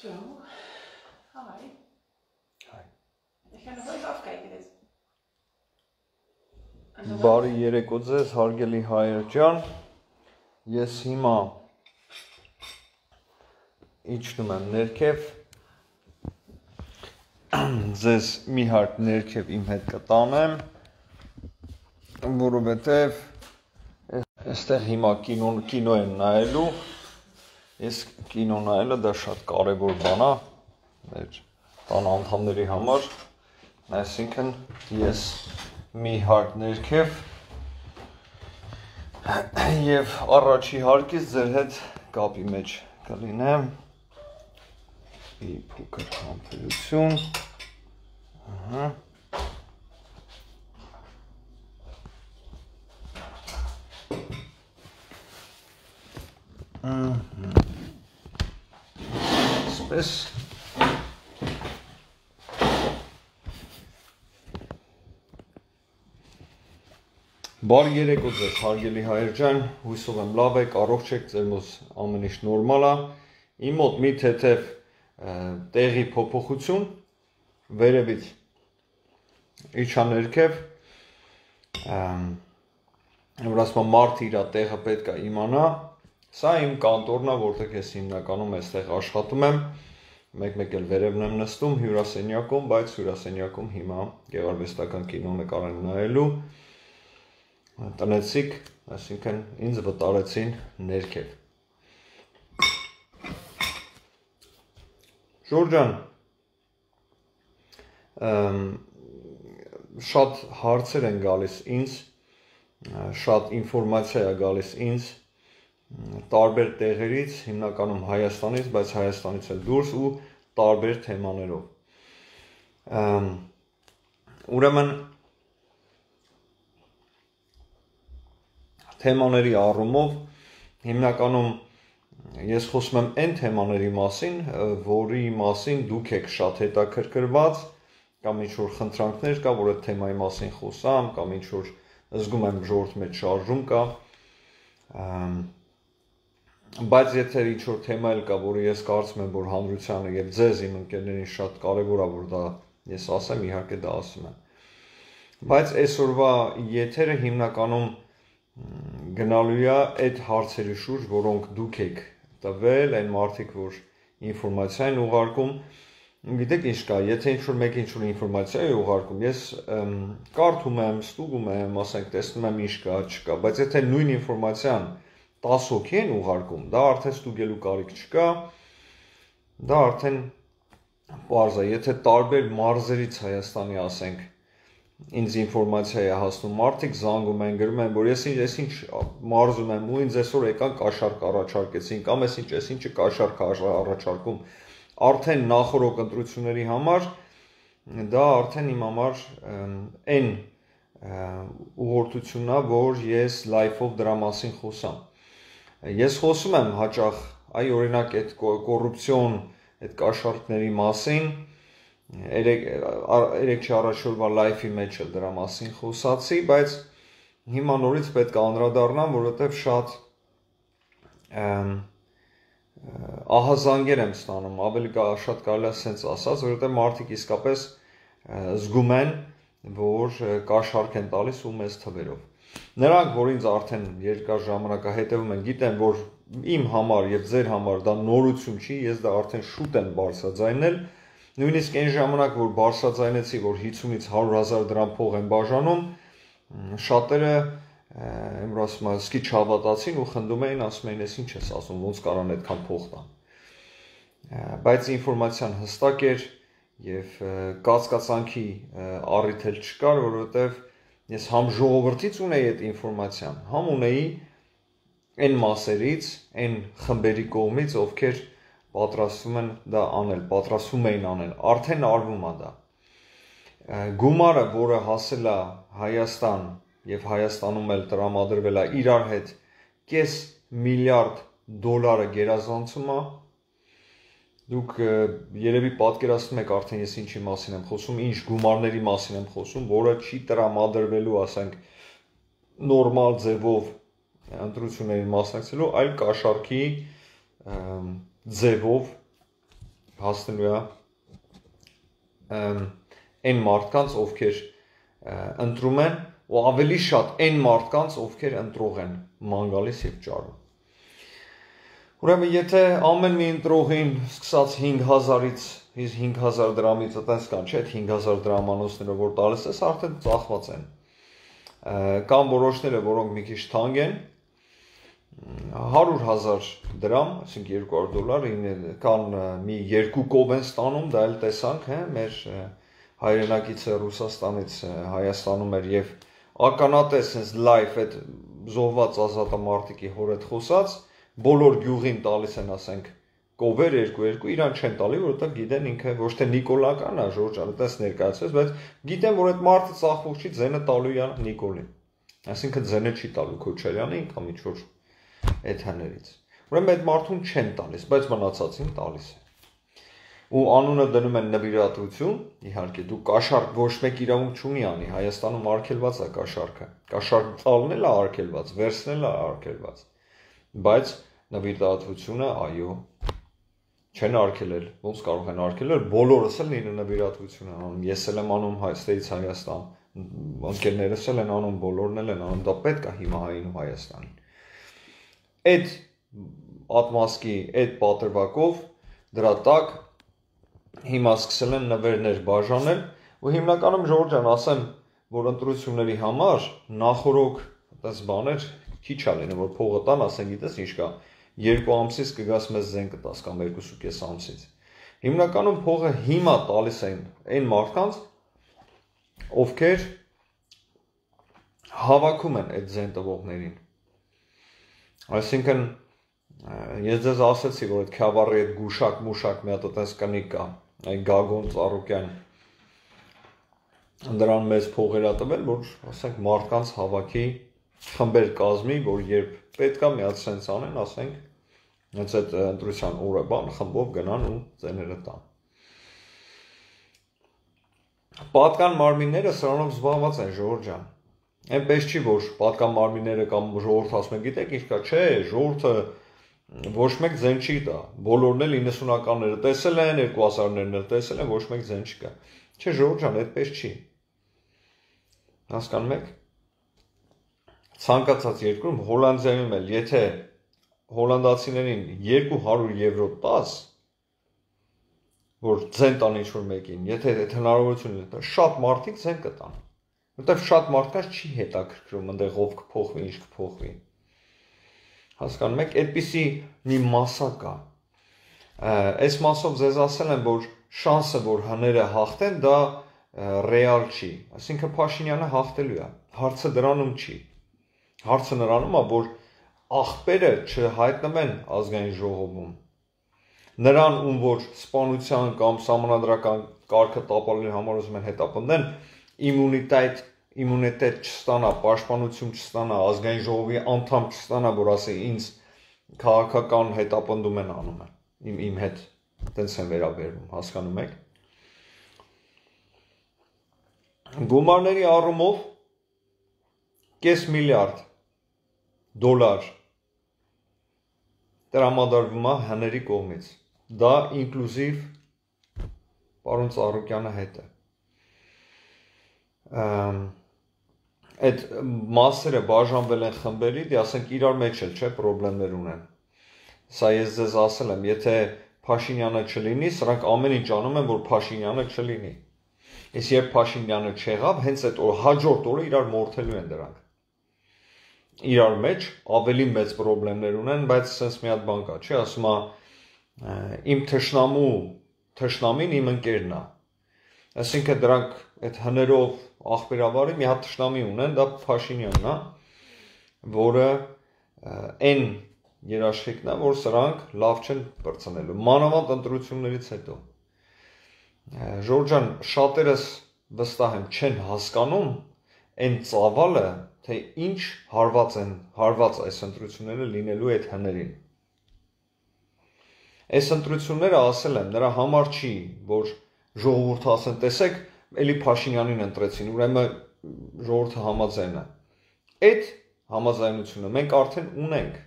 So, hi. Hi. Ik ga nog wel even afkijken dit. Բարի երեկո ձեզ, հարգելի հայեր ջան։ Ես հիմա իջնում եմ ներքև։ Ձեզ մի հարկ ներքև իմ հետ կտանեմ, որովհետև այստեղ հիմա կինո եմ նայելու։ Ես կինո նայելը դա շատ կարևոր բան է մեր տան անդամների համար, այսինքն ես մի հարկ ներքև եւ առաջի հարկից ձեր հետ կապի մեջ կլինեմ։ Մի փոքր համբերություն։ Այսպես Բարի երեկո ձեզ, հարգելի հայեր ջան, հույսով եմ լավ եք, առողջ եք, ձեր մոտ ամեն ինչ նորմալ է։ Իմ մոտ մի թեթև տեղի փոփոխություն վերևից իջա ներքև, որ ասում մարդը իր տեղը պետք է իմանա։ Սա իմ կանտորն է, որտեղ ես հիմնականում այստեղ աշխատում եմ, մեկ-մեկ էլ վերևն եմ նստում հյուրասենյակում, բայց հյուրասենյակում հիմա գեղարվեստական կինո նկար եմ նայելու։ Տնեցիք, այսինքն ինձ վտարեցին ներքև։ Ժորժան, շատ հարցեր են գալիս ինձ, շատ ինֆորմացիա է գալիս ինձ տարբեր տեղերից, հիմնականում Հայաստանից, բայց Հայաստանից էլ դուրս ու տարբեր թեմաներով։ Ուրեմն թեմաների առումով հիմնականում ես խոսում եմ այն թեմաների մասին, որի մասին դուք եք շատ հետաքրքրված, կամ ինչ-որ խնդրանքներ կա, որ այդ թեմայի մասին խոսամ, կամ ինչ-որ զգում եմ ժողովրդի մեջ շարժում կա, բայց եթե ինչ-որ թեմա էլ կա, որը ես կարծում եմ, որ հանրությանը եւ ձեզ իմ ընկերներին շատ կարեւոր է, որ դա ես ասեմ, իհարկե դա ասում եմ։ Բայց այսօրվա եթերը հիմնականում գնալու է այդ հարցերի շուրջ, որոնք դուք եք տվել, այն մարդիկ, որ ինֆորմացիա են ուղարկում, գիտեք ինչ կա, եթե ինչ-որ մեկը ինչ-որ ինֆորմացիա է ուղարկում, ես կարդում եմ, ստուգում եմ, ասենք, տեսնում եմ ինչ կա, չկա, բայց եթե նույն ինֆորմացիան 10 հոգի են ուղարկում, դա արդեն ստուգելու կարիք չկա, դա արդեն պարզ է, եթե տարբեր մարզերից Հայաստանի, ասենք, ինձ ինֆորմացիա է հասնում, մարդիկ զանգում են, գրում են, որ ես ինչ մարզում եմ ու ինձ այսօր եկան կաշառք առաջարկեցին, կամ ես ինչը կաշառք առաջարկում, արդեն նախորդ ընտրությունների համար, դա արդեն իմ համար այն ուղղորդությունն է, որ ես լայվով դրա մասին խոսամ։ Ես խոսում եմ հաճախ, այ օրինակ այդ կոռուպցիոն, այդ կաշառքների մասին, երեք չառաջորդ լայվի մեջ էլ դրա մասին խոսացի, բայց հիմա նորից պետք է անդրադառնամ, որովհետև շատ ահազանգեր եմ ստանում, ավելի շատ կարելի է սենց ասած, որովհետև մարդիկ իսկապես զգում են, որ կաշառք են տալիս ու մեծ թվերով։ Նրանք, որ ինձ արդեն երկար ժամանակ հետևում են, գիտեն, որ իմ համար եւ ձեր համար դա նորություն չի, ես դա արդեն շուտ եմ բարձրաձայնել, նույնիսկ այն ժամանակ, որ բարձրաձայնեցի, որ 50-ից 100,000 դրամ փող են բաժանում, շատերը որ ասում են, սկի չհավատացին ու խնդում էին, ասում էին, ես ինչ ես ասում, ոնց կարան այդքան փող տան։ Բայց ինֆորմացիան հստակ էր եւ կասկածանքի առիթ էլ չկար, որովհետեւ ես համ ժողովրդից ունեի այդ ինֆորմացիան, համ ունեի այն մասերից, այն խմբերի կողմից, ովքեր պատրաստվում էին անել, արդեն արվում է դա։ Գումարը, որը հասել է Հայաստան եւ Հայաստանում էլ տրամադրվել է իրար հետ $500 միլիարդ գերազանցում է, դուք երևի պատկերացնում եք արդեն ես ինչի մասին եմ խոսում, ինչ գումարների մասին եմ խոսում, որը չի տրամադրվելու, ասենք, նորմալ ձևով ընտրություններին մասնակցելու, այլ կաշառքի ձևով հասնելու է այն մարդկանց, ովքեր ընտրում են, ու ավելի շատ այն մարդկանց, ովքեր ընտրող են ման գալիս եւ ճարում։ Ուրեմն եթե ամեն մի ընտրողին սկսած 5000-ից 5000 դրամից այդպես կան, չէ՞, 5000 դրամանոցները որ տալիս ես, արդեն ծախված են։ Կան որոշները, որոնք մի քիչ թանկ են, 100,000 դրամ, այսինքն $200, կան մի երկու կով են ստանում, դա էլ տեսանք, մեր հայրենակիցը Ռուսաստանից Հայաստանում էր եւ ականատես sense live այդ զոհված ազատամարտիկի հոր հետ խոսած, բոլոր գյուղին տալիս են, ասենք, կովեր երկու իրան չեն տալի, որովհետեւ գիտեն ինքը ոչ թե Նիկոլական է, Ժորժանը, դες ներկայացրեց, բայց գիտեն, որ այդ մարդը ծախող չի, ձենը տալու է Նիկոլին։ Այսինքն ձենը չի տալու Քոչարյանին կամ ինչ-որ այդ հներից։ Ուրեմն այդ մարդուն չեն տալիս, բայց մնացածին տալիս են։ Ու անունը դնում են նվիրատվություն, իհարկե դու կաշառք ոչ մեկ իրավունք չունի անի, Հայաստանում արգելված է կաշառքը։ Կաշառք տալն էլ է արգելված, վերցնել է արգելված։ Բայց նվիրատվությունը, այո, չեն արգելել, ոնց կարող են արգելել, բոլորս էլ ինը նվիրատվություն են անում, ես էլ եմ անում Հայաստանից Հայաստան, ընկերներս էլ են անում, բոլորն էլ են անում, դա պետք է հիմա հային ու Հայաստանին։ Այդ ատմասկի, այդ պատրվակով դրա տակ հիմա սկսել են նվերներ բաժանել, ու հիմնականում Ժորժ ջան, ասեմ, որ ընտրությունների համար նախորոք այդպես բաներ քիչ է լինում, որ փողը տան, ասեն, գիտես ինչ կա, 2 ամսից կգաս մեզ զեն կտաս կամ 2.5 ամսից։ Հիմնականում փողը հիմա տալիս են այն մարդկանց, ովքեր հավաքում են այդ զեն տվողներին։ Այսինքն ես ձեզ ասացի, որ այդ Քյավառի այդ գուշակ մի հատ այդպես կնիկ կա, այդ Գագոն Ծառուկյան դրան մեծ փողեր ա տվել, որ ասենք մարդկանց հավաքի խմբեր կազմի, որ երբ պետքա մի հատ սենց անեն, ասենք, հենց այդ ընտրության օրը բան խմբով գնան ու ձեները տան։ Պատկան մարմինները սրանով զբաղված են, Ժորժ ջան։ Այնպես չի, որ պատկան մարմինները կամ ժողովուրդը ասում են, գիտեք ինչ կա, չէ, ժողովուրդը ոչ մեկ ձեն չի տա։ Բոլորն էլ 90-ականները տեսել են, 2000-ներն էլ տեսել են, ոչ մեկ ձեն չկա։ Չէ, Ժորժ ջան, այդպես չի։ Հասկանում եք։ Ցանկացած երկրում, Հոլանդիայում էլ, եթե հոլանդացիներին 200 եվրո տաս, որ ձեն տան ինչ-որ մեկին, եթե այդ հնարավորությունը տա, շատ մարդիկ ձեն կտան։ Որտեվ շատ մարդկանց չի հետաքրքրում, այնտեղ ով կփոխվի, ինչ կփոխվի։ Հասկանում եք, այդպիսի մի մասա կա։ Այս մասով ձեզ ասել եմ, որ շանսը, որ հները հաղթեն, դա ռեալ չի։ Այսինքն Փաշինյանը հաղթելու է։ Հարցը դրանում չի։ Հարցը նրանում է, որ աղբերը չհայտնվեն ազգային ժողովում։ Նրան, ում որ սպանության կամ սահմանադրական կարգը տապալելու համար ուզում են հետապնդեն, իմունիտետ չստանա, պաշտպանություն չստանա, ազգային ժողովի անդամ չստանա, որ ասի ինձ քաղաքական հետապնդում են անում են, իմ հետ տենց են վերաբերվում, հասկանում եք։ Գումարների առումով $500 միլիարդ տրամադրվում է հների կողմից։ Դա ինկլյուզիվ պարոն Ծառուկյանը հետ է։ Այդ մասերը բաժանվել են խմբերի, դե ասենք իրար մեջ էլ, չէ, պրոբլեմներ ունեն։ Սա ես ձեզ ասել եմ, եթե Փաշինյանը չլինի, սրանք ամեն ինչ անում են, որ Փաշինյանը չլինի։ Իսկ երբ Փաշինյանը չեղավ, հենց այդ հաջորդ օրը իրար մորթելու են դրանք։ Իրար մեջ ավելի մեծ պրոբլեմներ ունեն, բայց sense մի հատ բան կա, չի, ասում է իմ թշնամին իմ ընկերն է։ Այսինքն դրանք այդ հներով աղբերավարի մի հատ թշնամի ունեն, դա Փաշինյանն է, որը այն երաշխիքն է, որ սրանք լավ չեն բրցնելու։ Մանավանդ ընտրություններից հետո։ Ժորժ ջան, շատերս վստահ եմ չեն հասկանում այն ծավալը, թե ինչ հարված այս ընտրությունները լինելու այդ հներին։ Այս ընտրությունները ասել եմ, նրա համար չի, որ ժողովուրդը ասեն, տեսեք, էլի Փաշինյանին ընտրեցին, ուրեմն ժողովուրդը համաձայն է։ Այդ համաձայնությունը մենք արդեն ունենք։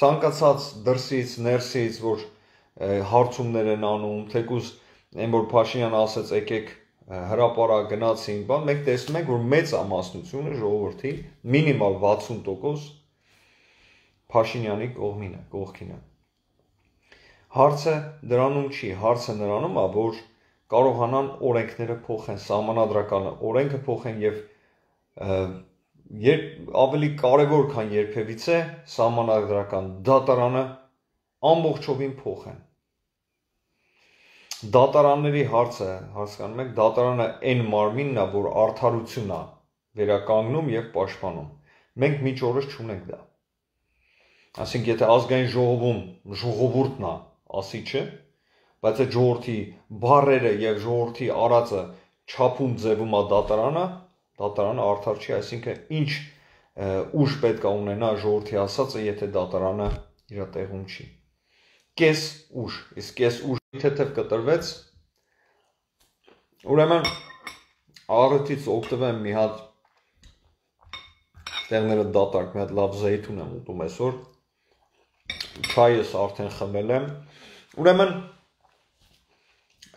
Ցանկացած դրսից, ներսից, որ հարցումներ են անում, թեկուզ այն որ Փաշինյանը ասեց եկեք հրապարակ գնացին, բան մենք տեսնում ենք որ մեծ ամասնությունը ժողովրդի մինիմալ 60% Փաշինյանի կողքին է։ Հարցը դրանում չի, հարցը նրանում է, որ կարողանան օրենքները փոխեն, սահմանադրական օրենքը փոխեն եւ ավելի կարևոր քան երբևիցե սահմանադրական դատարանը ամբողջովին փոխեն։ Դատարանների հարցը, հասկանում եք, դատարանը այն մարմինն է, որ արդարությունն է վերականգնում եւ պաշտպանում։ Մենք միջ օրս չունենք դա։ Այսինքն, եթե ազգային ժողովում ժողովուրդն է, ասիչը, բայց այդ ժողովրդի բառերը եւ ժողովրդի արածը չափում ձևում է դատարանը արդար չի, այսինքն ինչ ուժ պետք է ունենա ժողովրդի ասածը, եթե դատարանը իր տեղում չի։ Կես ուժ, իսկ կես ուժի թեթև կտրվեց, ուրեմն առիթից օգտվեմ մի հատ տեղները դատարկ, մի հատ լավ զեյթուն եմ ուտում այսօր, չայս արդեն խմել եմ, ուրեմն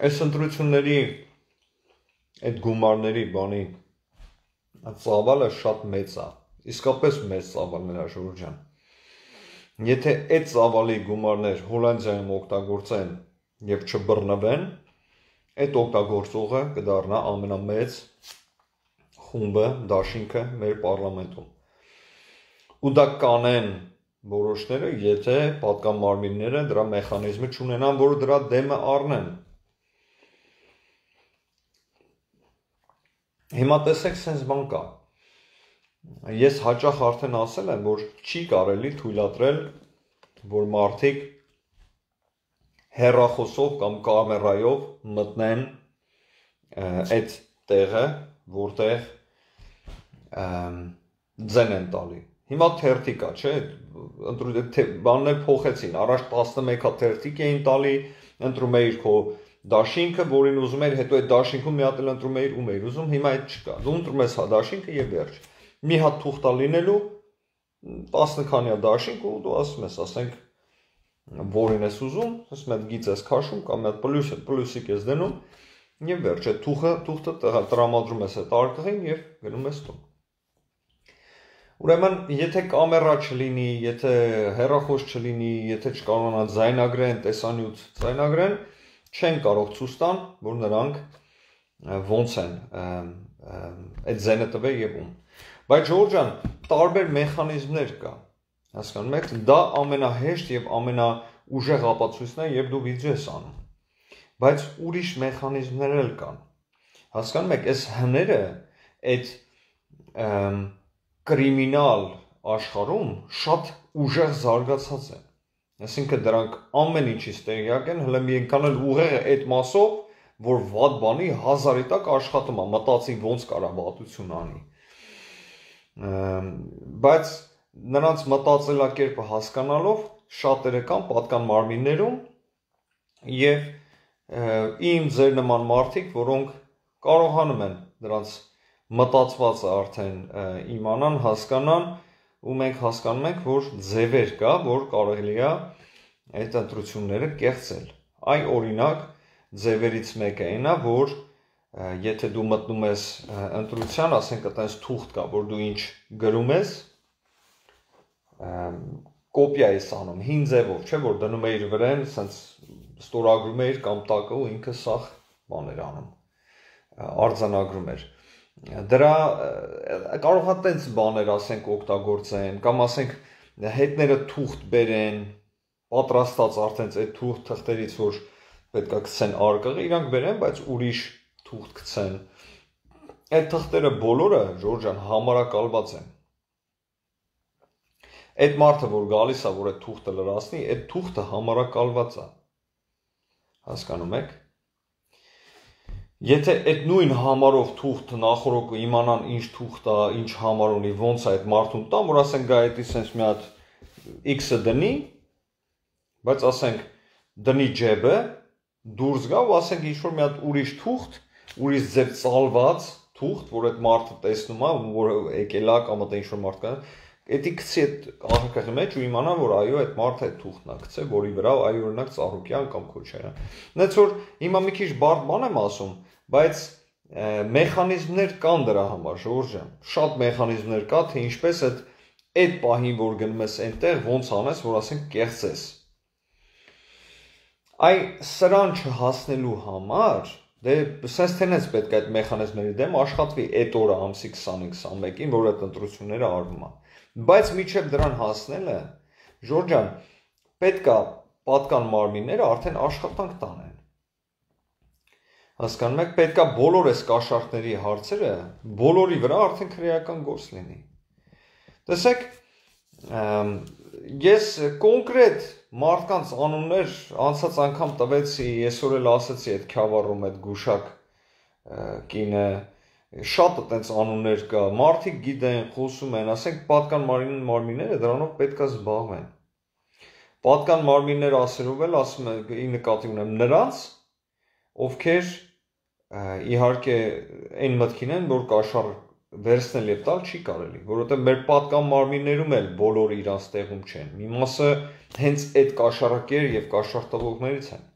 այս ընտրությունների այդ գումարների բանի ծավալը շատ մեծ է, իսկապես մեծ ծավալներ է Ժորժ ջան։ Եթե այդ ծավալի գումարներ Հոլանդիայում օգտագործեն եւ չբռնվեն, այդ օգտագործողը կդառնա ամենամեծ խումբը, դաշինքը մեր պարլամենտում։ Ու դա կանեն որոշները, եթե պատկան մարմինները դրա մեխանիզմը չունենան, որ դրա դեմը առնեն։ Հիմա տեսեք, sense բան կա։ Ես հաճախ արդեն ասել եմ, որ չի կարելի թույլատրել, որ մարդիկ հեռախոսով կամ կամերայով մտնեն այդ տեղը, որտեղ ձեն են տալի։ Հիմա թերթիկ է, չէ՞, բաններ փոխեցին, առաջ 11 հատ թերթիկ էին տալի, ընտրում էիր քո դաշինքը, որին ուզում էր, հետո այդ դաշինքում մի հատ էլ ընտրում էիր, ում էիր ուզում, հիմա այդ չկա։ Դու ընտրում ես հա դաշինքը եւ վերջ։ Մի հատ թուղթ լինելու 10 քանյա դաշինք ու դու ասում ես, ասենք որին ես ուզում, ասում ես գիծ ես քաշում կամ այդ պլյուսիկ ես դնում եւ վերջ, այդ թուղթը տրամադրում ես այդ արկղին եւ գնում ես տուն։ Ուրեմն, եթե կամերա չլինի, եթե հեռախոս չլինի, եթե չկարողանան ձայնագրեն, տեսանյութ ձայնագրեն, չեն կարող ցույց տան, որ նրանք ոնց են այդ ձենը տվել եւ ում։ Բայց Ժորժ ջան, տարբեր մեխանիզմներ կա, հասկանում եք, դա ամենահեշտ եւ ամենաուժեղ ապացույցն է, երբ դու վիդեո ես անում։ Բայց ուրիշ մեխանիզմներ էլ կան։ Հասկանում եք, այս հները այդ կրիմինալ աշխարհում շատ ուժեղ զարգացած են։ Այսինքն դրանք ամեն ինչից տեղյակ են, հələ մի այնքան էլ ուղեղ է այդ մասով, որ վատ բանի 1000-ի տակ աշխատում է, մտածի ոնց կարա վատություն անի։ Բայց նրանց մտածելակերպը հասկանալով շատերը կան պատկան մարմիններում եւ իմ ձեր նման մարդիկ, որոնք կարողանում են դրանց մտածվածը արդեն իմանան, հասկանան, ու մենք հասկանում ենք, որ ձևեր կա, որ կարելի է այդ ընտրությունները կեղծել։ Այ օրինակ ձևերից մեկը այն է, որ եթե դու մտնում ես ընտրության, ասենք այտենց թուղթ կա, որ դու ինչ գրում ես, կոպիա ես անում, հին ձևով, չէ, որ դնում էիր վրան, ասենց ստորագրում էիր կամ տակը ու ինքը սախ բաներ անում, արձանագրում էր։ Դրա կարող է տենց բաներ ասենք օգտագործեն, կամ ասենք հետները թուղթ բերեն, պատրաստած արդեն այդ թուղթ թղթերից, որ պետք է գցեն արկղը, իրանք բերեն, բայց ուրիշ թուղթ գցեն։ Այդ թղթերը բոլորը, Ժորժ ջան, համարակալված են։ Այդ մարդը, որ գալիս է, որ այդ թուղթը լրացնի, այդ թուղթը համարակալված է։ Հասկանում եք։ Եթե այդ նույն համարով թուղթ նախորոք իմանան ինչ թուղթ է, ինչ համար ունի, ոնց է այդ մարդուն տան, որ ասենք գա այդի sense մի հատ X-ը դնի, բայց ասենք դնի ջեբը, դուրս գա ու ասենք ինչ որ մի հատ ուրիշ թուղթ, ուրիշ ձև ծալված թուղթ, որ այդ մարդը տեսնում է, որ եկել է կամ այդ ինչ որ մարդ կա, Էդի գցի այդ աղքատի մեջ ու իմանա, որ այո, այդ մարդը այդ թուղթն է գցել, որի վրա այո օրինակ Ծառուկյան կամ Քոչարյան։ Նենց որ հիմա մի քիչ բարդ բան եմ ասում, բայց մեխանիզմներ կան դրա համար, Ժորժ ջան, շատ մեխանիզմներ կա, թե ինչպես այդ պահին, որ գնում ես այնտեղ, ոնց անես, որ ասենք կեղծես։ Այ սրան չհասնելու համար, դե սենց թենես պետք է այդ մեխանիզմների դեմ աշխատվի այդ օրը ամսի 20-21-ին, որ այդ ընտրությունները արվում են։ Բայց միջև դրան հասնելը, Ժորժ ջան, պետք է պատկան մարմինները արդեն աշխատանք տանեն։ Հասկանում եք, պետք է բոլոր այս կաշառքների հարցերը բոլորի վրա արդեն քրեական գործ լինի։ Տեսեք, ես կոնկրետ մարդկանց անուններ անցած անգամ տվեցի, այսօր էլ ասեցի այդ Քյավառում այդ գուշակ կինը, շատ այդպես անուններ կա, մարդիկ գիտեն, խոսում են, ասենք պատկան մարմինները դրանով պետք է զբաղվեն։ Պատկան մարմիններ ասելով էլ ասում եմ, նկատի ունեմ նրանց, ովքեր իհարկե այն մտքին են, որ կաշառ վերցնել եւ տալ չի կարելի, որովհետեւ մեր պատկան մարմիններում էլ բոլորը իրանց տեղում չեն։ Մի մասը հենց այդ կաշառակեր եւ կաշառտվողներից են,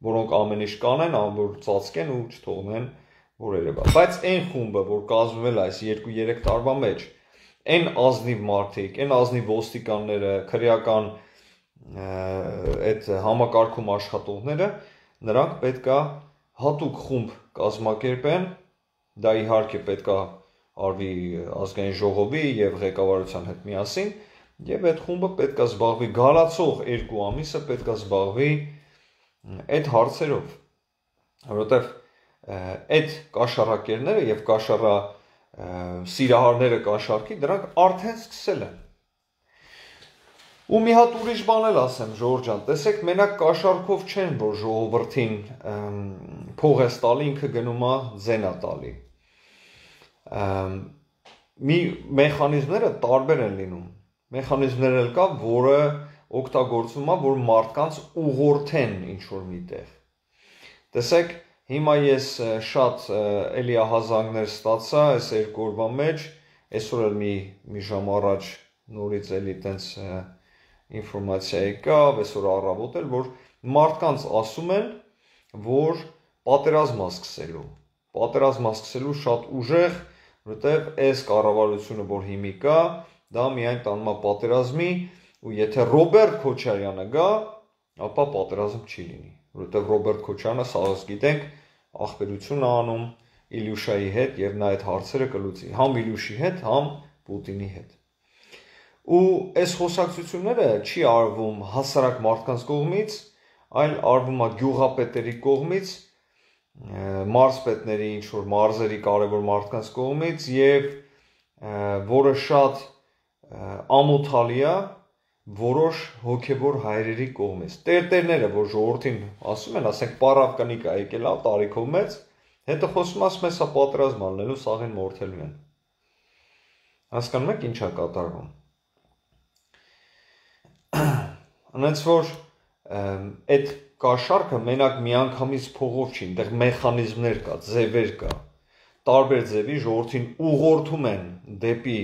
որոնք ամեն ինչ կանեն, որ ծածկեն ու չթողնեն, որ երևա։ Բայց այն խումբը, որ կազմվել է այս 2-3 տարվա մեջ, այն ազնիվ մարդիկ, այն ազնիվ ոստիկանները, քրեական այդ համակարգում աշխատողները, նրանք պետք է հատուկ խումբ կազմակերպեն, դա իհարկե պետք է արվի ազգային ժողովի եւ ղեկավարության հետ միասին, եւ այդ խումբը պետք է զբաղվի գալացող 2 ամիսը պետք է զբաղվի այդ հարցերով, որովհետեւ այդ կաշառակերները եւ կաշառա սիրահարները կաշառքի դրանք արդեն սկսել են։ Ու մի հատ ուրիշ բան էլ ասեմ, Ժորժ ջան, տեսեք, մենակ կաշառքով չեն, որ ժողովրդին փող է տալի, ինքը գնում է ձենա տալի։ Մի մեխանիզմները տարբեր են լինում։ Մեխանիզմներ էլ կա, որը օգտագործվում է, որ մարդկանց ուղղորդեն ինչ-որ միտեղ։ Տեսեք, հիմա ես շատ էլի ահազանգներ ստացա այս 2 օրվա մեջ, այսօր էլ մի ժամ առաջ նորից էլի տենց ինֆորմացիա եկավ, այսօր առավոտ էլ, որ մարդկանց ասում են, որ պատերազմ է սկսելու շատ ուժեղ, որովհետև այս կառավարությունը, որ հիմի կա, դա միայն տանում է պատերազմի, ու եթե Ռոբերտ Քոչարյանը գա, ապա պատերազմ չի լինի, որովհետև Ռոբերտ Քոչարյանը սաղս գիտենք, ախպերություն է անում Իլյուշայի հետ եւ նա այդ հարցերը կլուծի, համ Իլյուշի հետ, համ Պուտինի հետ։ Ու այս խոսակցությունները չի արվում հասարակ մարդկանց կողմից, այլ արվում է գյուղապետերի կողմից, մարզպետների, ինչ-որ մարզերի կարևոր մարդկանց կողմից եւ որը շատ ամոթալի է որոշ հոգեվոր հայրերի կողմից։ Տերտերները, որ ժողովրդին ասում են, ասենք պարավ կնիկ է եկել է տարիքով մեծ, հետո խոսում ասում են, սա պատերազմ անելու, սաղին մորթելու են։ Հասկանում եք ինչ է կատարվում։ Անց որ այդ կաշառքը մենակ միանգամից փողով չի, այնտեղ մեխանիզմներ կա, ձևեր կա, տարբեր ձևի ժողովրդին ուղղորդում են դեպի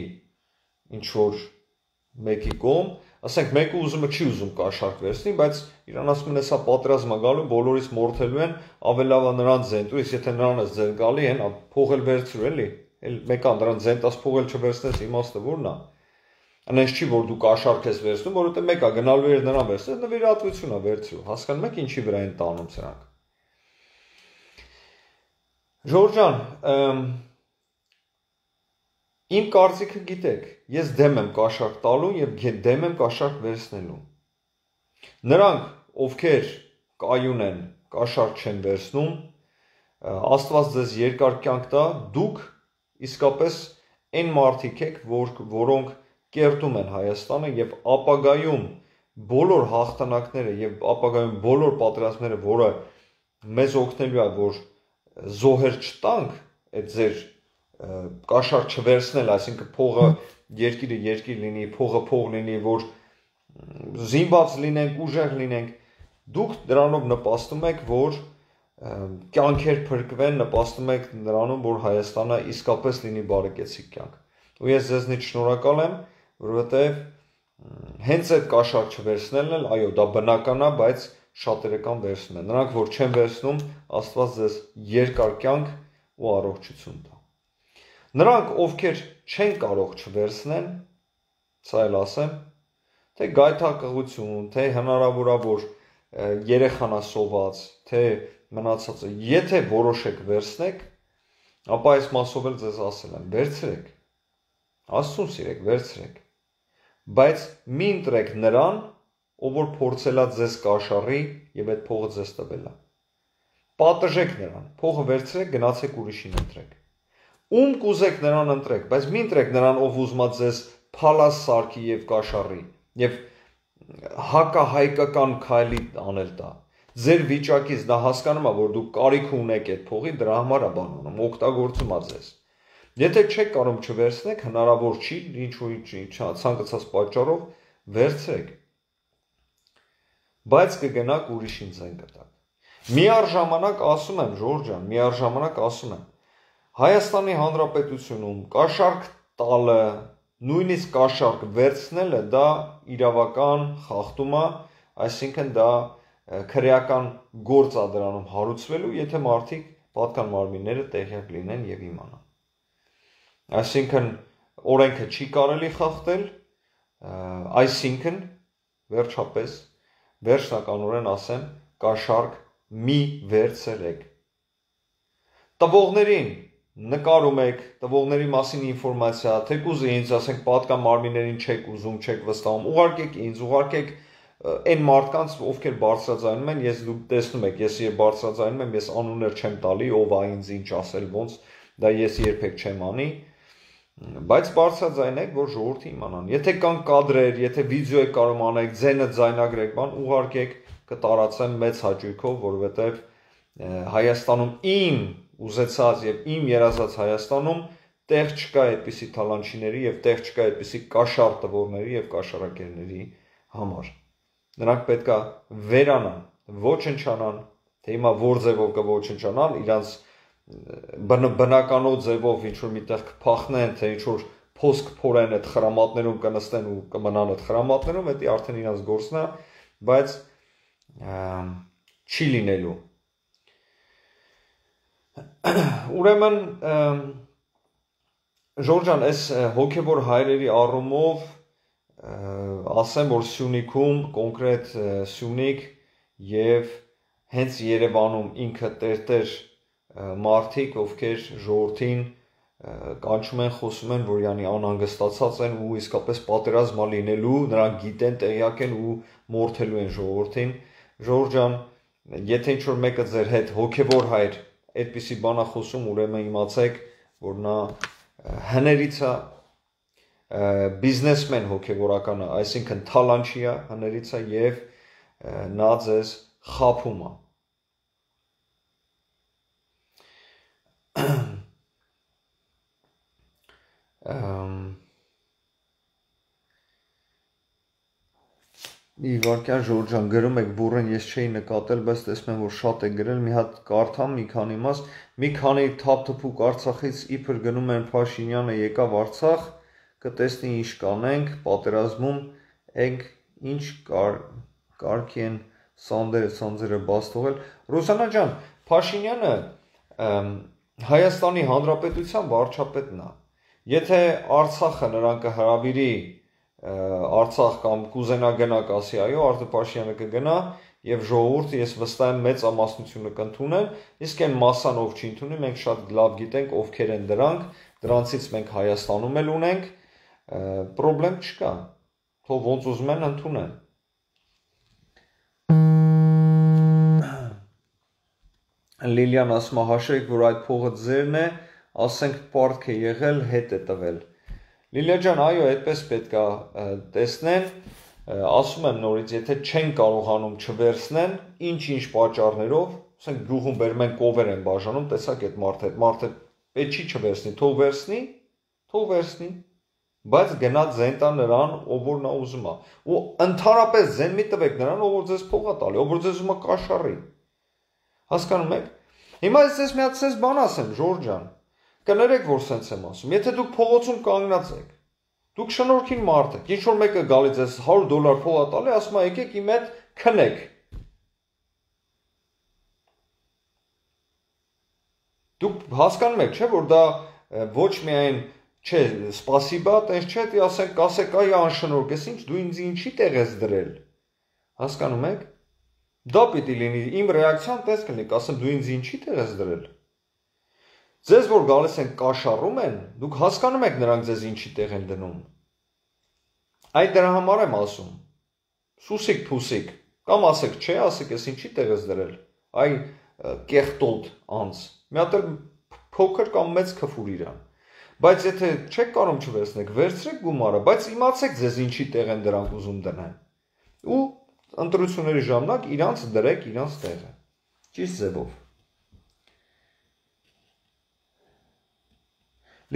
ինչ որ մեկի կողմ, ասենք մեկը ուզումը չի ուզում կաշառք վերցնի, բայց իրան ասում են, հեսա պատերազմ է գալու, բոլորից մորթելու են, ավելի լավ է նրանց զենտու, իսկ եթե նրանց ձեն գալի են, փող էլ վերցրու էլի, մեկան նրանց զենտաս փող էլ չվերցնես, իմաստը որն է։ Անենց չի, որ դու կաշառք ես վերցնում, որովհետև մեկը գնալու էր նրան վերցնել, նվիրատվություն է վերցրու, հասկանում եք ինչի վրա են տանում սրանք։ Ժորժ ջան, իմ կարծիքը գիտեք, ես դեմ եմ կաշառք տալու եւ դեմ եմ կաշառք վերցնելու։ Նրանք, ովքեր կայուն են, կաշառք չեն վերցնում, Աստված ձեզ երկար կյանք տա, դուք իսկապես այն մարդիկ եք, որոնք կերտում են Հայաստանը եւ ապագայում բոլոր հաղթանակները եւ ապագայում բոլոր պատերազմները, որը մեզ օգնելու է, որ զոհեր չտանք, այդ ձեր կաշառք չվերցնել, այսինքն փողը երկիրը լինի, փողը փող լինի, որ զինված լինենք, ուժեղ լինենք, դուք դրանով նպաստում եք, որ կյանքեր փրկվեն, նպաստում եք նրանում, որ Հայաստանը իսկապես լինի բարեկեցիկ կյանք։ Ու ես ձեզնից շնորհակալ եմ, որովհետև հենց այդ կաշառք չվերցնելն էլ, այո, դա բնական է, բայց շատերը կան վերցնում են։ Նրանք, որ չեն վերցնում, Աստված ձեզ երկար կյանք ու առողջություն տա։ Նրանք, ովքեր չեն կարող չվերցնեն, սա էլ ասեմ, թե գայթակղություն, թե հնարավոր է, որ երեխան է սոված, թե մնացածը, եթե որոշեք վերցնեք, ապա այս մասով էլ ձեզ ասել եմ, վերցրեք, Աստծուն սիրեք, վերցրեք, բայց մի ընտրեք նրան, ով որ փորձելա ձեզ կաշառի եւ այդ փողը ձեզ տվելա։ Պատժեք նրան, փողը վերցրեք, գնացեք ուրիշին ընտրեք։ Ում կուզեք նրան ընտրեք, բայց մի ընտրեք նրան, ով ուզում է ձեզ փալաս սարքի եւ կաշառի եւ հակահայկական քայլի անել տա։ Ձեր վիճակից նա հասկանում է, որ դուք կարիք ունեք այդ փողի, դրա համար է բանում, օգտագործում է ձեզ։ Եթե չեք կարող չվերցնեք, հնարավոր չի, ինչ-որ ցանկացած պատճառով վերցրեք։ Բայց կգնաք ուրիշին ձեն կտակ։ Միառժամանակ ասում եմ, Ժորժ ջան, միառժամանակ ասում եմ, Հայաստանի Հանրապետությունում կաշառք տալը, նույնիսկ կաշառք վերցնելը դա իրավական խախտում է, այսինքն դա քրեական գործ է դրանում հարուցվելու, եթե մարդիկ պատկան մարմինները տեղյակ լինեն եւ իմանան։ Այսինքն օրենքը չի կարելի խախտել, այսինքն վերջապես վերջնականորեն ասեմ, կաշառք մի վերցրեք։ Տվողներին նկարում եք, տվողների մասին ինֆորմացիա, թեկուզ ինձ, ասենք, պատկան մարմիններին չեք ուզում, չեք վստահում, ուղարկեք ինձ, ուղարկեք այն մարդկանց, ովքեր բարձրաձայնում են, ես դուք տեսնում եք, ես երբ բարձրաձայնում եմ, ես անուններ չեմ տալի, ով է ինձ ինչ ասել, ոնց, դա ես երբեք չեմ անի, բայց բարձրաձայնեք, որ ժողովուրդը իմանան։ Եթե կան կադրեր, եթե վիդեո եք կարող անեք, ձենը ձայնագրեք, բան ուղարկեք, կտարածեմ մեծ հաճույքով, որովհետև Հայաստանում իմ ուզեցած եւ իմ երազած Հայաստանում տեղ չկա այդպիսի թալանչիների եւ տեղ չկա այդպիսի կաշառ տվորների եւ կաշառակերների համար։ Նրանք պետքա վերանան, ոչնչանան, թե հիմա որ ձևով կոչնչանան, իրանց բնականոց ձևով ինչ-որ միտեղ կփախնեն, թե ինչ-որ փոսք փորեն այդ խրամատներում կնստեն ու կմնան այդ խրամատներում, դա արդեն իրանց գործն է, բայց չի լինելու։ Ուրեմն Ժորժան, այս հոգևոր հայրերի առումով ասեմ, որ Սյունիքում կոնկրետ Սյունիք եւ հենց Երևանում ինքը տերտեր մարդիկ, ովքեր ժողովրդին կանչում են, խոսում են, որ յանի անհանգստացած են ու իսկապես պատերազմա լինելու, նրանք գիտեն, տեղյակ են ու մորթելու են ժողովրդին։ Ժորժ ջան, եթե ինչ-որ մեկը ձեր հետ հոգևոր հայր այդպիսի բան է խոսում, ուրեմն իմացեք, որ նա հներից է, բիզնեսմեն հոգևորական է, այսինքն թալանչի է, հներից է եւ նա ձեզ խաբում է։ Իվարկյան Ժորժ ջան, գրում եք բուրեն ես չէի նկատել, բայց տեսնում եմ, որ շատ է գրել, մի հատ կարդամ, մի քանի մաս, մի քանի թափթփուկ Արցախից իբր գնում են Փաշինյանը եկավ Արցախ, կտեսնի ինչ կանենք, պատերազմում ենք, ինչ կարգի են սանդերը բաց թողել։ Ռուսանա ջան, Փաշինյանը Հայաստանի Հանրապետության վարչապետն է։ Եթե Արցախը նրան կհրավիրի Արցախ կամ կուզենա գնա կասի, այո, Արտե Փաշինյանը կգնա եւ ժողովուրդը ես վստահ եմ մեծ ամասնությունը կընդունեն, իսկ այն մասան ով չի ընդունի, մենք շատ լավ գիտենք ովքեր են դրանք, դրանցից մենք Հայաստանում էլ ունենք, պրոբլեմ չկա, թող ոնց ուզում են ընդունեն։ Լիլիան ասում է, հաշրեք, որ այդ փողը ձերն է, ասենք պարտք է եղել, հետ է տվել։ Լիլիա ջան, այո, այդպես պետք է տեսնեն, ասում եմ նորից, եթե չեն կարողանում չվերցնեն, ինչ-ինչ պատճառներով, ասենք գյուղում բերում են կովեր են բաժանում, տեսակ այդ մարդը պետք չի չվերցնի, թող վերցնի, բայց գնա ձեն տա նրան, ով որ նա ուզում է, ու ընդհանրապես ձեն մի տվեք նրան, ով որ ձեզ փող է տալի, ով որ ձեզ ուզում է կաշառի, հասկանում եք, հիմա ես մի հատ սենց բան ասեմ, Ժորժ ջան, կներեք, որ սենց եմ ասում, եթե դուք փողոցում կանգնած եք, Դուք շնորհքին մարդ եք։ Ինչ որ մեկը գալիս է $100 փող է տալի, ասում է եկեք իմ հետ քնեք։ Դուք հասկանում եք, չէ՞, որ դա ոչ միայն չէ, սպասիբա, տես չէ, դի ասեք, այ անշնորհք ես, ինչ դու ինձ ինչի տեղ ես դրել։ Հասկանում եք։ Դա պիտի լինի, իմ ռեակցիան տես կլինի, ասեմ դու ինձ ինչի տեղ ես դրել։ Ձեզ որ գալիս են կաշառում են, դուք հասկանում եք նրանք ձեզ ինչի տեղ են դնում։ Այդ դրա համար եմ ասում։ Սուսիկ փուսիկ, կամ ասեք, չէ, ասեք, ես ինչի տեղ ես դրել։ Այ կեղտոտ անց։ Մի հատ էլ փոքր կամ մեծ քֆուր իրան։ Բայց եթե չեք կարող չվերցնեք, վերցրեք գումարը, բայց իմացեք ձեզ ինչի տեղ են դրանք ուզում դնեն։ Ու ընտրությունների ժամանակ իրանց դրեք իրանց տեղը։ Ճիշտ ձևով։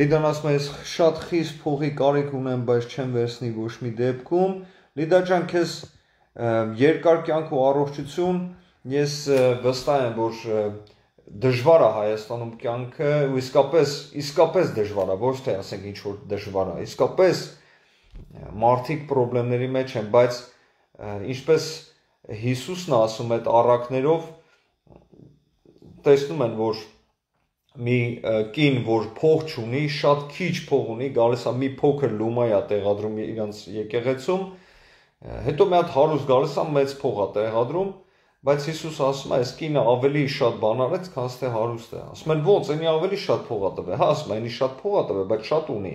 Լիդան ասում է, ես շատ խիստ փողի կարիք ունեմ, բայց չեմ վերցնի ոչ մի դեպքում։ Լիդա ջան, քեզ երկար կյանք ու առողջություն, ես վստահ եմ, որ դժվար է Հայաստանում կյանքը, ու իսկապես դժվար է, ոչ թե ասենք ինչ որ դժվար է, իսկապես մարդիկ խնդիրների մեջ են, բայց ինչպես Հիսուսն ասում այդ առակներով տեսնում են, որ մի կին, որ փող չունի, շատ քիչ փող ունի, գալիս է մի փոքր լումա է տեղադրում իրանց եկեղեցում, հետո մի հատ հարուստ գալիս է մեծ փող է տեղադրում, բայց Հիսուս ասում է, այս կինը ավելի շատ բան արեց, քան թե հարուստ է։ Ասում են, ո՞նց, այնի ավելի շատ փող է տվել։ Հա, ասում է, այնի շատ փող է տվել, բայց շատ ունի։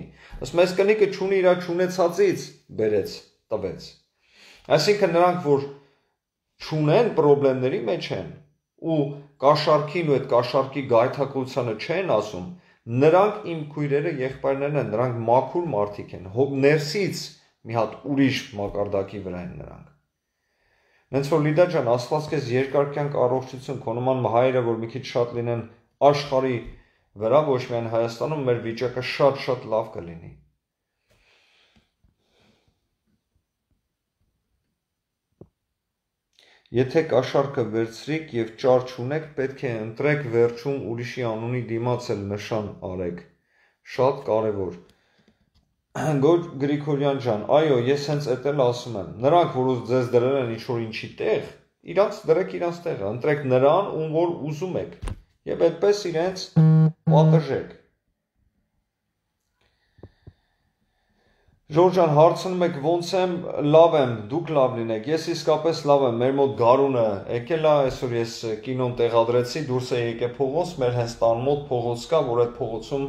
Ասում է, այս կնիկը չունի, իր չունեցածից բերեց, տվեց։ Այսինքն նրանք, որ չունեն, խնդիրների մեջ են ու կաշառքին ու այդ կաշառքի գայթակղությանը չեն ասում, նրանք իմ քույրերը, եղբայրներն են, նրանք մաքուր մարդիկ են, ներսից մի հատ ուրիշ մակարդակի վրա են նրանք։ Նենց որ Լիդա ջան, Աստված քեզ երկար կյանք առողջություն, քո նման հայրը, որ մի քիչ շատ լինեն աշխարհի վրա, ոչ միայն Հայաստանում, մեր վիճակը շատ լավ կլինի։ Եթե կաշառքը վերցրիք եւ ճար չունեք, պետք է ընտրեք վերջում ուրիշի անունի դիմաց էլ նշան արեք։ Շատ կարևոր։ Գրիգորյան ջան, այո, ես հենց այդ էլ ասում եմ։ Նրանք, որ ձեզ դրել են ինչ-որ ինչի տեղ, իրանց դրեք իրանց տեղը, ընտրեք նրան, ում որ ուզում եք, եւ այդպես իրենց պատժեք։ Ժորժ ջան, հարցնում եք ոնց եմ, լավ եմ, դուք լավ լինեք, ես իսկապես լավ եմ, մեր մոտ գարունը եկել է, այսօր ես կինոն տեղադրեցի, դուրս է եկել փողոց, մեր հենց տան մոտ փողոց կա, որ այդ փողոցում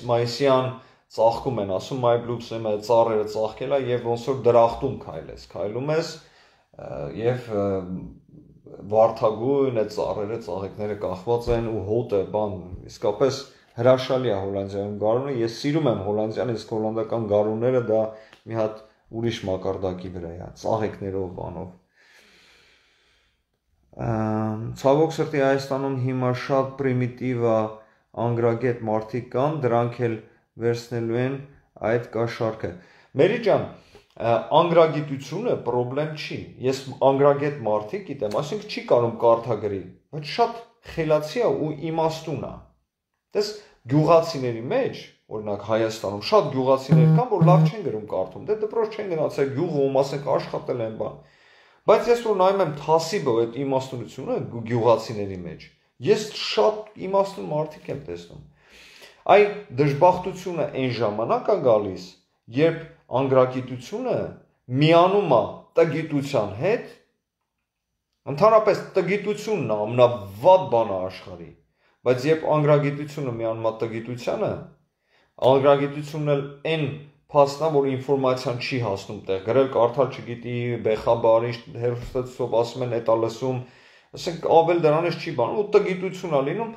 մայիսյան ծաղկում են, ասում մայ բլուսը ծառերը ծաղկել է եւ ոնց որ դրախտում քայլում ես եւ վարդագույն այդ ծառերը ծաղիկները կախված են ու հոտը բան իսկապես հրաշալի է Հոլանդիայում գարունը, ես սիրում եմ Հոլանդիան, իսկ հոլանդական գարունները դա մի հատ ուրիշ մակարդակի վրա է, ծաղիկներով բանով։ Ցավոք սրտի Հայաստանում հիմա շատ պրիմիտիվ է անգրագետ մարդիկ կան, դրանք էլ վերցնելու են այդ կաշառքը։ Մերի ջան, անգրագիտությունը խնդրեմ չի։ Ես անգրագետ մարդիկ գիտեմ, այսինքն չի կարող կարդագրի, բայց շատ խելացի է ու իմաստուն է։ Դες գյուղացիների մեջ, օրինակ Հայաստանում շատ գյուղացիներ կան, որ լավ չեն գրում կարդում, դե դպրոց չեն գնացել գյուղում, ասենք աշխատել են բան։ Բայց ես որ նայում եմ թասիբը այդ իմաստունությունը գյուղացիների մեջ, ես շատ իմաստուն մարդիկ եմ տեսնում։ Այ դժբախտությունը այն ժամանակ է գալիս, երբ անգրագիտությունը միանում է տգիտության հետ, ընդհանրապես տգիտությունն է ամենավատ բանը աշխարհի, բայց երբ անգրագիտությունը միանում է տգիտությանը, անգրագիտությունն էլ այն փաստն է, որ ինֆորմացիան չի հասնում տեղ, գրել կարդալ չգիտի, բեխաբարի հերոստատուսով ասում են էտա լսում, ասենք ավել դրանից չի բանում, ու տգիտություն է լինում,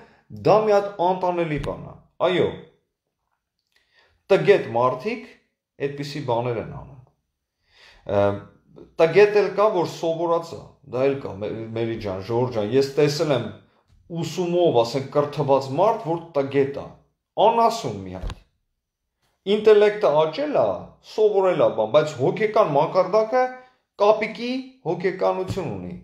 դա մի հատ անտանելի բան է։ Այո, տգետ մարդիկ այդպիսի բաներ են անում։ Տգետ էլ կա, որ սովորած է, դա էլ կա, Մերի ջան, Ժորժ ջան, ես տեսել եմ ուսումով, ասենք կրթված մարդ, որ տգետ է, անասուն մի հատ։ Ինտելեկտը աճել է, սովորել է բան, բայց հոգեկան մակարդակը կապիկի հոգեկանություն ունի։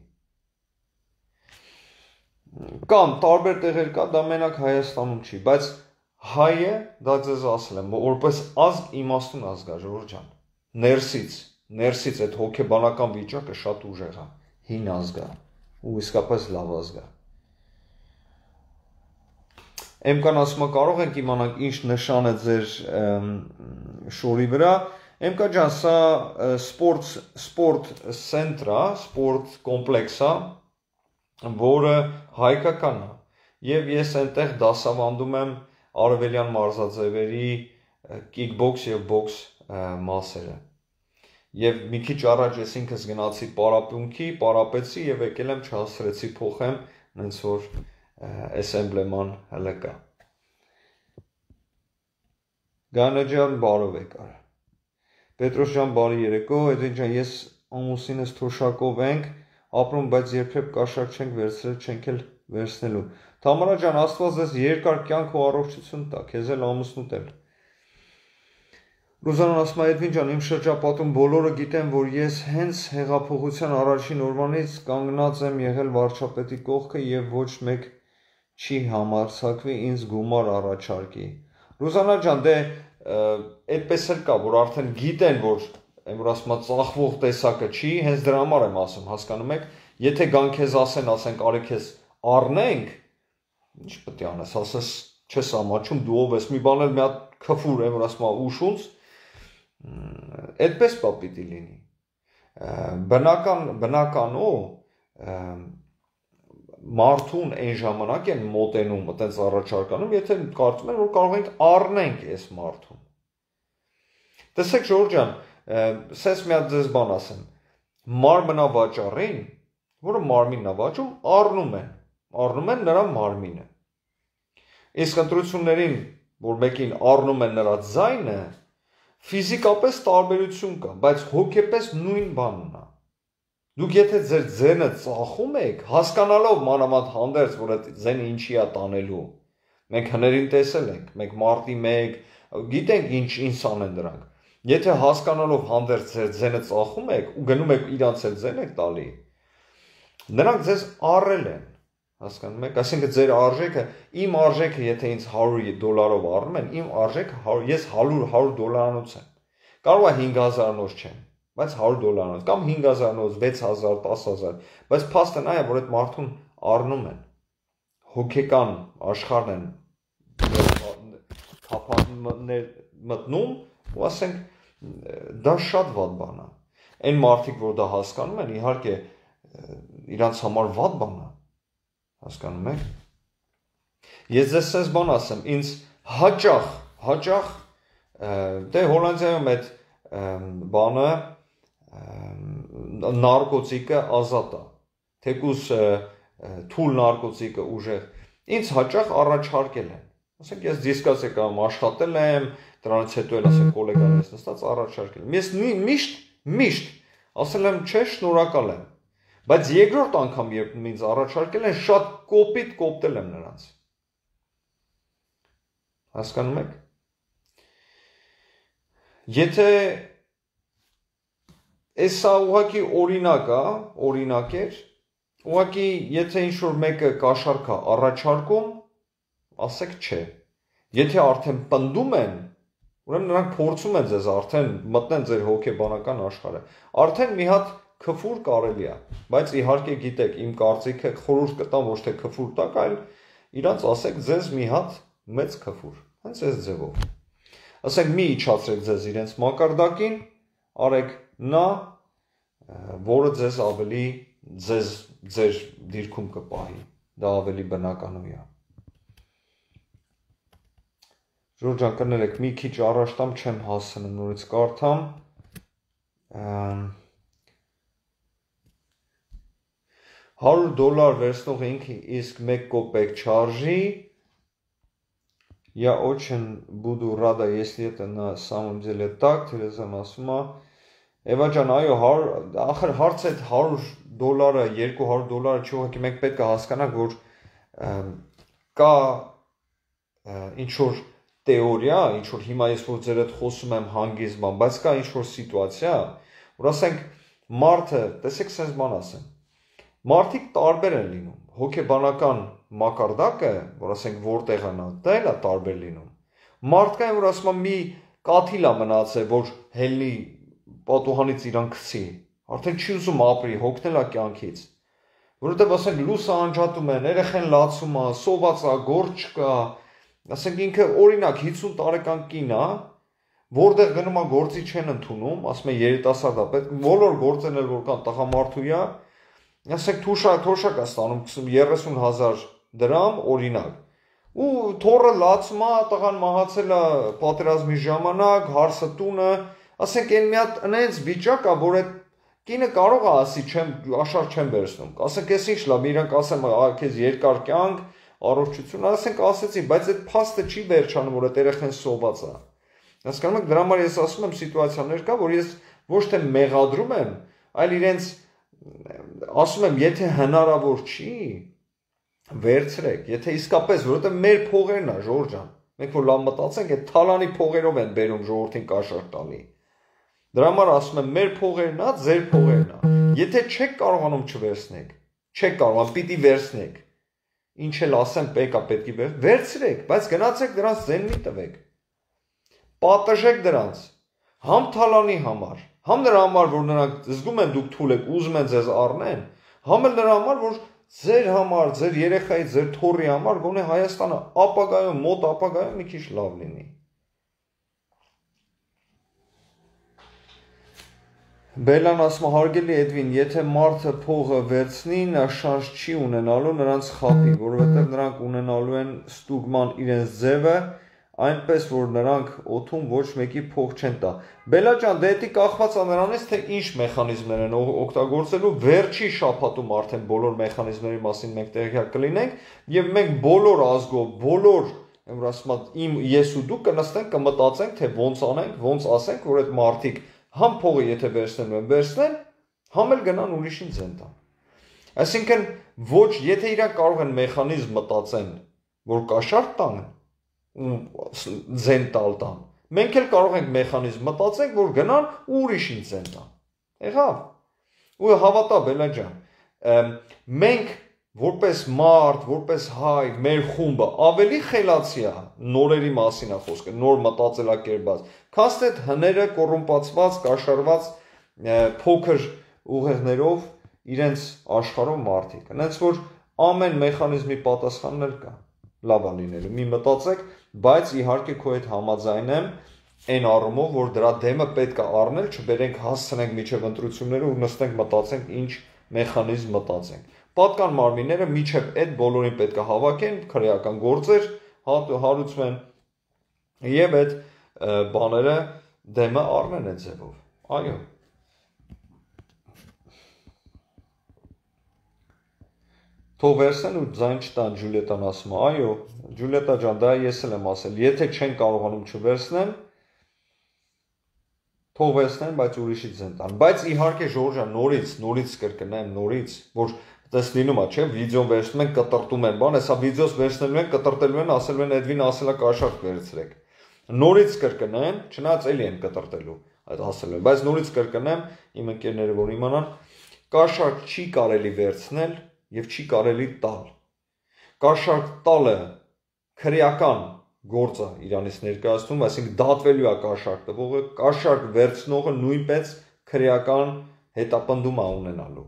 Կամ տարբեր տեղեր կա, դա մենակ Հայաստանում չի, բայց հայը, դա ձեզ ասել եմ, որպես ազգ իմաստուն ազգ է, Ժողովուրդ ջան, ներսից այդ հոգեբանական վիճակը շատ ուժեղ է, հին ազգ է, ու իսկապես լավ ազգ է։ Էմկան ասում է, կարող ենք իմանանք ինչ նշան է ձեր շորի վրա, Էմկա ջան, սա սպորտ սենտր է, սպորտ կոմպլեքս է, որը հայկական է, և ես այնտեղ դասավանդում եմ արևելյան մարզաձևերի կիկբոքս և բոքս մասերը։ Եվ մի քիչ առաջ ես ինքս գնացի պարապմունքի, պարապեցի և եկել եմ չհասցրեցի փոխեմ, նենց որ այս էմբլեման հələ կա։ Գայանե ջան, բարով եկար։ Պետրոս ջան, բարի երեկո, Էդվին ջան, ես ամուսինս թոշակով ենք ապրում, բայց երբեք կաշառք չենք վերցրել, չենք էլ վերցնելու։ Թամարա ջան, Աստված ձեզ երկար կյանք ու առողջություն տա, քեզ էլ ամուսնուդ էլ։ Ռուզանան ասում է, Էդվին ջան, իմ շրջապատում բոլորը գիտեն, որ ես հենց հեղափոխության առաջին օրվանից կանգնած եմ եղել վարչապետի կողքը և ոչ մեկ չի համարձակվի ինձ գումար առաջարկի։ Ռուզանա ջան, դե այդպես էլ կա, որ արդեն գիտեն, որ որ ասում է ծախվող տեսակը չի, հենց դրա համար եմ ասում, հասկանում եք, եթե գան քեզ ասենք արի քեզ առնենք, ինչ պետք է անես, ասես չես ամաչում, դու ով ես, մի բան էլ մի հատ քֆուր եմ, որ ասում է ուշունց, այդպես պիտի լինի։ Բնականով մարդուն այն ժամանակ են մոտենում, այտենց առաջարկանում, եթե կարծում են, որ կարող ենք առնենք այս մարդուն։ Տեսեք, Ժողովուրդ ջան, սենց մի հատ ձեզ բան ասեմ, մարմնավաճառին, որը մարմինն է վաճում, առնում են նրա մարմինը։ Իսկ ընտրություններին, որ մեկին առնում են նրա ձայնը, ֆիզիկապես տարբերություն կա, բայց հոգեպես նույն բանն է։ Դուք եթե ձեր ձենը ծախում եք, հասկանալով մանավանդ հանդերձ, որ այդ ձենը ինչի է տանելու, մենք հներին տեսել ենք, մենք մարտի 1, գիտենք ինչ անեն դրանք, եթե հասկանալով հանդերձ ձեր ձենը ծախում եք ու գնում եք իրանց էլ ձեն եք տալի, նրանք ձեզ առել են, հասկանում եք, այսինքն ձեր արժեքը, իմ արժեքը եթե ինձ $100 առնում են, իմ արժեքը ես $100 եմ, կարող է 5000-նոց չեմ, բայց $100 կամ 5000-նոց, 6000, 10000, բայց փաստն այն է, որ այդ մարդուն առնում են, հոգեկան աշխարհն են մտնում, ու ասենք, դա շատ վատ բան է, այն մարդիկ, որ դա հասկանում են, իհարկե, իրանց համար վատ բան է, հասկանում եք, ես ձեզ սենց բան ասեմ, ինձ հաճախ, դե Հոլանդիայում այդ բանը, նարկոտիկը ազատ է, թեկուզ թույլ նարկոտիկը ուժեղ, ինձ հաճախ առաջարկել են, ասենք ես դիսկասեկայում աշխատել եմ, դրանից հետո էլ ասենք կոլեգաներս նստած առաջարկել եմ, ես միշտ ասել եմ չէ, շնորհակալ եմ, բայց երկրորդ անգամ երբ ինձ առաջարկել են, շատ կոպիտ կոպտել եմ նրանց, հասկանում եք, եթե Էսա ուղղակի օրինակ էր, ուղղակի եթե ինչ-որ մեկը կաշառք է առաջարկում, ասեք չէ, եթե արդեն պնդում են, ուրեմն նրանք փորձում են ձեզ արդեն մտնեն ձեր հոգեբանական աշխարհը, արդեն մի հատ քֆուր կարելի է, բայց իհարկե գիտեք, իմ կարծիքը խորհուրդ կտամ ոչ թե քֆուր տակ, այլ իրանց ասեք ձեզ մի հատ մեծ քֆուր, հենց այս ձևով, ասենք մի իջացրեք ձեզ իրենց մակարդակին, արեք նա, որը ձեզ ավելի ձեր դիրքում կպահի, դա ավելի բնականոյ է։ Ժորժ ջան, կներեք, մի քիչ առաջ տամ չեմ հասցնում նորից կարդամ, $100 վերցնող ինքը իսկ 1 կոպեկ չարժի, я очень буду рада, если это на самом деле так, Թերեզան ասում է, Էվա ջան, այո, ախր հարցը այդ $100, $200 չի, ուղղակի մենք պետք է հասկանանք, որ կա ինչ-որ տեորիա, ինչ-որ հիմա ես որ ձեր հետ խոսում եմ հանգիստ բան, բայց կա ինչ-որ սիտուացիա, որ ասենք մարդը, տեսեք սենց բան ասեմ, մարդիկ տարբեր են լինում, հոգեբանական մակարդակը, որ ասենք որտեղ է նա, դա էլ է տարբեր լինում, Մարդկային որ ասում եմ մի կաթիլ է մնացել, որ հելնի պատուհանից իրան գցի, արդեն չի ուզում ապրի, հոգնել է կյանքից, որովհետև ասենք լույսը անջատում են, երեխան լացում է, սոված է, գործ չկա, ասենք ինքը օրինակ 50 տարեկան կին է, որտեղ գնում է գործի չեն ընդունում, ասում են երիտասարդ է, պետք բոլոր գործերն էլ որ կան տղամարդու է, ասենք թոշակ է ստանում 30,000 դրամ օրինակ, ու թորը լացում է, տղան մահացել է պատերազմի ժամանակ, հարսը տունը, ասենք այն մի հատ այնց վիճակ է, որ այդ կինը կարող է ասի, աշխարհ չեմ վերցնում, ասենք ես ինչ լավ, իրանք ասեմ, քեզ երկար կյանք, առողջություն, ասենք ասեցի, բայց այդ փաստը չի վերջանում, որ այդ երեխան սոված է։ Հասկանում եք, դրա համար ես ասում եմ սիտուացիաներ կա, որ ես ոչ թե մեղադրում եմ, այլ իրենց ասում եմ, եթե հնարավոր չի, վերցրեք, եթե իսկապես, որովհետև մեր փողերն է, Ժորժ ջան, մենք որ լավ մտածենք, այդ թալանի փողերով են բերում ժողովրդին կաշառք տալի։ Դրա համար ասում եմ, մեր փողերն է, ձեր փողերն է։ Եթե չեք կարողանում չվերցնեք, չեք կարողանում, պիտի վերցնեք։ Ինչ էլ ասեմ, պետք է վերցրեք, բայց գնացեք դրանց ձեն մի տվեք։ Պատժեք դրանց, համ թալանի համար, համ նրա համար, որ նրանք զգում են դուք թույլ եք, ուզում են ձեզ առնեն, համ էլ նրա համար, որ ձեր համար, ձեր երեխայի, ձեր թոռի համար գոնե Հայաստանը ապագայում, մոտ ապագայում մի քիչ լավ լինի։ Բելան ասում է, հարգելի Էդվին, եթե մարդը փողը վերցնի, նա շանս չի ունենալու նրանց խապի, որովհետև նրանք ունենալու են ստուգման իրենց ձևը, այնպես որ նրանք օդում ոչ մեկի փող չեն տա։ Բելա ջան, դե դա կախված է նրանից, թե ինչ մեխանիզմներ են օգտագործելու, վերջի շաբաթում արդեն բոլոր մեխանիզմների մասին մենք տեղյակ կլինենք, եւ մենք բոլոր ազգով, բոլոր, ես ու դու կնստենք, կմտածենք, թե ոնց անենք, ոնց ասենք, որ այդ մարդիկ համ փողը եթե վերցնելու են, վերցնեն, համ էլ գնան ուրիշին ձեն տան։ Այսինքն ոչ, եթե իրանք կարող են մեխանիզմ մտածեն, որ կաշառք տան, ձեն տալ տան, մենք էլ կարող ենք մեխանիզմ մտածենք, որ գնան ու ուրիշին ձեն տան։ Եղավ։ Ու հավատա Բելա ջան, մենք որպես մարդ, որպես հայ, մեր խումբը ավելի խելացի է, նորերի մասին է խոսքը, նոր մտածելակերպած, քան այդ հները կոռումպացված, կաշառված փոքր ուղեղներով իրենց աշխարհով մարդիկ։ Հենց որ ամեն մեխանիզմի պատասխաններ կա, լավ է լինելու։ Մի մտածեք, բայց իհարկե քո հետ համաձայն եմ այն առումով, որ դրա դեմը պետք է առնել, չբերենք հասցնենք միջև ընտրությունները ու նստենք մտածենք ինչ մեխանիզմ մտածենք։ Պատկան մարմինները միջև այդ բոլորին պետք է հավաքեն, քրեական գործեր հարուցվեն եւ այդ բաները դեմը առնեն այդ ձևով։ Այո։ Թող վերցնեն ու ձայն չտան, Ջուլիետան ասում է։ Այո, Ջուլիետա ջան, դա ես էլ եմ ասել, եթե չեն կարողանում չվերցնեն, թող վերցնեն, բայց ուրիշից ձեն տան։ Բայց իհարկե Ժորժ ջան, նորից կրկնեմ, որ դες լինում է, չէ, վիդեոն վերցնում են, կտրտում են, բան, հեսա վիդեոս վերցնելու են, կտրտելու են, ասելու են Էդվին ասելա կաշառք վերցրեք։ Նորից կրկնեմ, չնայած էլի են կտրտելու, այդ ասելու են, բայց նորից կրկնեմ, իմ ընկերները որ իմանան, կաշառք չի կարելի վերցնել եւ չի կարելի տալ։ Կաշառք տալը քրեական գործ է Իրանից ներկայացնում, այսինքն դատվելու է կաշառք տվողը, կաշառք վերցնողը նույնպես քրեական հետապնդում է ունենալու։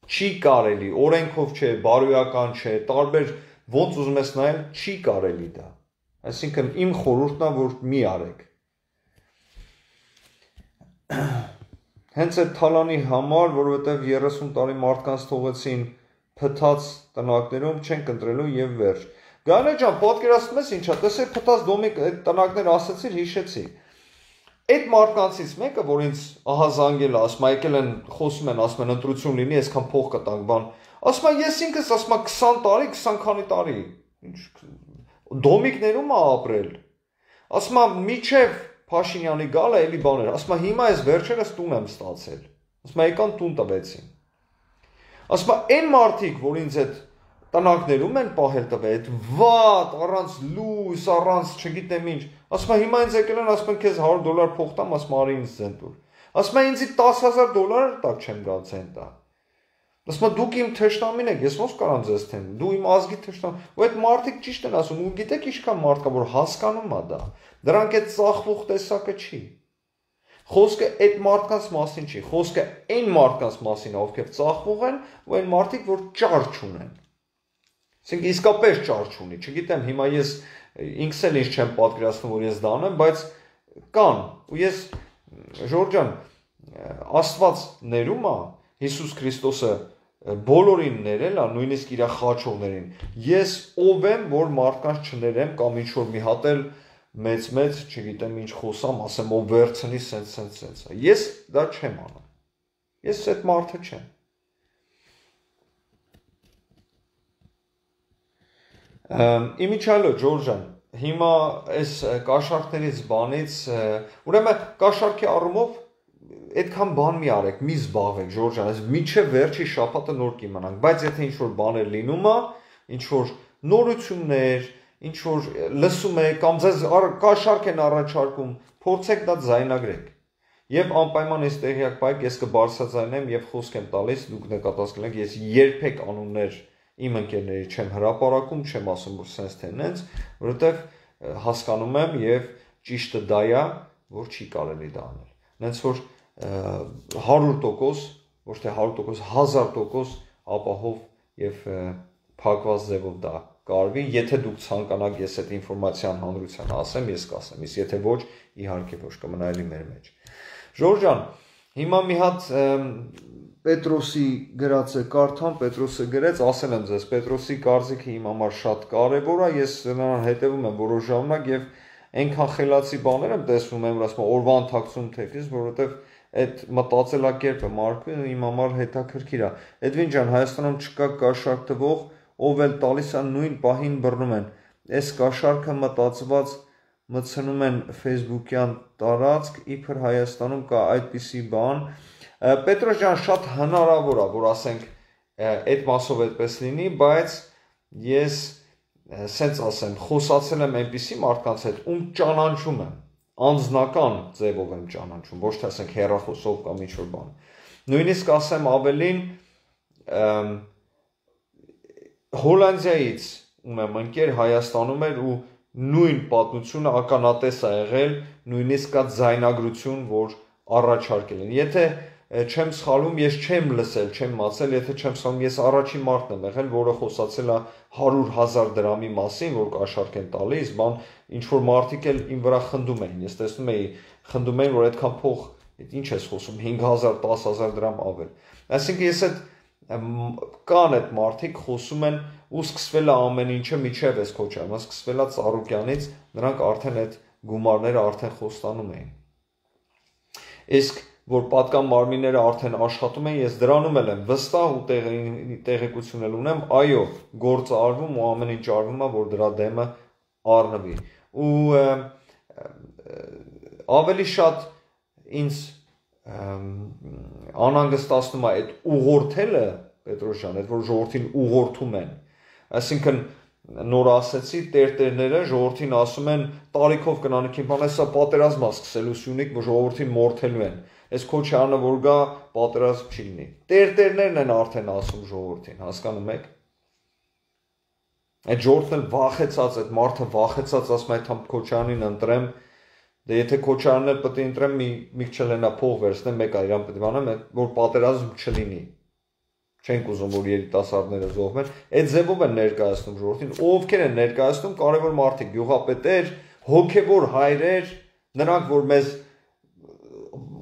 Չի կարելի, օրենքով չէ, բարոյական չէ, տարբեր ոնց ուզում ես նայել, չի կարելի դա։ Այսինքն իմ խորհուրդն է, որ մի արեք։ Հենց այդ թալանի համար, որովհետև 30 տարի մարդկանց թողեցին փթած տնակներում, չենք ընտրելու եւ վերջ։ Գանե ջան, պատկերացնում ես ինչա, տեսեք փթած դոմիկ այդ տնակներ ասեցիր, հիշեցի։ Այդ մարդկանցից մեկը, որ ինձ ահա զանգել է, ասում է, եկել են, խոսում են, ասում են ընտրություն լինի, այսքան փող կտանք, բան։ Ասում է, ես ինքս ասում եմ 20 տարի, 20 քանի տարի։ Դոմիկներում է ապրել։ Ասում եմ, միչև Փաշինյանի գալը էլի բաներ։ Ասում եմ, հիմա այս վերջերս տուն եմ ստացել։ Ասում եմ, եկան տուն տվեցին։ Ասում եմ, այն մարդիկ, որ ինձ այդ տնակներում են պահել տվել, այդ վատ, առանց լույս, առանց չգիտեմ ինչ։ Ասում եմ, հիմա ինձ եկել են, ասում են, քեզ $100 փող տամ, ասում եմ, արի ինձ ձեն տուր։ Ասում եմ, ինձի $10,000 տակ չեմ գալ ձեն տա։ Ասում եմ դուք իմ թշնամին եք, ես ոնց կարամ ձեզ թեմ, դու իմ ազգի թշնամին, ու այդ մարդիկ ճիշտ են ասում, ու գիտեք ինչքան մարդ կա, որ հասկանում է դա, դրանք այդ ծախվող տեսակը չի։ Խոսքը այդ մարդկանց մասին չի, խոսքը այն մարդկանց մասին է, ովքեր ծախվող են, ու այն մարդիկ, որ ճար չունեն։ Այսինքն իսկապես ճար չունի, չգիտեմ, հիմա ես ինքս էլ ինչ չեմ պատկերացնում, որ ես դա անեմ, բայց կան, ու ես Ժորժ ջան, Աստված ներում է, Հիսուս Քրիստոսը բոլորին ներել է, նույնիսկ իր խաչողներին։ Ես ով եմ, որ մարդկանց չներեմ կամ ինչ որ մի հատ էլ մեծ, չգիտեմ ինչ խոսամ, ասեմ ով վերցնի սենց։ Ես դա չեմ անում։ Ես այդ մարդը չեմ։ Իմիջիալո Ջորժ ջան, հիմա այս կաշառքներից բանից, ուրեմն կաշառքի առումով այդքան բան մի արեք, մի զբաղվեք Ժորժ ջան, այս միջև վերջի շաբաթը նոր կիմանանք, բայց եթե ինչ որ բաներ լինում է, ինչ որ նորություններ, ինչ որ լսում եք կամ ձեզ կաշառք են առաջարկում, փորձեք դա ձայնագրեք։ Եվ անպայման այս տեղյակ բայք ես կբարձրաձայնեմ եւ խոսք եմ տալիս, դուք նկատած կլինեք, ես երբեք անուններ իմ ընկերների չեմ հրապարակում, չեմ ասում որ sense թե նենց, որովհետեւ հասկանում եմ եւ ճիշտը դա է, որ չի կարելի դա անել։ Նենց որ 100%, ոչ թե 100%, 1000% ապահով եւ փակված ձևով դա կարվի, եթե դուք ցանկանաք ես այդ ինֆորմացիան հանրությանը ասեմ, ես կասեմ, իսկ եթե ոչ, իհարկե ոչ, կմնա էլի մեր մեջ։ Ժորժ ջան, հիմա մի հատ Պետրոսի գրածը կարդամ, Պետրոսը գրեց, ասել եմ ձեզ, Պետրոսի կարծիքը իմ համար շատ կարևոր է, ես նրան հետևում եմ որոշ ժամանակ եւ այնքան խելացի բաներ եմ տեսնում եմ, ասում օրվա ընթացքում թեկից, որովհետեւ այդ մտածելակերպը Մարկը իմ համար հետաքրքիր է։ Էդվին ջան, Հայաստանում չկա կաշառք տվող, ով էլ տալիս է նույն պահին բռնում են։ Այս կաշառքը մտածված մտցնում են Facebook-յան տարածք, իբր Հայաստանում կա այդպիսի բան։ Պետրոս ջան, շատ հնարավոր է, որ ասենք այդ մասով այդպես լինի, բայց ես սենց ասեմ, խոսացել եմ այնպիսի մարդկանց հետ, ում ճանաչում եմ, անձնական ձևով եմ ճանաչում, ոչ թե ասենք հեռախոսով կամ ինչ-որ բան։ Նույնիսկ ասեմ ավելին, Հոլանդիայից ում եմ ընկեր Հայաստանում էր ու նույն պատմությունը ականատես է եղել, նույնիսկ կա ձայնագրություն, որ առաջարկել են։ Եթե չեմ սխալվում, ես չեմ լսել, չեմ մացել, եթե չեմ սխալվում, ես առաջին մարդն եմ եղել, որը խոսացել է 100,000 դրամի մասին, որ կաշառք են տալիս, բան ինչ որ մարդիկ էլ իմ վրա խնդում էին։ Ես տեսնում էի, խնդում էին, որ այդքան փող, ինչ ես խոսում, 5,000, 10,000 դրամ ավել։ Այսինքն ես այդ կան այդ մարդիկ խոսում են ու սկսվել է ամեն ինչը միջև էս քոչարը, սկսվել է Ծառուկյանից, նրանք արդեն այդ գումարները արդեն խոստանում էին։ Իսկ որ պատկան մարմինները արդեն աշխատում են, ես դրանում եմ վստահ ու տեղեկություն էլ ունեմ, այո, գործը արվում ու ամեն ինչ արվում է, որ դրա դեմը առնվի։ Ու ավելի շատ ինձ անհանգստացնում է այդ ուղղորդելը, Պետրոս ջան, այդ որ ժողովրդին ուղղորդում են։ Այսինքն նոր ասեցի, տերտերները ժողովրդին ասում են տարիքով կնանիքին բան, սա պատերազմ է սկսելու Սյունիք, որ ժողովրդին մորթելու են։ Այս քոչարանը որ գա պատերազմ չի լինի։ Տերտերներն են արդեն ասում ժողովրդին, հասկանում եք։ Այդ ժողովուրդն էլ վախեցած, այդ մարդը վախեցած ասում է, այդ քոչարանին ընտրեմ, դե եթե քոչարանն էլ պետք է ընտրեմ, մի քիչ լենա փող վերցնեմ, մեկ այրան պետք է անեմ, որ պատերազմ չլինի։ Չենք ուզում, որ երիտասարդները զոհվեն, այդ ձևով են ներկայացնում ժողովրդին, ովքեր են ներկայացնում կարևոր մարդիկ, գյուղապետեր, հոգևոր հայրեր, նրանք որ մեզ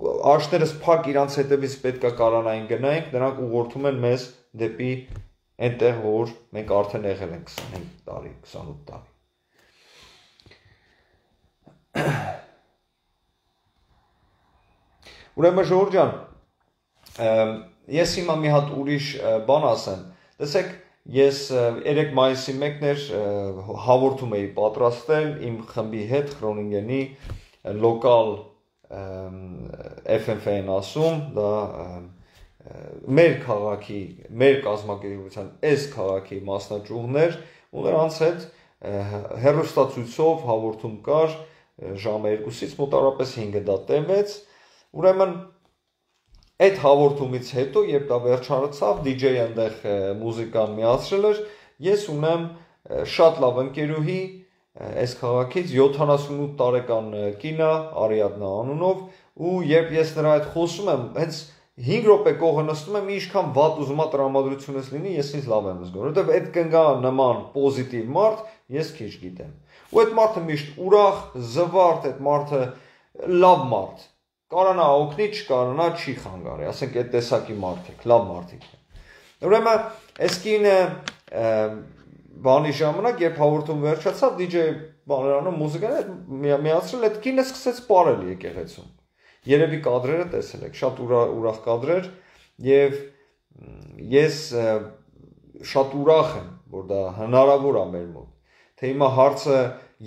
աշներս փակ իրանց հետևից պետքա կարանային գնայինք, նրանք ուղղորդում են մեզ դեպի այնտեղ, որ մենք արդեն եղել ենք 25 տարի, 28 տարի։ Ուրեմն Ժորժ ջան, ես հիմա մի հատ ուրիշ բան ասեմ, տեսեք, ես 3 մայիսի 1-ն էր հաղորդում էի պատրաստել իմ խմբի հետ Խրոնինգենի լոկալ FFN ասում, դա մեր քաղաքի, մեր կազմակերպության այս քաղաքի մասնաճյուղներ, ու նրանց հետ հեռուստացույցով հաղորդում կար, ժամը 2-ից մոտավորապես 5-ը դա տևեց, ուրեմն Այդ հաղորդումից հետո, երբ դա վերջացավ, DJ-ը այնտեղ մուզիկան միացրել էր, ես ունեմ շատ լավ ընկերուհի այս քաղաքից 78 տարեկան կինը Արիադնա անունով ու երբ ես նրա հետ խոսում եմ, հենց 5 րոպե կողը նստում եմ, ինչքան վատ ուզում ա տրամադրությունս լինի, ես ինձ լավ եմ զգում, որովհետև այդ կնգա նման պոզիտիվ մարդ ես քիչ գիտեմ։ Ու այդ մարդը միշտ ուրախ, զվարթ, այդ մարդը լավ մարդ։ Կարանա օգնի, չկարանա չի խանգարի, ասենք այդ տեսակի մարդիկ, լավ մարդիկ են։ Ուրեմն այս կինը բանի ժամանակ, երբ հաղորդում վերջացավ, DJ բաներանը մուզիկան միացրել, այդ կինը սկսեց պարել եկեղեցում։ Երևի կադրերը տեսել եք, շատ ուրախ կադրեր եւ ես շատ ուրախ եմ, որ դա հնարավոր է մեր մոտ։ Թե հիմա հարցը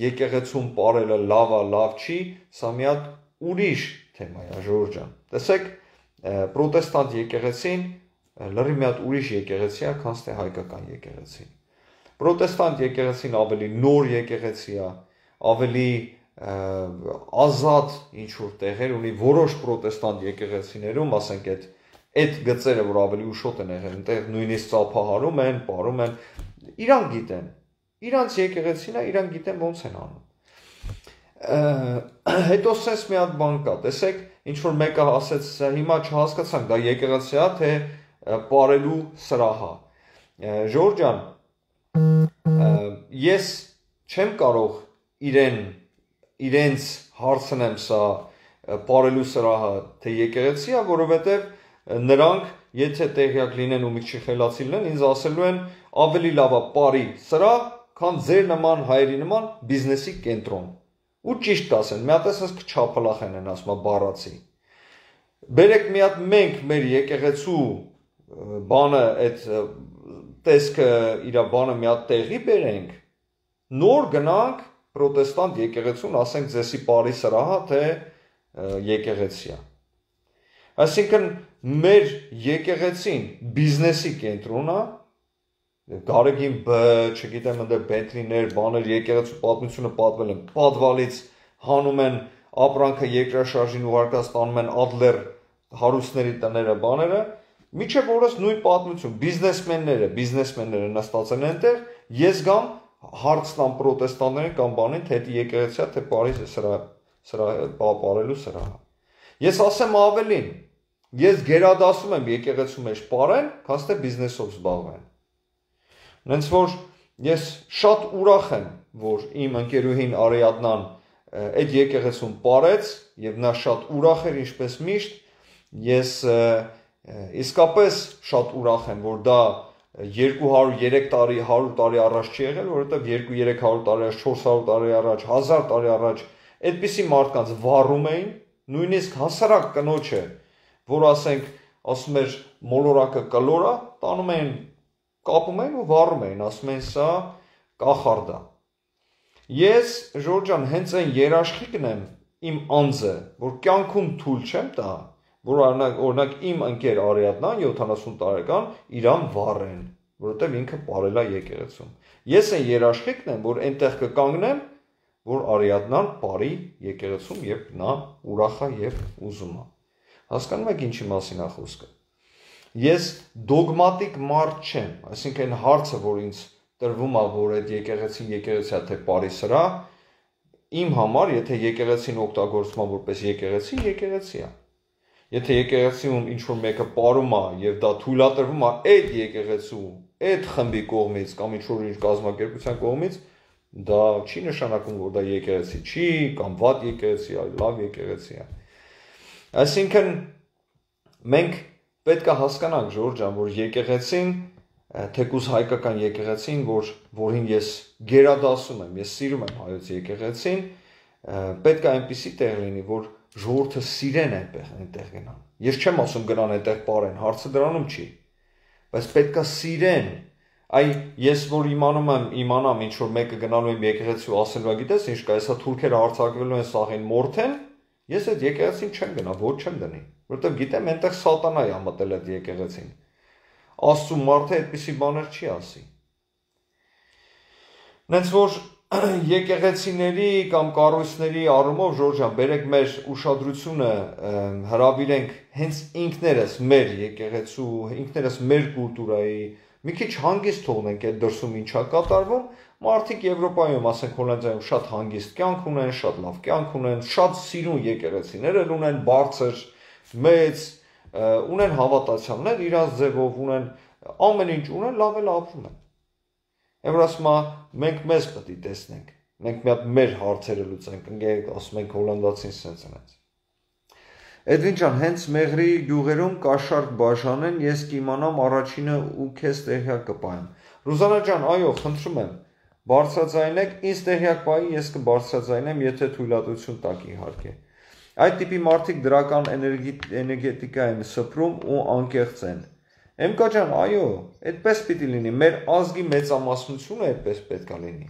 եկեղեցում պարելը լավ է, լավ չի, սա մի հատ ուրիշ թեմա է, Ժորժ ջան։ Տեսեք, պրոտեստանտ եկեղեցին լրի մի հատ ուրիշ եկեղեցի է, քան թե հայկական եկեղեցին։ Պրոտեստանտ եկեղեցին ավելի նոր եկեղեցի է, ավելի ազատ ինչ որ տեղեր ունի որոշ պրոտեստանտ եկեղեցիներում, ասենք այդ գծերը, որ ավելի ուշոտ են եղել, այնտեղ նույնիսկ ծափահարում են, պարում են, իրանք գիտեն, իրանց եկեղեցին է, իրանք գիտեն ոնց են անում։ Հետո սենց մի հատ բան կա, տեսեք, ինչ որ մեկը ասեց, հիմա չհասկացանք, դա եկեղեցի է, թե պարելու սրահ է։ Ժորժ ջան, ես չեմ կարող իրենց հարցնեմ սա պարելու սրահը թե եկեղեցի է, որովհետև նրանք եթե տեղյակ լինեն ու մի քիչ խելացի լինեն, ինձ ասելու են ավելի լավ է պարի սրահ, քան ձեր նման հայերի նման բիզնեսի կենտրոն։ Ու ճիշտ կասեն, մի հատ էս չափալախեն են ասում, բառացի։ Բերեք մի հատ մենք մեր եկեղեցու բանը այդ տեսքը իր բանը մի հատ տեղի բերենք, նոր գնանք պրոտեստանտ եկեղեցուն, ասենք ձեսի պարի սրահը, թե եկեղեցի է։ Այսինքն մեր եկեղեցին բիզնեսի կենտրոն է, Գարեգին B, չգիտեմ ընդ Bentley-ներ, բաներ, եկեղեցու պատմությունը պատվել են, պատվալից հանում են ապրանքը երկրաշարժին ուղարկած տանում են Adler հարուստների տները, բաները, միջև օրս նույն պատմություն, բիզնեսմենները նստած են այնտեղ, ես գամ հարց տամ պրոտեստանտներին կամ բանին, թե դա եկեղեցի է, թե Փարիզի պարելու սրահ։ Ես ասեմ ավելին, ես գերադասում եմ եկեղեցու մեջ պարեն, քան թե բիզնեսով զբաղվեն։ Նենց որ ես շատ ուրախ եմ, որ իմ ընկերուհին Արիադնան այդ եկեղեցուն պարեց եւ նա շատ ուրախ էր ինչպես միշտ, ես իսկապես շատ ուրախ եմ, որ դա 200-3 տարի, 100 տարի առաջ չի եղել, որովհետեւ 200-300 տարի առաջ, 400 տարի առաջ, 1000 տարի առաջ այդպիսի մարդկանց վառում էին, նույնիսկ հասարակ կնոջը, որ ասում էր մոլորակը կլորա, տանում էին կապում էին ու վառում էին, ասում էին սա կախարդ է։ Ես Ժորժ ջան հենց այն երաշխիքն եմ իմ անձը, որ կյանքում թույլ չեմ տա, որ օրինակ իմ ընկեր Արիադնան 70 տարեկան իրան վառեն, որովհետև ինքը պարել է եկեղեցում։ Ես այն երաշխիքն եմ, որ այնտեղ կկանգնեմ, որ Արիադնան պարի եկեղեցում, երբ նա ուրախ է եւ ուզում է։ Հասկանում եք ինչի մասին է խոսքը։ Ես դոգմատիկ մարդ չեմ, այսինքն հարցը, որ ինձ տրվում է, որ այդ եկեղեցին եկեղեցի է, թե պարի սրահ, իմ համար, եթե եկեղեցին օգտագործվում է որպես եկեղեցի, եկեղեցի է։ Եթե եկեղեցիում ինչ-որ մեկը պարում է եւ դա թույլատրվում է այդ եկեղեցու, այդ խմբի կողմից կամ ինչ-որ ինչ կազմակերպության կողմից, դա չի նշանակում, որ դա եկեղեցի չի, կամ վատ եկեղեցի է, լավ եկեղեցի է։ Այսինքն մենք պետք է հասկանանք Ժորժ ջան, որ եկեղեցին, թեկուզ հայկական եկեղեցին, որին ես գերադասում եմ, ես սիրում եմ հայոց եկեղեցին, պետք է այնպիսի տեղ լինի, որ ժողովուրդը սիրեն այնտեղ գնան։ Ես չեմ ասում գնան այնտեղ պարեն, հարցը դրանում չի, բայց պետք է սիրեն։ Այ ես որ իմանամ ինչ որ մեկը գնալու եմ եկեղեցի ու ասելու է, գիտես ինչ կա, հեսա թուրքերը հարձակվելու են սաղին մորթեն, ես այդ եկեղեցին չեմ գնա, ոչ չեմ դնի, որովհետև գիտեմ այնտեղ սատանա է մտել այդ եկեղեցին։ Աստծու մարդը այդպիսի բաներ չի ասի։ Նենց որ եկեղեցիների կամ կառույցների առումով Ժորժան, բերեք մեր ուշադրությունը հրավիրենք հենց ինքներս մեր եկեղեցու, ինքներս մեր կուլտուրայի մի քիչ հանգիստ թողնենք այդ դրսում ինչա կատարվում, մարդիկ Եվրոպայում, ասենք Հոլանդիայում շատ հանգիստ կյանք ունեն, շատ լավ կյանք ունեն, շատ սիրուն եկեղեցիներ ունեն, բարձր, մեծ, ունեն հավատացյալներ, իրանց ձևով ունեն, ամեն ինչ ունեն, լավ էլ ապրում են։ Եմ ասում մենք մեզ պետք է տեսնենք, մենք մի հատ մեր հարցերը լուծենք, ընկերք ասում ենք հոլանդացին սենց։ Էդվին ջան, հենց Մեղրի գյուղերում կաշառք բաժանեն, ես կիմանամ առաջինը ու քեզ տեղյակ կպայեմ։ Ռուզանա ջան, այո, խնդրում եմ, բարձրաձայնեք, ինձ տեղյակ պայի, ես կբարձրաձայնեմ, եթե թույլատվություն տաք իհարկե։ Այդ տիպի մարդիկ դրական էներգետիկա են սփռում ու անկեղծ են։ Էմկա ջան, այո, այդպես պիտի լինի, մեր ազգի մեծամասնությունը այդպես պետք է լինի։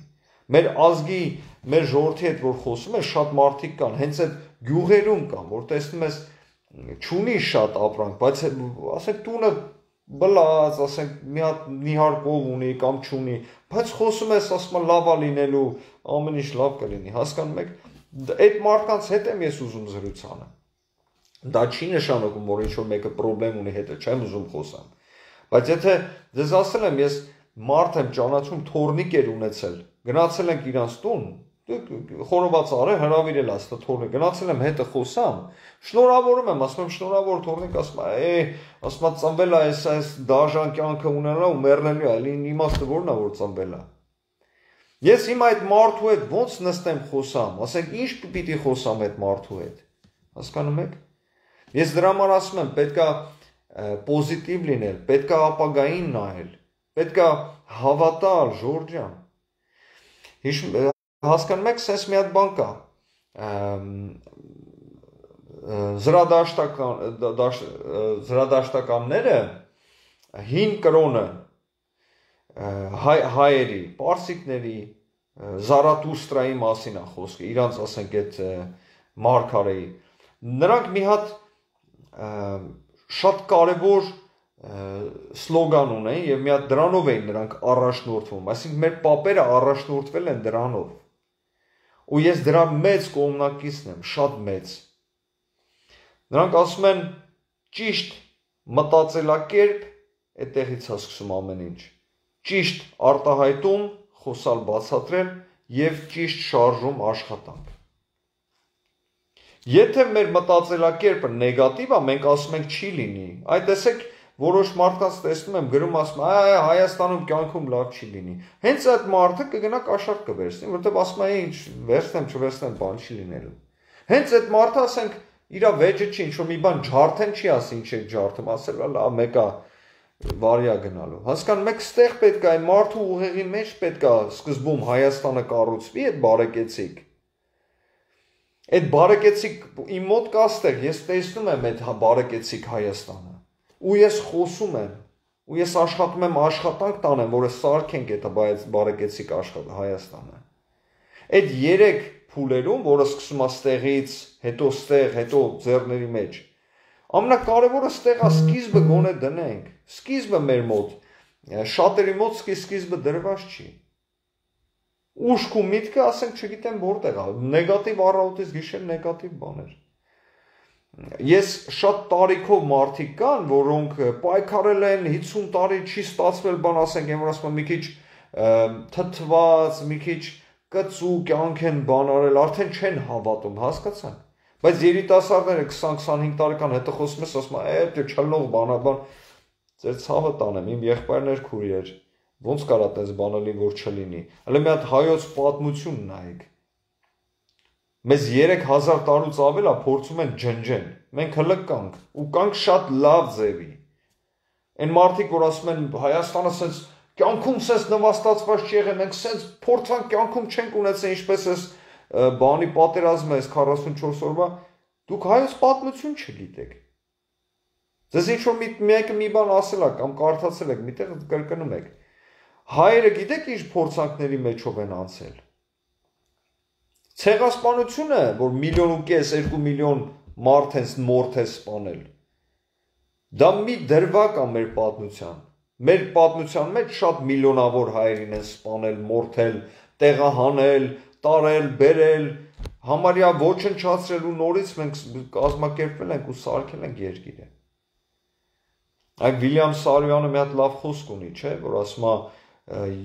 Մեր ազգի, մեր ժողովրդի հետ որ խոսում է, շատ մարդիկ կան, հենց այդ գյուղերում կան, որ տեսնում ես չունի շատ ապրանք, բայց ասենք տունը բլած, ասենք մի հատ նիհարկով ունի կամ չունի, բայց խոսում ես, ասում եմ լավ է լինելու, ամեն ինչ լավ կլինի, հասկանում եք, այդ մարդկանց հետ եմ ես ուզում զրուցանը։ Դա չի նշանակում, որ ինչ-որ մեկը պրոբլեմ ունի հետը, չեմ ուզում խոսամ։ Բայց եթե ձեզ ասել եմ, ես մարդ եմ ճանաչում, թորնիկ էր ունեցել, գնացել ենք իրանց տուն, խորոված արել, հրավիրել ասա թորնիկ, գնացել եմ հետը խոսամ, շնորհավորում եմ, ասում եմ շնորհավոր թորնիկ, ասում եմ ծնվել է այս դաժան կյանքը ունենալու ու մեռնելու է, իմաստը որն է որ ծնվել է։ Ես հիմա այդ մարդու հետ ոնց նստեմ խոսամ, ասենք ինչ պիտի խոսամ այդ մարդու հետ, հասկանում եք։ Ես դրա համար ասում եմ, պետքա պոզիտիվ լինել, պետքա ապագային նայել, պետքա հավատալ, Ժորժան։ Հասկանում եք, սենց մի հատ բան կա, զրադաշտականները հին կրոնը հայերի, պարսիկների, Զարաթուստրայի մասին է խոսքը, իրանց ասենք այդ մարգարեի, նրանք մի հատ շատ կարևոր սլոգան ունեն եւ մի հատ դրանով էին նրանք առաջնորդվում, այսինքն մեր պապերը առաջնորդվել են դրանով։ Ու ես դրա մեծ կողմնակիցն եմ, շատ մեծ։ Նրանք ասում են ճիշտ մտածելակերպ, այդտեղից է սկսում ամեն ինչ։ Ճիշտ արտահայտում, խոսալ բացատրել եւ ճիշտ շարժում աշխատանք։ Եթե մեր մտածելակերպը նեգատիվ է, մենք ասում ենք չի լինի։ Այդ տեսեք որոշ մարդկանց տեսնում եմ գրում ասում Հայաստանում կյանքում լավ չի լինի։ Հենց այդ մարդը կգնա կաշառք կվերցնի, որովհետև ասում է ինչ վերցնեմ, չվերցնեմ, բան չի լինելու։ Հենց այդ մարդը ասենք իր վեճը չի, ինչ որ մի բան ջարդեն չի ասի, ինչ է ջարդում, ասել լավ մեկա վարյա գնալու։ Հասկանում եք, ստեղ պետք է այն մարդու ուղեղի մեջ պետք է սկզբում Հայաստանը կառուցվի այդ բարեկեցիկ։ Այդ բարեկեցիկ իմ մոտ կա ստեղ, ես տեսնում եմ այդ բարեկեցիկ Հայաստանը։ Ու ես խոսում եմ, ու ես աշխատում եմ աշխատանք տանեմ, որը սարքենք այդ բարեկեցիկ Հայաստանը։ Այդ 3 փուլերում, որը սկսում է ստեղից, հետո ստեղ, հետո ձեռների մեջ, ամենակարևորը ստեղ է սկիզբը գոնե դնենք, սկիզբը մեր մոտ, շատերի մոտ սկիզբը դրված չի։ Ուշք ու միտքը, ասենք, չգիտեմ որտեղ է, նեգատիվ առավոտից գիշեր նեգատիվ բաներ։ Ես շատ տարիքով մարդիկ կան, որոնք պայքարել են 50 տարի չի ստացվել բան, ասենք, եմ որ ասում եմ մի քիչ թթված, մի քիչ կծու կյանք են բան արել, արդեն չեն հավատում, հասկացան։ Բայց երիտասարդները 20-25 տարեկան հետո խոսում ես, ասում եմ, դե չլնող բանաբան, ձեր ցավը տանեմ, իմ եղբայրներ քուրիեր, ոնց կարա տես բանալի որ չլինի։ Հələ մի հատ հայոց պատմություն նայեք։ Մեզ 3000 տարուց ավել է փորձում են ջնջեն։ Մենք հլը կանք ու կանք շատ լավ ձևի։ Այն մարդիկ որ ասում են Հայաստանը սենց կյանքում սենց նվաստացված չի եղել, մենք սենց փորձանք կյանքում չենք ունեցել ինչպես էս բանի պատերազմը էս 44 օրվա, դուք հայոց պատմություն չգիտեք։ Ձեզ ինչ որ մեկը մի բան ասել է կամ կարդացել եք, միտեղ կրկնում եք։ Հայերը գիտեք ինչ փորձանքների մեջով են անցել։ Ցեղասպանությունը, որ 1.5 միլիոն, 2 միլիոն մարդ են մորթ է սպանել։ Դա մի դրվագ է մեր պատմության մեջ շատ միլիոնավոր հայերին են սպանել, մորթել, տեղահանել, տարել, բերել, համարյա ոչնչացրել ու նորից մենք կազմակերպվել ենք ու սարքել ենք երկիրը։ Այդ Վիլյամ Սարոյանը մի հատ լավ խոսք ունի, չէ, որ ասում է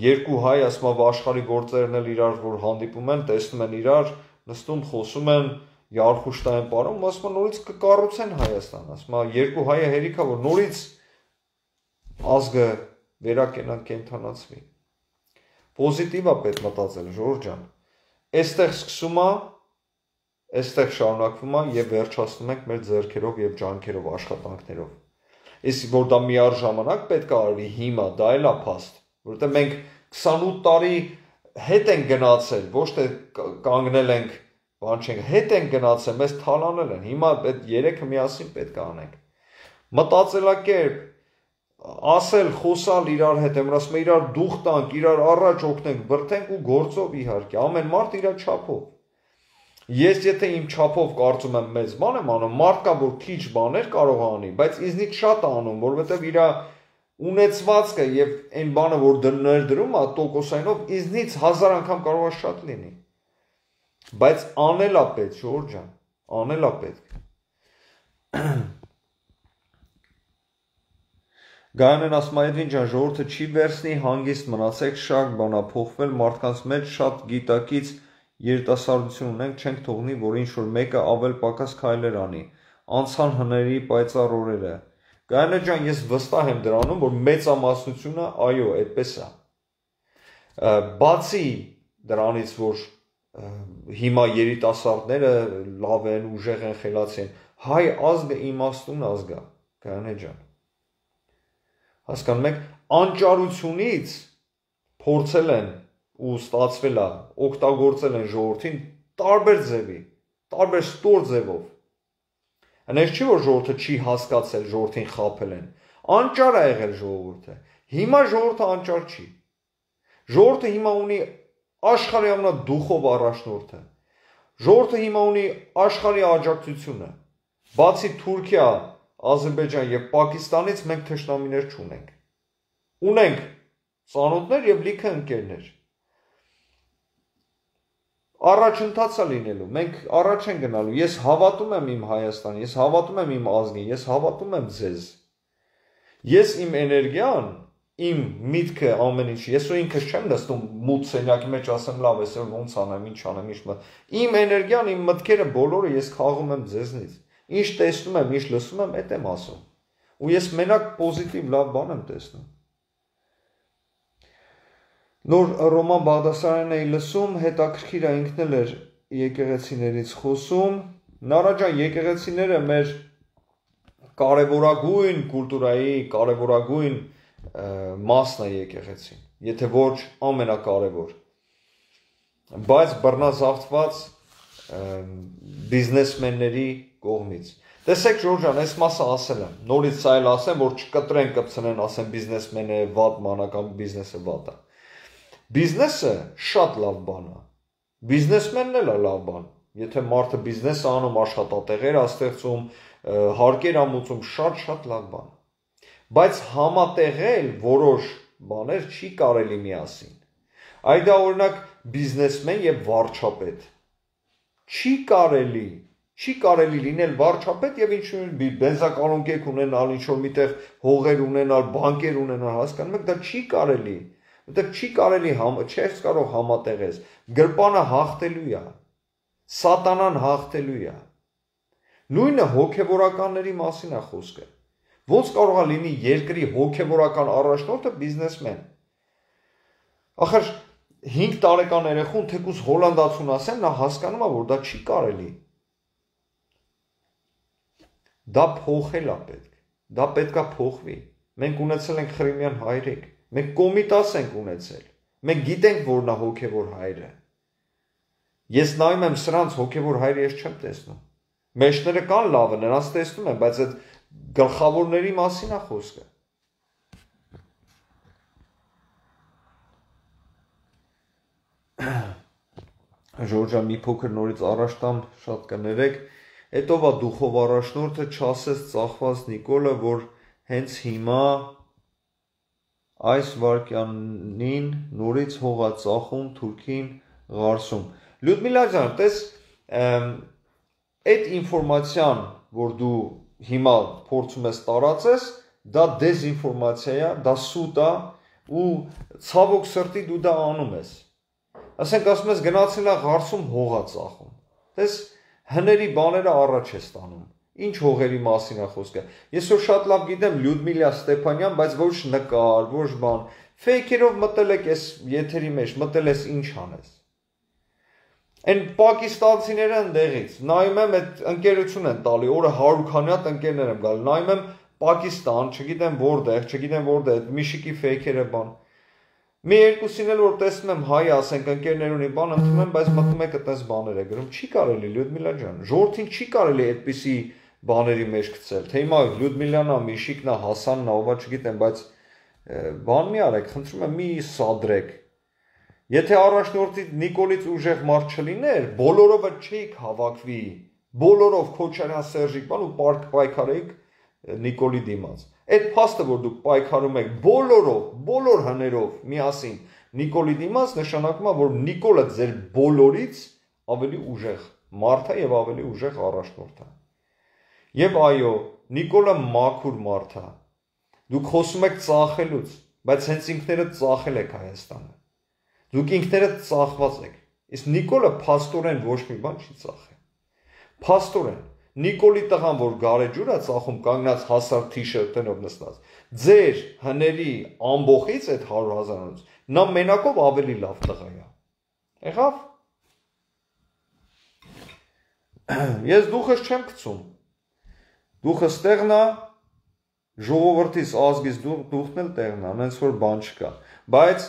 երկու հայ, ասում է աշխարհի գործերն էլ իրար որ հանդիպում են, տեսնում են իրար, նստում խոսում են, Յարխուշտային պարում, ասում է նորից կկառուցեն Հայաստան, ասում է երկու հայը հերիք է որ նորից ազգը վերակենդանացվի։ Պոզիտիվ է պետք մտածել, Ժորժ ջան։ Այստեղ սկսում է, այստեղ շարունակվում է եւ վերջացնում ենք մեր ձեռքերով եւ ջանքերով, աշխատանքներով։ Իսկ որ դա միառժամանակ պետք է արվի հիմա, դա էլ է փաստ, որովհետեւ մենք 28 տարի հետ ենք գնացել, ոչ թե կանգնել ենք, բան չենք, հետ ենք գնացել, մեզ թալանել են։ Հիմա այդ երեքը միասին պետք է անենք։ Մտածելակերպ, ասել, խոսալ իրար հետ, եմ ասում իրար դուխ տանք, իրար առաջ օգնենք, բրդենք ու գործով իհարկե, ամեն մարդ իր չափով։ Ես եթե իմ չափով կարծում եմ մեծ բան եմ անում, մարդ կա որ քիչ բաներ կարող անի, բայց ինձնից շատ անում, որովհետև իր ունեցվածքը եւ այն բանը որ ներդրում է տոկոսայինով ինձնից 1000 անգամ կարող է շատ լինի։ Բայց անել է պետք, Ժորժ ջան, անել է պետք։ Գայանեն ասում է Էդվին ջան, ժողովուրդը չի վերցնի, հանգիստ մնացեք, շատ բան է փոխվել, մարդկանց մեջ շատ գիտակից երիտասարդություն ունենք, չենք թողնի, որ ինչ-որ մեկը ավել պակաս քայլեր անի, անցան հների պայծառ օրերը։ Գայանե ջան, ես վստահ եմ դրանում, որ մեծամասնությունը, այո, այդպես է։ Բացի դրանից, որ հիմա երիտասարդները լավ են, ուժեղ են, խելացի են, հայ ազգը իմաստուն ազգ է, Գայանե ջան։ Հասկանում եք, անճարությունից փորձել են ու ստացվել է, օգտագործել են ժողովրդին տարբեր ձևի, տարբեր ստոր ձևով։ Այնպես չի որ ժողովուրդը չի հասկացել, ժողովրդին խաբել են։ Անճար է եղել ժողովուրդը։ Հիմա ժողովուրդը անճար չի։ Ժողովուրդը հիմա ունի աշխարհի ամենադուխով առաջնորդը։ Ժողովուրդը հիմա ունի աշխարհի աջակցությունը։ Բացի Թուրքիա, Ադրբեջան եւ Պակիստանից մենք թշնամիներ չունենք։ Ունենք ծանոթներ եւ լիքը ընկերներ։ Առաջընթաց է լինելու, մենք առաջ են գնալու, ես հավատում եմ իմ Հայաստանին, ես հավատում եմ իմ ազգին, ես հավատում եմ ձեզ։ Ես իմ էներգիան, իմ միտքը ամեն ինչ, ես ու ինքս չեմ նստում մութ սենյակի մեջ ասեմ լավ, այսօր ոնց անեմ, ինչ անեմ, ինչ մտ։ Իմ էներգիան, իմ մտքերը բոլորը ես քաղում եմ ձեզնից։ Ինչ տեսնում եմ, ինչ լսում եմ, այդ եմ ասում։ Ու ես մենակ պոզիտիվ լավ բան եմ տեսնում։ Նոր Ռոման Բաղդասարյանն էի լսում, հետաքրքիր է ինքն էլ էր եկեղեցիներից խոսում։ Նարա ջան, եկեղեցիները մեր կարևորագույն կուլտուրայի, կարևորագույն մասն է եկեղեցին, եթե ոչ ամենակարևոր։ Բայց բռնազավթված բիզնեսմենների կողմից։ Տեսեք Ժորժ ջան, այս մասը ասել եմ, նորից սա էլ ասեմ, որ չկտրեն կպցնեն, ասեն բիզնեսմենը վատ մանական բիզնեսը վատ է։ Բիզնեսը շատ լավ բան է։ Բիզնեսմենն էլ է լավ բան։ Եթե մարդը բիզնես է անում, աշխատատեղեր է ստեղծում, հարկեր է մուծում, շատ լավ բան է։ Բայց համատեղել որոշ բաներ չի կարելի միասին։ Այդ դա օրինակ բիզնեսմեն եւ վարչապետ։ Չի կարելի լինել վարչապետ եւ ինչ-որ բենզակալոնկեկ ունենալ, ինչ-որ միտեղ հողեր ունենալ, բանկեր ունենալ, հասկանում եք, դա չի կարելի։ Որտեղ չի կարելի չես կարող համատեղես։ Գրպանը հաղթելու է։ Սատանան հաղթելու է։ Նույնը հոգևորականների մասին է խոսքը։ Ոնց կարող է լինի երկրի հոգևորական առաջնորդը բիզնեսմեն։ Ախր 5 տարեկան երեխուն թեկուզ հոլանդացուն ասեն, նա հասկանում է, որ դա չի կարելի։ Դա փոխել է պետք։ Դա պետքա փոխվի։ Մենք ունեցել ենք Խրիմյան հայրիկ, մենք Կոմիտաս ենք ունեցել։ Մենք գիտենք, որ նա հոգևոր հայր է։ Ես նայում եմ սրանց հոգևոր հայրը ես չեմ տեսնում։ Մեջները կան լավը, նրանց տեսնում եմ, բայց այդ գլխավորների մասին է խոսքը։ Ժորժա մի փոքր նորից առաջ տամ, շատ կներեք, հետո վա դուխով առաջնորդը չասեց ծախված Նիկոլը, որ հենց հիմա այս վարքյանին նորից հող է ծախում Թուրքին Ղարսում։ Լյուդմիլա ջան, տես այդ ինֆորմացիան, որ դու հիմա փորձում ես տարածես, դա դեզինֆորմացիա է, դա սուտ է ու ցավոք սրտի դու դա անում ես։ Ասենք ասում ես գնացել է Ղարսում հող է ծախում։ Տես հների բաները առաջ է ստանում։ Ինչ հողերի մասին է խոսքը։ Ես որ շատ լավ գիտեմ Լյուդմիլա Ստեփանյան, բայց ոչ նկար, ոչ բան։ Ֆեյքերով մտել եք այս եթերի մեջ, մտել ես ինչ անես։ Այն պակիստանցիները ընդեղից, նայում եմ այդ ընկերություն են տալի, օրը 100 հատ ընկերներ եմ գալ, նայում եմ Պակիստան, չգիտեմ որտեղ, միշիկի ֆեյքերը բան։ Մի երկուսին էլ որ տեսնում եմ հայ, ասենք ընկերներ ունի բան, ընդունում եմ, բայց մտնում եք այդպես բաներ է գրում։ Չի կարելի Լյուդմիլա ջան, ժողովրդին չի կարելի այդպիսի բաների մեջ գցել։ Թե հիմա Լյուդմիլան է, Միշիկն է, Հասանն է, ովա չգիտեմ, բայց բան մի արեք, խնդրում եմ, մի սադրեք։ Եթե առաջնորդի Նիկոլից ուժեղ մարդ չլիներ, բոլորովը չէիք հավաքվի, բոլորով Քոչարյան Սերժիկ բան ու պայքարեիք Նիկոլի դիմաց։ Այդ փաստը, որ դուք պայքարում եք բոլորով, բոլոր հներով միասին Նիկոլի դիմաց, նշանակում է, որ Նիկոլը ձեր բոլորից ավելի ուժեղ մարդ է եւ ավելի ուժեղ առաջնորդ է։ Եվ այո, Նիկոլը մաքուր մարդ է։ Դուք խոսում եք ծախելուց, բայց հենց ինքներդ ծախել եք Հայաստանը։ Դուք ինքներդ ծախված եք։ Իսկ Նիկոլը փաստորեն ոչ մի բան չի ծախել։ Փաստորեն Նիկոլի տղան, որ գարեջուր է ծախում կանգնած հասար թիշերտենով նստած, ձեր հների ամբողից այդ 100,000-ից նա մենակով ավելի լավ տղա է։ Եղավ։ Ես դուխս չեմ գցում։ Դուխս տեղն է, ժողովրդից ազգից դուխն էլ տեղն է, նենց որ բան չկա։ Բայց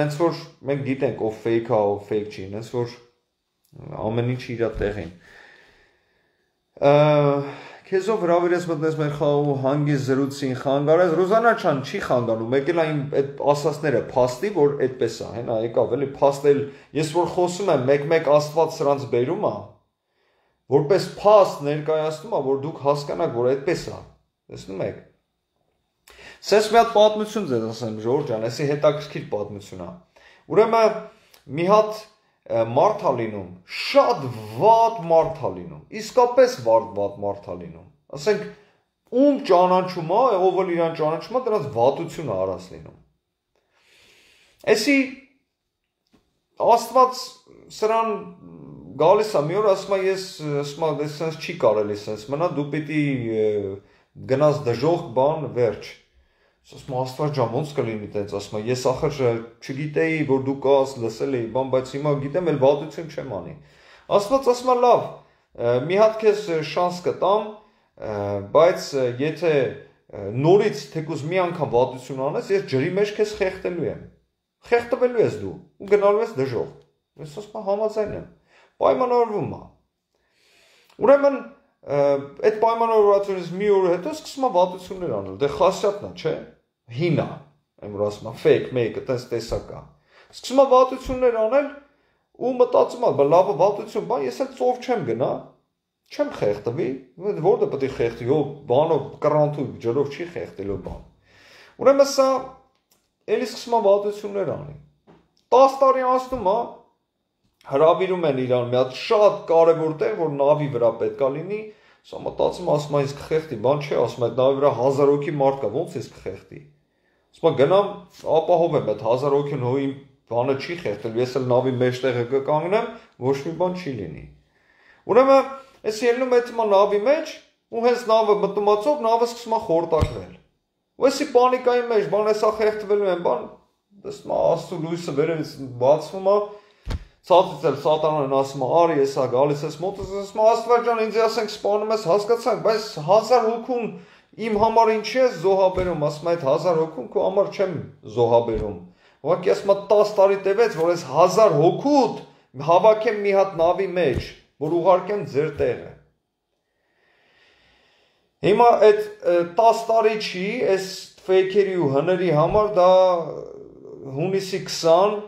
նենց որ մենք գիտենք ով fake է, ով fake չի, նենց որ ամեն ինչ իր տեղին։ Քեզով հրավիրես մտնես մեր խաղու հանգիստ զրուցին խանգարես, Ռուզանա ջան չի խանգարում, եկել այն այդ ասածները փաստի, որ այդպես է, հենա եկավ էլի փաստել, ես որ խոսում եմ, մեկ-մեկ Աստված սրանց բերում է, որպես փաստ ներկայացնում է, որ դուք հասկանաք, որ այդպես է։ Տեսնում եք։ Սենց մի հատ պատմություն ձեզ ասեմ, Ժորժ ջան, էսի հետաքրքիր պատմություն է։ Ուրեմն մի հատ մարդ է լինում, շատ վատ մարդ է լինում, իսկապես վատ մարդ է լինում։ Ասենք ում ճանաչում է, ով էլ իրան ճանաչում է, դրանց վատությունը արած լինում։ Էսի Աստված սրան գալիս է մի օր ասում է ես ասում է սենց չի կարելի սենց մնա դու պիտի գնաս դժոխք բան վերջ ասում Աստված ջան ոնց կլինի տենց ասում ես ախր չգիտեի որ դու կաս լսել էի բան բայց հիմա գիտեմ էլ վատություն չեմ անի Աստված ասում է լավ մի հատ քեզ շանս կտամ բայց եթե նորից թեկուզ մի անգամ վատություն անես ես ջրի մեջ քեզ խեղդելու եմ խեղդվելու ես դու ու գնալու ես դժոխք ես ասում եմ համաձայն եմ պայմանավորվում է ուրեմն այդ պայմանավորվածությունից մի օր հետո սկսում է վատություններ անել դե խասյատնա չէ հինա այն որ ասում է fake make-ը տես տեսակա սկսում է վատություններ անել ու մտածում է լավ վատություն բան ես էլ ծով չեմ գնա չեմ խեղդվի որտե պետք է խեղդի ո բանով կրանթու ջրով չի խեղդելու բան ուրեմն սա էլի սկսում է վատություններ անի 10 տարի անցնում է հրավիրում են իրան մի հատ շատ կարևոր տեղ որ նավի վրա պետքա լինի սա մտածում ասում է ինձ կխեղդի բան չէ ասում այդ նավի վրա 1000 հոգի մարդ կա ոնց ես կխեղդի ասում գնամ ապահովեմ այդ 1000 հոգին հո իմ բանը չի խեղդել ես էլ նավի մեջտեղը կկանգնեմ ոչ մի բան չի լինի ուրեմն ես ելնում այդ նավի մեջ ու հենց նավը մտումացով նավը սկսում է խորտակվել ու էսի պանիկայի մեջ բան էսա խեղդվելու են բան դեսում աստու լույսը վերևից բացվում է Ցածից էլ սատանան ասում է արի եսա գալիս ես մոտս ասում Աստված ջան ինձ ասենք սպանում ես հասկացանք բայց 1000 հոգուն իմ համար ինչի ես զոհաբերում ասում այդ 1000 հոգուն քո համար չեմ զոհաբերում ուղղակի ասում 10 տարի տևեց որ այս 1000 հոգուդ հավաքեմ մի հատ նավի մեջ որ ուղարկեմ ձեր տեղը հիմա այդ 10 տարի չի այս ֆեյքերի ու հների համար դա հունիսի 20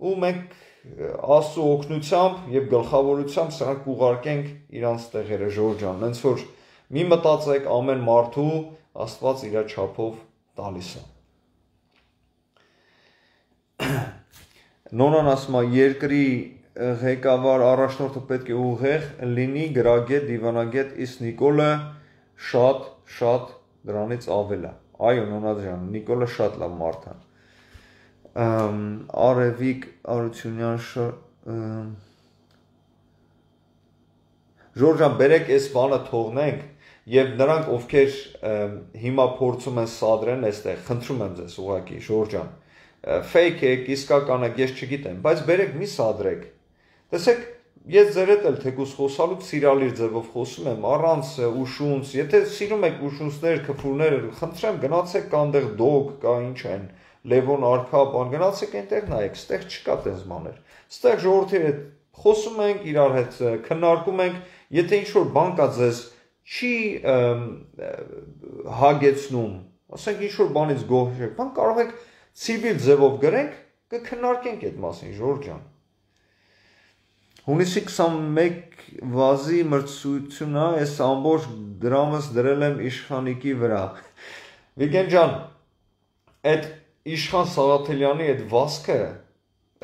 ու մենք Աստծո օգնությամբ եւ գլխավորությամբ սրանք ուղարկենք իրանց տեղերը Ժորժ ջան, հենց որ մի մտածեք ամեն մարդու Աստված իր չափով տալիս է։ Նոնան ասում է երկրի ղեկավար առաջնորդը պետք է ուղեղ լինի գրագետ, դիվանագետ, իսկ Նիկոլը շատ դրանից ավել է։ Այո, Նոնա ջան, Նիկոլը շատ լավ մարդ է։ Արևիկ Արությունյան Ժորժան, բերեք այս բանը թողնենք եւ նրանք ովքեր հիմա փորձում են սադրեն այստեղ, խնդրում եմ ձեզ ուղղակի, Ժորժան, fake եք, իսկական եք, ես չգիտեմ, բայց բերեք մի սադրեք։ Տեսեք, ես ձեր հետ էլ թեկուզ խոսալուց սիրալիր ձևով խոսում եմ, առանց ուշունց, եթե սիրում եք ուշունցներ, քֆուրներ, խնդրեմ գնացեք կանտեղ դոգ կա ինչ են, Լևոն արքա, բան գնացեք այնտեղ նայեք, ստեղ չկա տես բաներ։ Ստեղ ժողովրդի հետ խոսում ենք, իրար հետ քննարկում ենք, եթե ինչ-որ բան կա ձեզ չի հագեցնում, ասենք ինչ-որ բանից գոհ եք, բան կարող եք ցիվիլ ձևով գրենք, կքննարկենք այդ մասին, Ժորժ ջան։ Հունիսի 21 վազի մրցույթն է, այս ամբողջ դրամս դրել եմ իշխանիկի վրա։ Վիգեն ջան, այդ Իշխան Սաղաթելյանի այդ վազքը,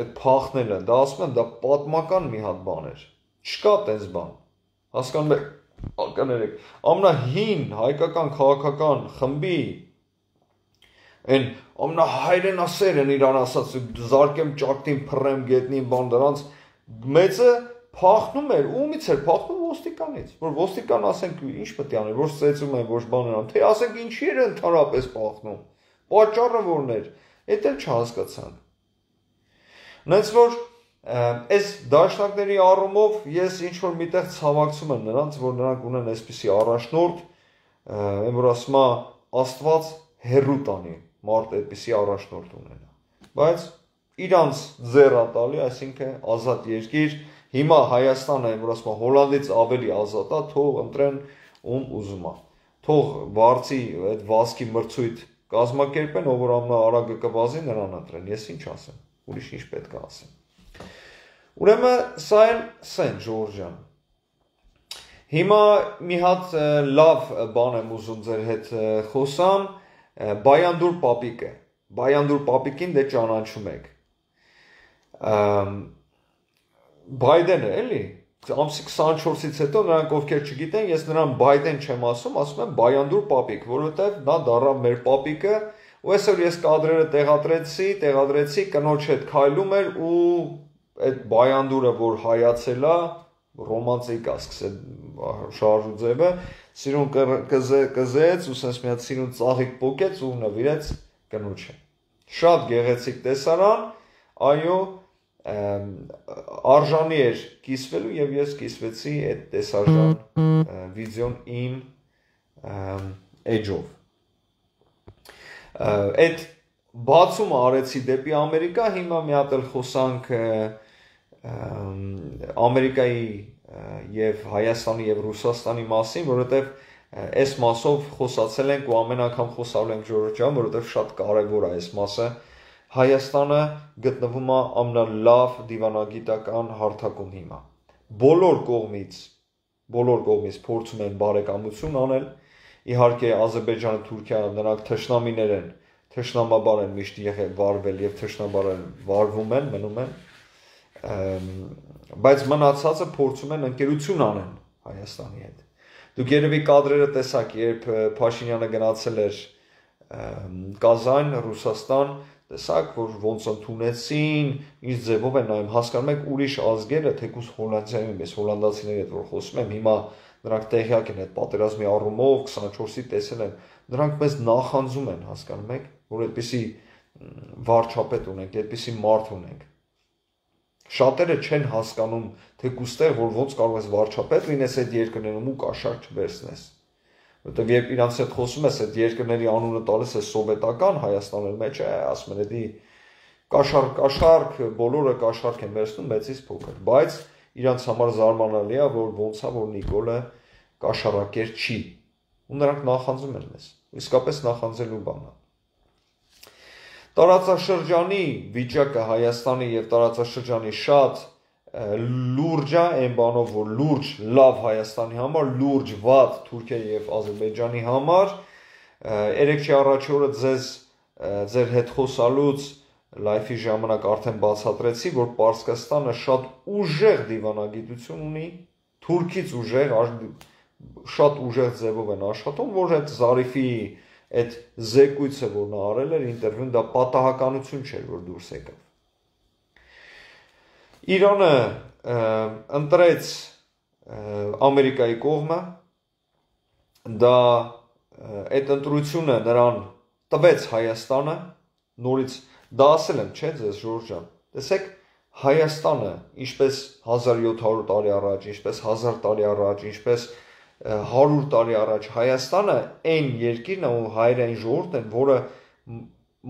այդ փախնելը, դա ասում են, դա պատմական մի հատ բան էր։ Չկա տես բան։ Հասկանում եք, ականերեք, ամենահին հայկական քաղաքական խմբի այն ամենահայրենասեր են իրան ասած, զարկեմ ճակտին, փռեմ գետնին, բան դրանց մեծը փախնում էր, ումից էր փախնում ոստիկանից, որ ոստիկան ասենք ինչ պետք է աներ, որ ծեծում են, որ բան են, թե ասենք ինչի էր ընդհանրապես փախնում։ Պատճառը որն էր, այդ էլ չհասկացանք։ Նենց որ այս դաշնակների առումով ես ինչ-որ միտեղ ցավակցում եմ նրանց, որ նրանք ունեն այսպիսի առաջնորդ, այն որ ասում է Աստված հեռու տանի, մարդ այդպիսի առաջնորդ ունենա։ Բայց իրանց ձեռա տալի, այսինքն ազատ երկիր, հիմա Հայաստանը, այն որ ասում է Հոլանդից ավելի ազատ է, թող ընտրեն ում ուզում է։ Թող բարձի այդ վազքի մրցույթ կազմակերպեն, ով որ ամենաարագը կվազի նրան ընտրեն, ես ինչ ասեմ, ուրիշ ինչ պետք է ասեմ։ Ուրեմն սա են սեն Ժորժ ջան։ Հիմա մի հատ լավ բան եմ ուզում ձեր հետ խոսամ, Բայանդուր պապիկը։ Բայանդուր պապիկին դե ճանաչում եք։ Բայդենը էլի, ամսի 24-ից հետո նրանք ովքեր չգիտեն, ես նրան Բայդեն չեմ ասում եմ Բայանդուր պապիկ, որովհետև նա դառավ մեր պապիկը, ու այսօր ես կադրերը տեղադրեցի, կնոջ հետ քայլում էր ու այդ Բայանդուրը, որ հայացել է, ռոմանտիկ է սկսել շարժու ձևը, սիրուն կզեց ու sense մի հատ սիրուն ծաղիկ պոկեց ու նվիրեց կնոջը։ Շատ գեղեցիկ տեսարան, այո, արժանի էր կիսվելու եւ ես կիսվեցի այդ տեսարժան վիդեոն իմ էջով։ Այդ բացումը արեցի դեպի Ամերիկա, հիմա մի հատ էլ խոսանք Ամերիկայի եւ Հայաստանի եւ Ռուսաստանի մասին, որովհետեւ այս մասով խոսացել ենք ու ամեն անգամ խոսալու ենք Ժորժ ջան, որովհետեւ շատ կարեւոր է այս մասը։ Հայաստանը գտնվում է ամենալավ դիվանագիտական հարթակում հիմա։ Բոլոր կողմից փորձում են բարեկամություն անել։ Իհարկե Ադրբեջանը, Թուրքիան նրանք թշնամիներ են, թշնամաբար են միշտ եղել վարվել եւ թշնամաբար են վարվում են, մնում են։ Բայց մնացածը փորձում են ընկերություն անեն Հայաստանի հետ։ Դուք երևի կադրերը տեսաք, երբ Փաշինյանը գնացել էր Կազան, Ռուսաստան, տեսակ, որ ոնց ընդունեցին, ինչ ձևով են նայում, հասկանում եք ուրիշ ազգերը, թեկուզ Հոլանդիայում, ես հոլանդացիների հետ որ խոսում եմ, հիմա նրանք տեղյակ են այդ պատերազմի առումով, 24-ի տեսել են, նրանք մեզ նախանձում են, հասկանում եք, որ այդպիսի վարչապետ ունենք, այդպիսի մարդ ունենք։ Շատերը չեն հասկանում, թեկուզ տեղ, որ ոնց կարող ես վարչապետ լինես այդ երկրներում ու կաշառք չվերցնես։ Որտեւ երբ իրանց հետ խոսում ես, այդ երկրների անունը տալիս է սովետական Հայաստանի մեջ, ասում են, էդի կաշառք, բոլորը կաշառք են վերցնում մեծից փոքր, բայց իրանց համար զարմանալի է, որ ոնց է, որ Նիկոլը կաշառակեր չի, ու նրանք նախանձում են մեզ, իսկապես նախանձելու բան է։ Տարածաշրջանի վիճակը Հայաստանի եւ տարածաշրջանի շատ լուրջ է այն բանով, որ լուրջ լավ Հայաստանի համար, լուրջ վատ Թուրքիայի եւ Ադրբեջանի համար։ Երեքշի առաջի օրը ձեր հետ խոսալուց լայֆի ժամանակ արդեն բացատրեցի, որ Պարսկաստանը շատ ուժեղ դիվանագիտություն ունի, Թուրքից ուժեղ, շատ ուժեղ ձևով են աշխատում, որ այդ Զարիֆի այդ զեկույցը, որ նա արել էր ինտերվյուն, դա պատահականություն չէր, որ դուրս եկավ։ Իրանը ընտրեց Ամերիկայի կողմը, դա այդ ընտրությունը նրան տվեց Հայաստանը, նորից դա ասել եմ, չէ՞ ձեզ Ժորժ ջան։ Տեսեք, Հայաստանը, ինչպես 1700 տարի առաջ, ինչպես 1000 տարի առաջ, ինչպես 100 տարի առաջ, Հայաստանը այն երկիրն է ու հայերեն ժողովուրդն են, որը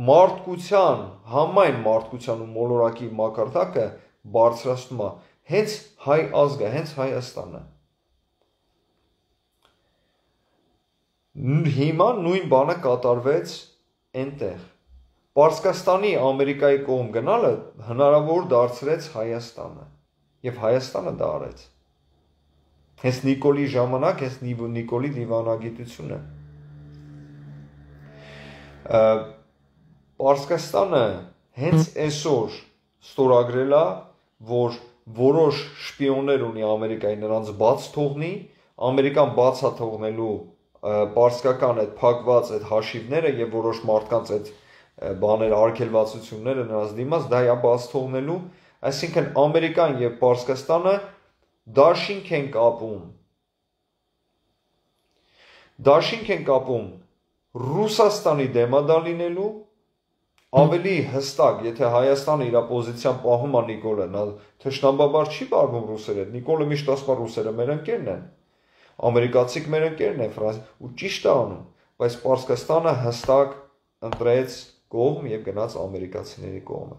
մարդկության, համայն մարդկության ու մոլորակի մակարդակը բարձրացնում է, հենց հայ ազգը, հենց Հայաստանը։ Հիմա նույն բանը կատարվեց այնտեղ։ Պարսկաստանի Ամերիկայի կողմ գնալը հնարավոր դարձրեց Հայաստանը, եւ Հայաստանը դա արեց։ Հենց Նիկոլի ժամանակ, հենց Նիկոլի դիվանագիտությունը։ Պարսկաստանը հենց այսօր ստորագրել է, որ որոշ շպիոններ ունի Ամերիկայի, նրանց բաց թողնի, Ամերիկան բաց է թողնելու պարսկական այդ փակված այդ հաշիվները եւ որոշ մարդկանց այդ բաներ արգելվածությունները նրանց դիմաց դա է բաց թողնելու, այսինքն Ամերիկան եւ Պարսկաստանը դաշինք են կապում Ռուսաստանի դեմադա լինելու, ավելի հստակ, եթե Հայաստանը իր պոզիցիան պահում է Նիկոլը, նա թշնամաբար չի վարվում ռուսերի հետ, Նիկոլը միշտ ասում է ռուսերը մեր ընկերն են, ամերիկացիք մեր ընկերն են, ու ճիշտ է անում, բայց Պարսկաստանը հստակ ընտրեց կողմ եւ գնաց ամերիկացիների կողմը։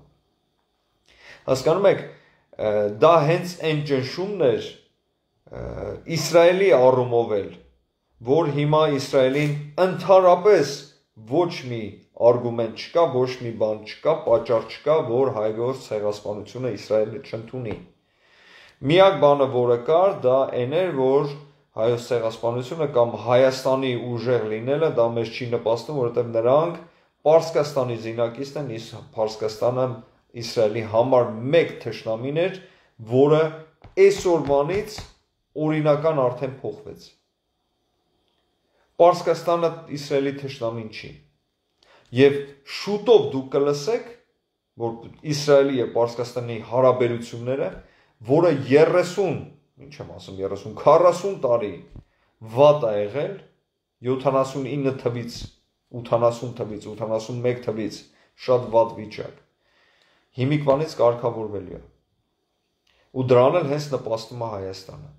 Հասկանում եք, դա հենց այն ճնշումն էր Իսրայելի առումով էլ, որ հիմա Իսրայելին ընդհանրապես ոչ մի արգումենտ չկա, ոչ մի բան չկա, պատճառ չկա, որ հայոց ցեղասպանությունը Իսրայելը չընդունի։ Միակ բանը, որը կար, դա այն էր, որ հայոց ցեղասպանությունը կամ Հայաստանի ուժեղ լինելը դա մեզ չի նպաստում, որովհետև նրանք Պարսկաստանի զինակիցն են, Պարսկաստանը Իսրայելի համար մեկ թշնամին էր, որը այսօրվանից օրինական արդեն փոխվեց։ Պարսկաստանը Իսրայելի թշնամին չի։ Եվ շուտով դուք կլսեք, որ Իսրայելի եւ Պարսկաստանի հարաբերությունները, որը 30, ինչ եմ ասում 30, 40 տարի վատ է եղել, 79 թվից, 80 թվից, 81 թվից շատ վատ վիճակ։ Հիմիկվանից կարգավորվելու է։ Ու դրան էլ հենց նպաստում է Հայաստանը։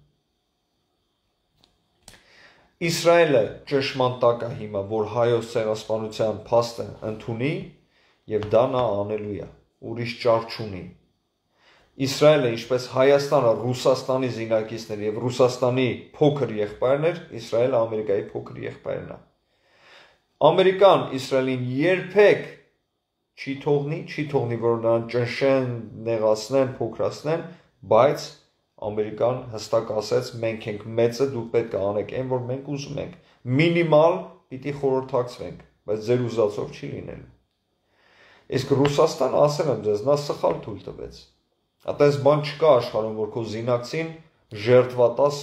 Իսրայելը ճշմարտակ է հիմա, որ հայոց ցեղասպանության փաստը ընդունի եւ դա նա անելու է, ուրիշ ճար չունի։ Իսրայելը, ինչպես Հայաստանը Ռուսաստանի զինակիցներ եւ Ռուսաստանի փոքր եղբայրն էր, Իսրայելը Ամերիկայի փոքր եղբայրն է։ Ամերիկան Իսրայելին երբեք չի թողնի, որ նրան ճնշեն, նեղացնեն, փոքրացնեն, բայց Ամերիկան հստակ ասեց, մենք ենք մեծը, դուք պետք է անեք այն, որ մենք ուզում ենք։ Մինիմալ պիտի խորհրդակցվենք, բայց ձեր ուզածով չի լինելու։ Իսկ Ռուսաստանը, ասել եմ ձեզ, նա սխալ թույլ տվեց։ Այդպես բան չկա աշխարհում, որ քո զինակցին ժերտվա տաս,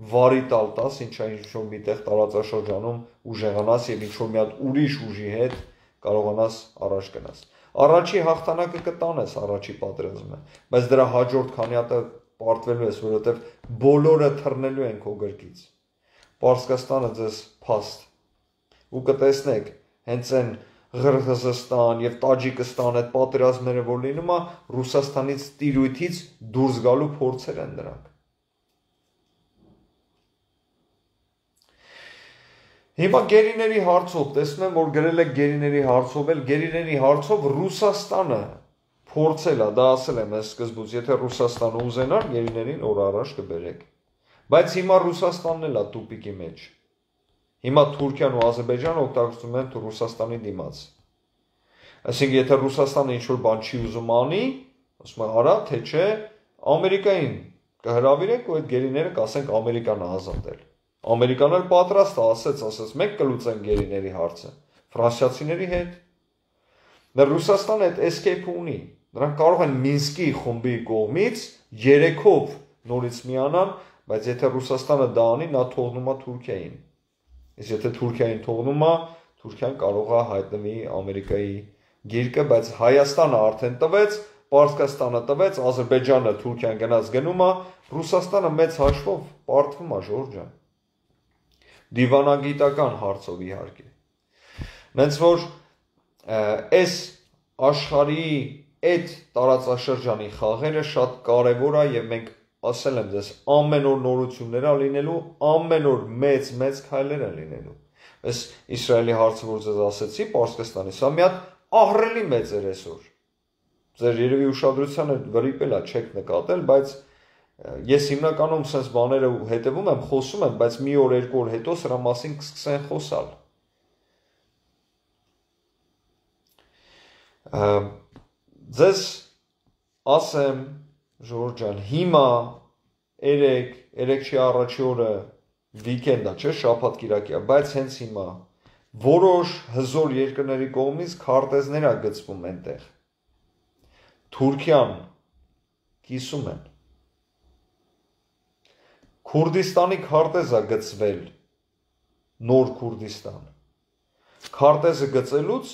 վարի տալ տաս, ինչ-որ միտեղ տարածաշրջանում ուժեղանաս եւ ինչ-որ մի հատ ուրիշ ուժի հետ կարողանաս առաջ գնաս։ Առաջի հաղթանակը կտանես, առաջի պատերազմը, բայց դրա հաջորդ քանի հատը պարտվելու ես, որովհետև բոլորը թռնելու են քո գրկից։ Պարսկաստանը ձեզ փաստ։ Ու կտեսնեք, հենց այն Ղրղզստան եւ Տաջիկստան այդ պատերազմները, որ լինում է, Ռուսաստանից տիրույթից դուրս գալու փորձեր են դրանք։ Հիմա գերիների հարցով, տեսնում եմ, որ գրել եք գերիների հարցով, էլ գերիների հարցով Ռուսաստանը փորձել է, դա ասել եմ ես սկզբուց, եթե Ռուսաստանը ուզենար, գերիներին օր առաջ կբերեք։ Բայց հիմա Ռուսաստանն էլ է տուպիկի մեջ։ Հիմա Թուրքիան ու Ադրբեջանը օգտագործում են Ռուսաստանի դիմաց։ Այսինքն, եթե Ռուսաստանը ինչ-որ բան չի ուզում անի, ասում է արա, թե չէ, Ամերիկային կհրավիրենք ու այդ գերիները կասենք Ամերիկան է ազատել։ Ամերիկան էլ պատրաստ է, ասեց, մենք կլուծենք գերիների հարցը։ Ֆրանսիացիների հետ։ Դա Ռուսաստանը այդ escape-ը ունի։ Նրանք կարող են Մինսկի խումբի կողմից 3-ով նորից միանան, բայց եթե Ռուսաստանը դա անի, նա թողնում է Թուրքիային։ Իսկ եթե Թուրքիային թողնում է, Թուրքիան կարող է հայտնվի Ամերիկայի գիրկը, բայց Հայաստանը արդեն տվեց, Պարսկաստանը տվեց, Ադրբեջանը Թուրքիան գնաց գնում է, Ռուսաստանը մեծ հաշվով պարտվում է Ժորժ ջան։ Դիվանագիտական հարցով իհարկե։ Նենց որ այս աշխարհի այդ տարածաշրջանի խաղերը շատ կարևոր է եւ մենք ասել եմ ձեզ ամեն օր նորություններ է լինելու, ամեն օր մեծ քայլեր են լինելու։ Այս Իսրայելի հարցը, որ ձեզ ասեցի, Պարսկաստանի, սա մի հատ ահռելի մեծ էր այսօր։ Ձեր երևի ուշադրությանը վրիպել է, չեք նկատել, բայց ես հիմնականում sense բաները հետևում եմ, խոսում եմ, բայց մի օր, երկու օր հետո սրա մասին կսկսեն խոսալ։ Ձեզ ասեմ, Ժորժ ջան, հիմա 3 չի առաջի օրը վիկենդ է, չէ՞, շաբաթ կիրակի է, բայց հենց հիմա որոշ հզոր երկրների կողմից քարտեզներ է գծվում այնտեղ։ Թուրքիան կիսում են։ Քուրդիստանի քարտեզ է գծվել, նոր Քուրդիստան։ Քարտեզը գծելուց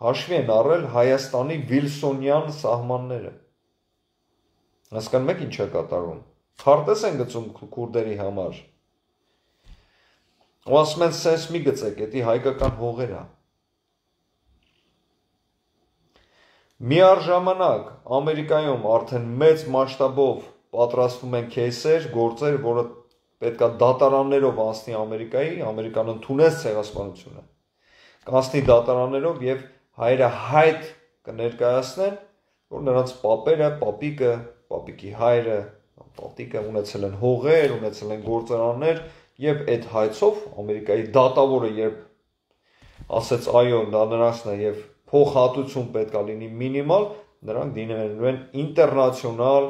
հաշվի են առել Հայաստանի Վիլսոնյան սահմանները։ Հասկանում եք ինչ է կատարվում։ Քարտեզ են գծում քուրդերի համար։ Ու ասում են sense մի գծեք, դա հայկական հողեր է։ Միառժամանակ Ամերիկայում արդեն մեծ մասշտաբով պատրաստվում են кейսեր, գործեր, որը պետքա դատարաններով անցնի Ամերիկայի, Ամերիկան ընդունեց ցեղասպանությունը։ Կանցնի դատարաններով եւ հայերը հայտ կներկայացնեն, որ նրանց պապերը, պապիկի հայրը, պատիկը ունեցել են հողեր, ունեցել են գործարաններ եւ այդ հայցով Ամերիկայի դատավորը երբ ասեց այո, դա նրանցն է եւ փոխհատուցում պետքա լինի մինիմալ, նրանք դիմելու են ինտերնացիոնալ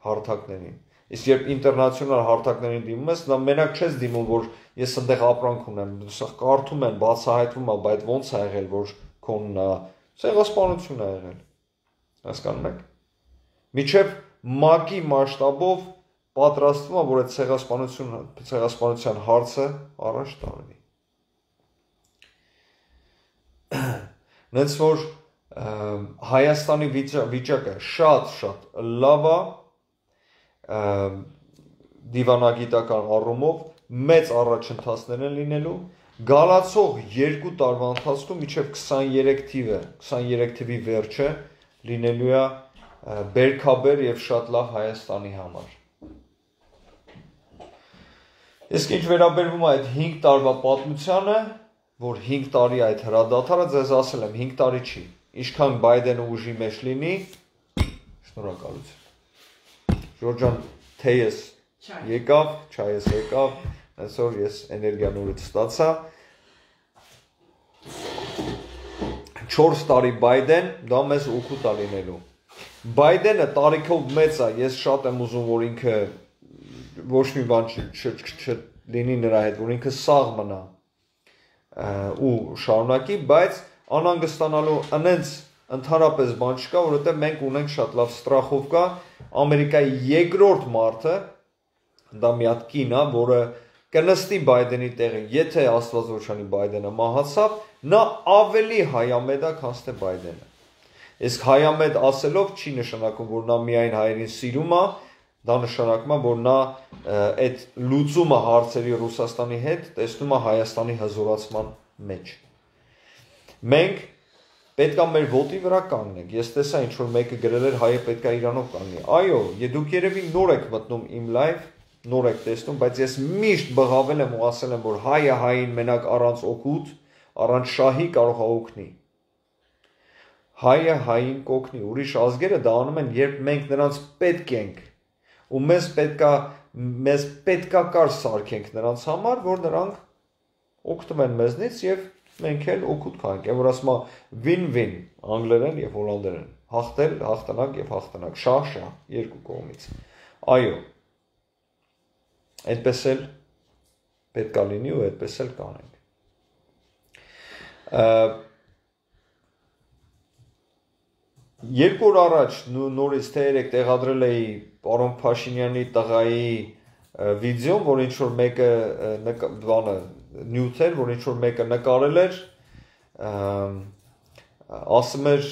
հարթակներին։ Իսկ երբ ինտերնացիոնալ հարթակներին դիմում ես, նա մենակ չես դիմում, որ ես այնտեղ ապրանք ունեմ, սա կարդում են, բացահայտվում է, բայց ոնց է եղել, որ քոնն է, ցեղասպանություն է եղել։ Հասկանում եք։ Միջև ՄԱԿ-ի մասշտաբով պատրաստվում է, որ այդ ցեղասպանության հարցը առաջ տարվի։ Նենց որ Հայաստանի վիճակը շատ լավ է դիվանագիտական առումով, մեծ առաջընթացներ են լինելու, գալացող 2 տարվա ընթացքում մինչև 23 թիվի վերջը լինելու է բերքաբեր եւ շատ լավ Հայաստանի համար։ Իսկ ինչ վերաբերվում է այդ 5 տարվա պատմությանը, որ 5 տարի այդ հրադադարը, ձեզ ասել եմ 5 տարի չի, ինչքան Բայդենը ուժի մեջ լինի, շնորհակալություն։ Ժորժ ջան, թեյս եկավ, չայս եկավ, այսօր ես էներգիա նորից ստացա։ 4 տարի Բայդեն, դա մեզ օգուտ է լինելու։ Բայդենը տարիքով մեծ է, ես շատ եմ ուզում, որ ինքը ոչ մի բան չլինի նրա հետ, որ ինքը սաղ մնա ու շարունակի, բայց անհանգստանալու անենց ընդհանրապես բան չկա, որովհետև մենք ունենք շատ լավ ստրախովկա, Ամերիկայի երկրորդ մարդը, դա մի հատ կին է, որը կնստի Բայդենի տեղը, եթե Աստված ոչանի Բայդենը մահացավ, նա ավելի հայամետ է, քան թե Բայդենը։ Իսկ հայամետ ասելով չի նշանակում, որ նա միայն հայերին սիրում է, դա նշանակում է, որ նա այդ լուծումը հարցերի Ռուսաստանի հետ տեսնում է Հայաստանի հզորացման մեջ։ Մենք պետք է մեր ոտի վրա կանգնենք։ Ես տեսա ինչ որ մեկը գրել էր հայը պետք է Իրանով կանգնի։ Այո, դուք երևի նոր եք մտնում իմ լայվ, նոր եք տեսնում, բայց ես միշտ բղավել եմ ու ասել եմ, որ հայը հային մենակ առանց օգուտ, առանց շահի կարող է օգնի։ Հայը հային կօգնի, ուրիշ ազգերը դա անում են, երբ մենք նրանց պետք ենք ու մեզ պետքակար սարքենք նրանց համար, որ նրանք օգտվեն մեզնից եւ մենք էլ օգուտ կանենք։ Այն որ ասում է win-win անգլերեն եւ հոլանդերեն, հաղթել, հաղթանակ եւ հաղթանակ, շահ, երկու կողմից։ Այո։ Այդպես էլ պետք է լինի ու այդպես էլ կանենք։ Երկու օր առաջ նորից թե երեք տեղադրել էի պարոն Փաշինյանի տղայի վիդեոն, որ ինչ որ մեկը բանը նյութ էր, որ ինչ որ մեկը նկարել էր, ասում էր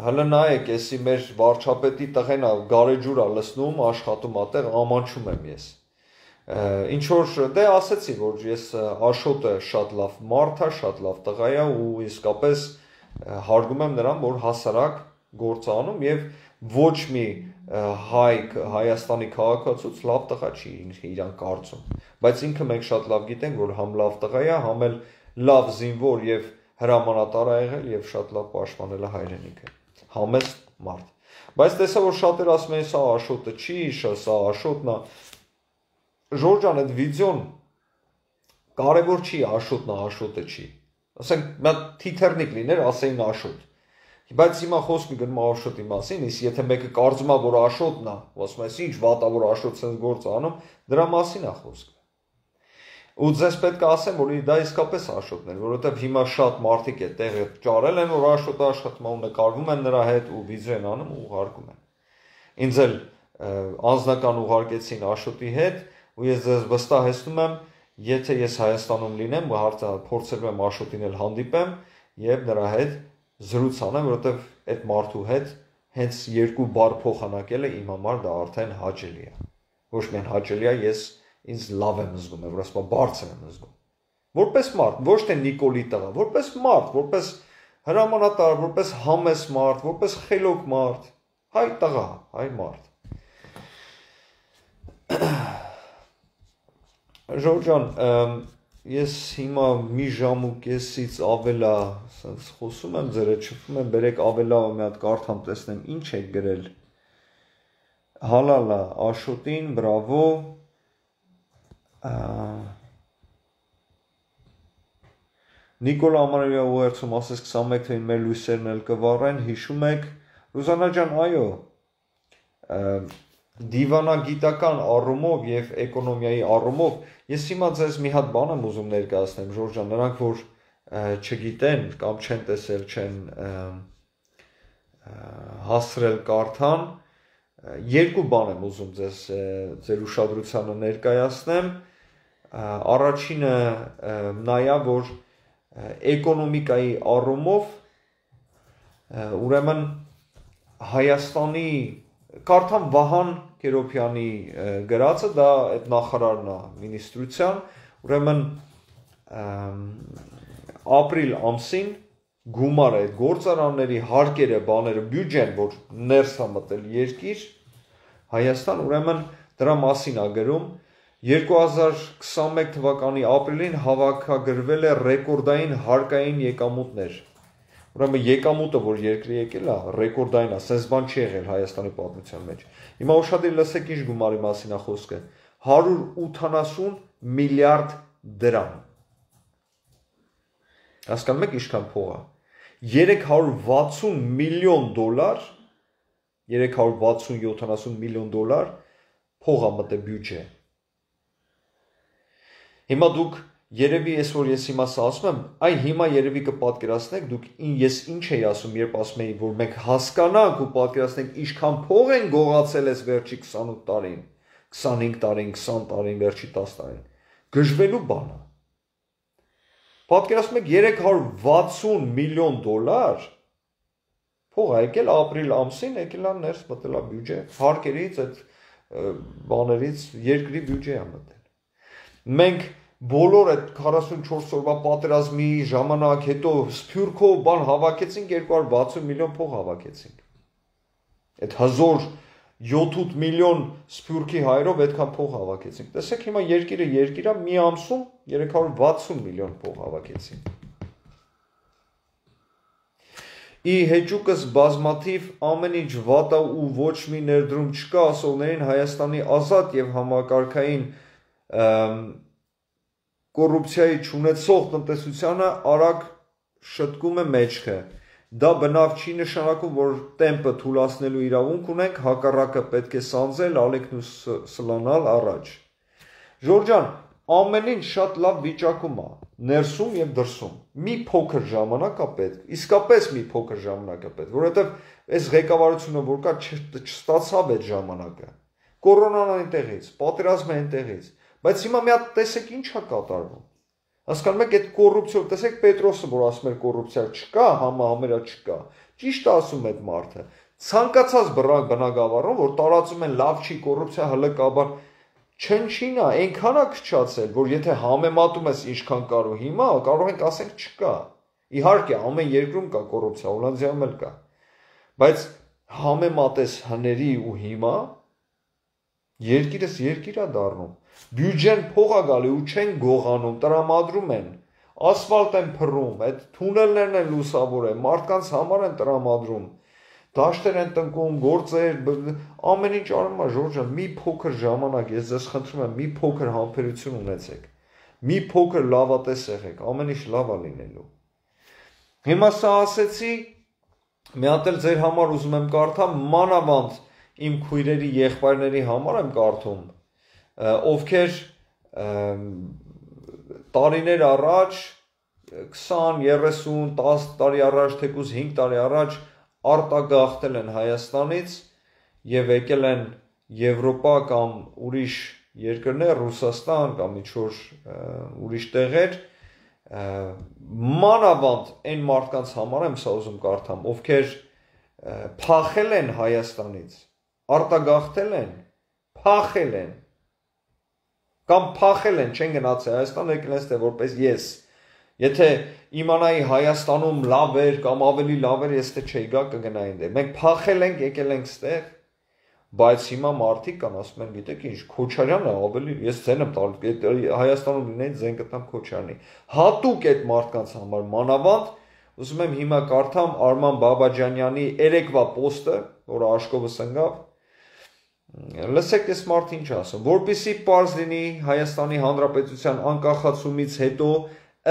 հələ նայեք, էսի մեր վարչապետի տղեն է գարեջուր է լցնում, աշխատում է տեղ, ամանչում եմ ես։ Ինչ որ դե ասեցի, որ ես Աշոտը շատ լավ մարդ է, շատ լավ տղա է ու իսկապես հարգում եմ նրան, որ հասարակ գործ է անում եւ ոչ մի Հայաստանի քաղաքացուց լավ տղա չի իրան կարծում, բայց ինքը մենք շատ լավ գիտենք, որ համ լավ տղա է, համ էլ լավ զինվոր եւ հրամանատար է եղել եւ շատ լավ պաշտպանել է հայրենիքը, համեստ մարդ, բայց տեսա որ շատեր ասում են սա Աշոտը չի, սա Աշոտն է, Ժորժ ջան, այդ վիդեոն կարևոր չի Աշոտն է, Աշոտը չի, ասենք մի թիթեռնիկ լիներ, ասեին Աշոտ, բայց հիմա խոսքը գնում է Աշոտի մասին, իսկ եթե մեկը կարծում է, որ Աշոտն է, ասում է, ինչ վատ է, որ Աշոտ sense գործ անում, դրա մասին է խոսքը։ Ու ձեզ պետք է ասեմ, որ դա իսկապես Աշոտն էր, որովհետև հիմա շատ մարդիկ է տեղը ճարել են, որ Աշոտը աշխատում է ու նկարվում են նրա հետ ու վիդեո են անում ու ուղարկում են։ Ինձ էլ անձնական ուղարկեցին Աշոտի հետ ու ես ձեզ վստահեցնում եմ, եթե ես Հայաստանում լինեմ, փորձելու եմ Աշոտին էլ հանդիպեմ եւ նրա հետ զրույց անեմ, որովհետև այդ մարդու հետ հենց երկու բառ փոխանակելը իմ համար դա արդեն հաճելի է։ Ոչ միայն հաճելի է, ես ինձ լավ եմ զգում, որ ասում եմ բարձր եմ զգում։ Որպես մարդ, ոչ թե Նիկոլի տղա, որպես մարդ, որպես հրամանատար, որպես համես մարդ, որպես խելոք մարդ, հայ տղա, հայ մարդ։ Ժորժ ջան, ես հիմա մի ժամ ու կեսից ավելա սենց խոսում եմ ձեր հետ շփվում եմ, բերեք ավելա մի հատ կարդամ տեսնեմ ինչ եք գրել։ Հալալա, Աշոտին, բրավո։ Նիկոլա Ամանարյա ուղերձում ասես 21 թվականին մեր լույսերն էլ կվառեն, հիշում եք։ Ռուզանա ջան, այո։ Դիվանագիտական առումով եւ էկոնոմիայի առումով ես հիմա ձեզ մի հատ բան եմ ուզում ներկայացնեմ, Ժորժ ջան, նրանք որ չգիտեն կամ չեն տեսել, չեն հասրել կարդան, երկու բան եմ ուզում ձեր ուշադրությանը ներկայացնեմ, առաջինը նայա, որ էկոնոմիկայի առումով ուրեմն Հայաստանի կարդամ Վահան Կերոբյանի գրածը, դա այդ նախարարն է մինիստրության, ուրեմն ապրիլ ամսին գումարը այդ գործարանների հարկերը, բաները, բյուջեն, որ ներս է մտել երկիր, Հայաստան, ուրեմն դրա մասին է գրում, 2021 թվականի ապրիլին հավաքագրվել է ռեկորդային հարկային եկամուտներ, ուրեմն եկամուտը, որ երկրի եկել է, ռեկորդային է, սենց բան չի եղել Հայաստանի պատմության մեջ, հիմա ուշադիր լսեք ինչ գումարի մասին է խոսքը, 180 միլիարդ դրամ, հասկանում եք ինչքան փող է, 360 միլիոն դոլար, 360-70 միլիոն դոլար փող է մտել բյուջե, հիմա դուք երևի ես որ ես հիմա ասում եմ, այ հիմա երևի կպատկերացնեք, դուք ես ինչ էի ասում, երբ ասում էի, որ մենք հասկանանք ու պատկերացնենք ինչքան փող են գողացել այս վերջի 28 տարին, 25 տարին, 20 տարին, վերջի 10 տարին, գժվելու բան է։ Պատկերացնում եք 360 միլիոն դոլար փող է եկել ապրիլ ամսին, եկել է ներս մտել է բյուջե, հարկերից, այդ բաներից երկրի բյուջե է մտել։ Մենք բոլոր այդ 44 օրվա պատերազմի ժամանակ հետո սփյուռքով բան հավաքեցինք 260 միլիոն փող հավաքեցինք։ Այդ 1007 միլիոն սփյուռքի հայրով այդքան փող հավաքեցինք։ Տեսեք հիմա երկիրը մի ամսում 360 միլիոն փող հավաքեցինք։ Ի հեճուկս բազմաթիվ ամեն ինչ վատ է ու ոչ մի ներդրում չկա ասողներին Հայաստանի ազատ եւ համակարգային կոռուպցիայի չունեցող տնտեսությանը արագ շտկում է մեջքը։ Դա բնավ չի նշանակում, որ տեմպը թուլացնելու իրավունք ունենք, հակառակը պետք է սանձել, ալիքն ու սլանալ առաջ։ Ժորժ ջան, ամեն ինչ շատ լավ վիճակում է, ներսում եւ դրսում։ Մի փոքր ժամանակ է պետք, իսկապես մի փոքր ժամանակ է պետք, որովհետեւ այս ղեկավարությունը որ կա չստացավ այդ ժամանակը։ Կորոնան այնտեղից, պատերազմը այնտեղից, բայց հիմա մի հատ տեսեք ինչ է կատարվում։ Հասկանում եք, այդ կոռուպցիա, տեսեք Պետրոսը, որ ասում էր կոռուպցիա չկա, համերա չկա։ Ճիշտ է ասում այդ մարդը։ Ցանկացած բնակավարում, որ տարածում են լավ չի կոռուպցիա հլկաբար չնչին է, այնքան է քչացել, որ եթե համեմատում ես ինչքան կար ու հիմա, կարող ենք ասենք չկա։ Իհարկե, ամեն երկրում կա կոռուպցիա, Հոլանդիայում էլ կա։ Բայց համեմատես հների ու հիմա երկիրս երկիր է դառնում։ Բյուջեն փող է գալի ու չեն գողանում, տրամադրում են, ասֆալտ են փռում, այդ թունելներն են լուսավորում, մարդկանց համար են տրամադրում, դաշտեր են տնկում, գործեր, ամեն ինչ անում է Ժորժ ջան, մի փոքր ժամանակ, ես ձեզ խնդրում եմ, մի փոքր համբերություն ունեցեք, մի փոքր լավատես եղեք, ամեն ինչ լավ է լինելու։ Հիմա սա ասեցի, մի հատ էլ ձեր համար ուզում եմ կարդամ, մանավանդ իմ քույրերի եղբայրների համար եմ կարդում, ովքեր տարիներ առաջ 20, 30, 10 տարի առաջ, թեկուզ 5 տարի առաջ արտագաղթել են Հայաստանից եւ եկել են Եվրոպա կամ ուրիշ երկրներ, Ռուսաստան կամ ինչ-որ ուրիշ տեղեր, մանավանդ այն մարդկանց համար եմ սա ուզում կարդամ, ովքեր փախել են Հայաստանից, արտագաղթել են, փախել են կամ փախել են, չեն գնացել Հայաստան, եկել են ստե որպես ես։ Եթե իմանայի Հայաստանում լավ էր կամ ավելի լավ էր, ես թե չէի գա կգնայի այնտեղ։ Մենք փախել ենք, եկել ենք ստեղ, բայց հիմա մարդիկ կան, ասում են, գիտեք ինչ, Քոչարյանը ավելի, ես ձեն եմ տալու, Հայաստանում լինեին ձեն կտամ Քոչարյանի։ Հատուկ այդ մարդկանց համար մանավանդ, ուզում եմ հիմա կարդամ Արման Բաբաջանյանի երեկվա պոստը, որը Աշկովը սնգավ, լսեք այս մարդը ինչ ասում, որպեսզի պարզ լինի Հայաստանի Հանրապետության անկախացումից հետո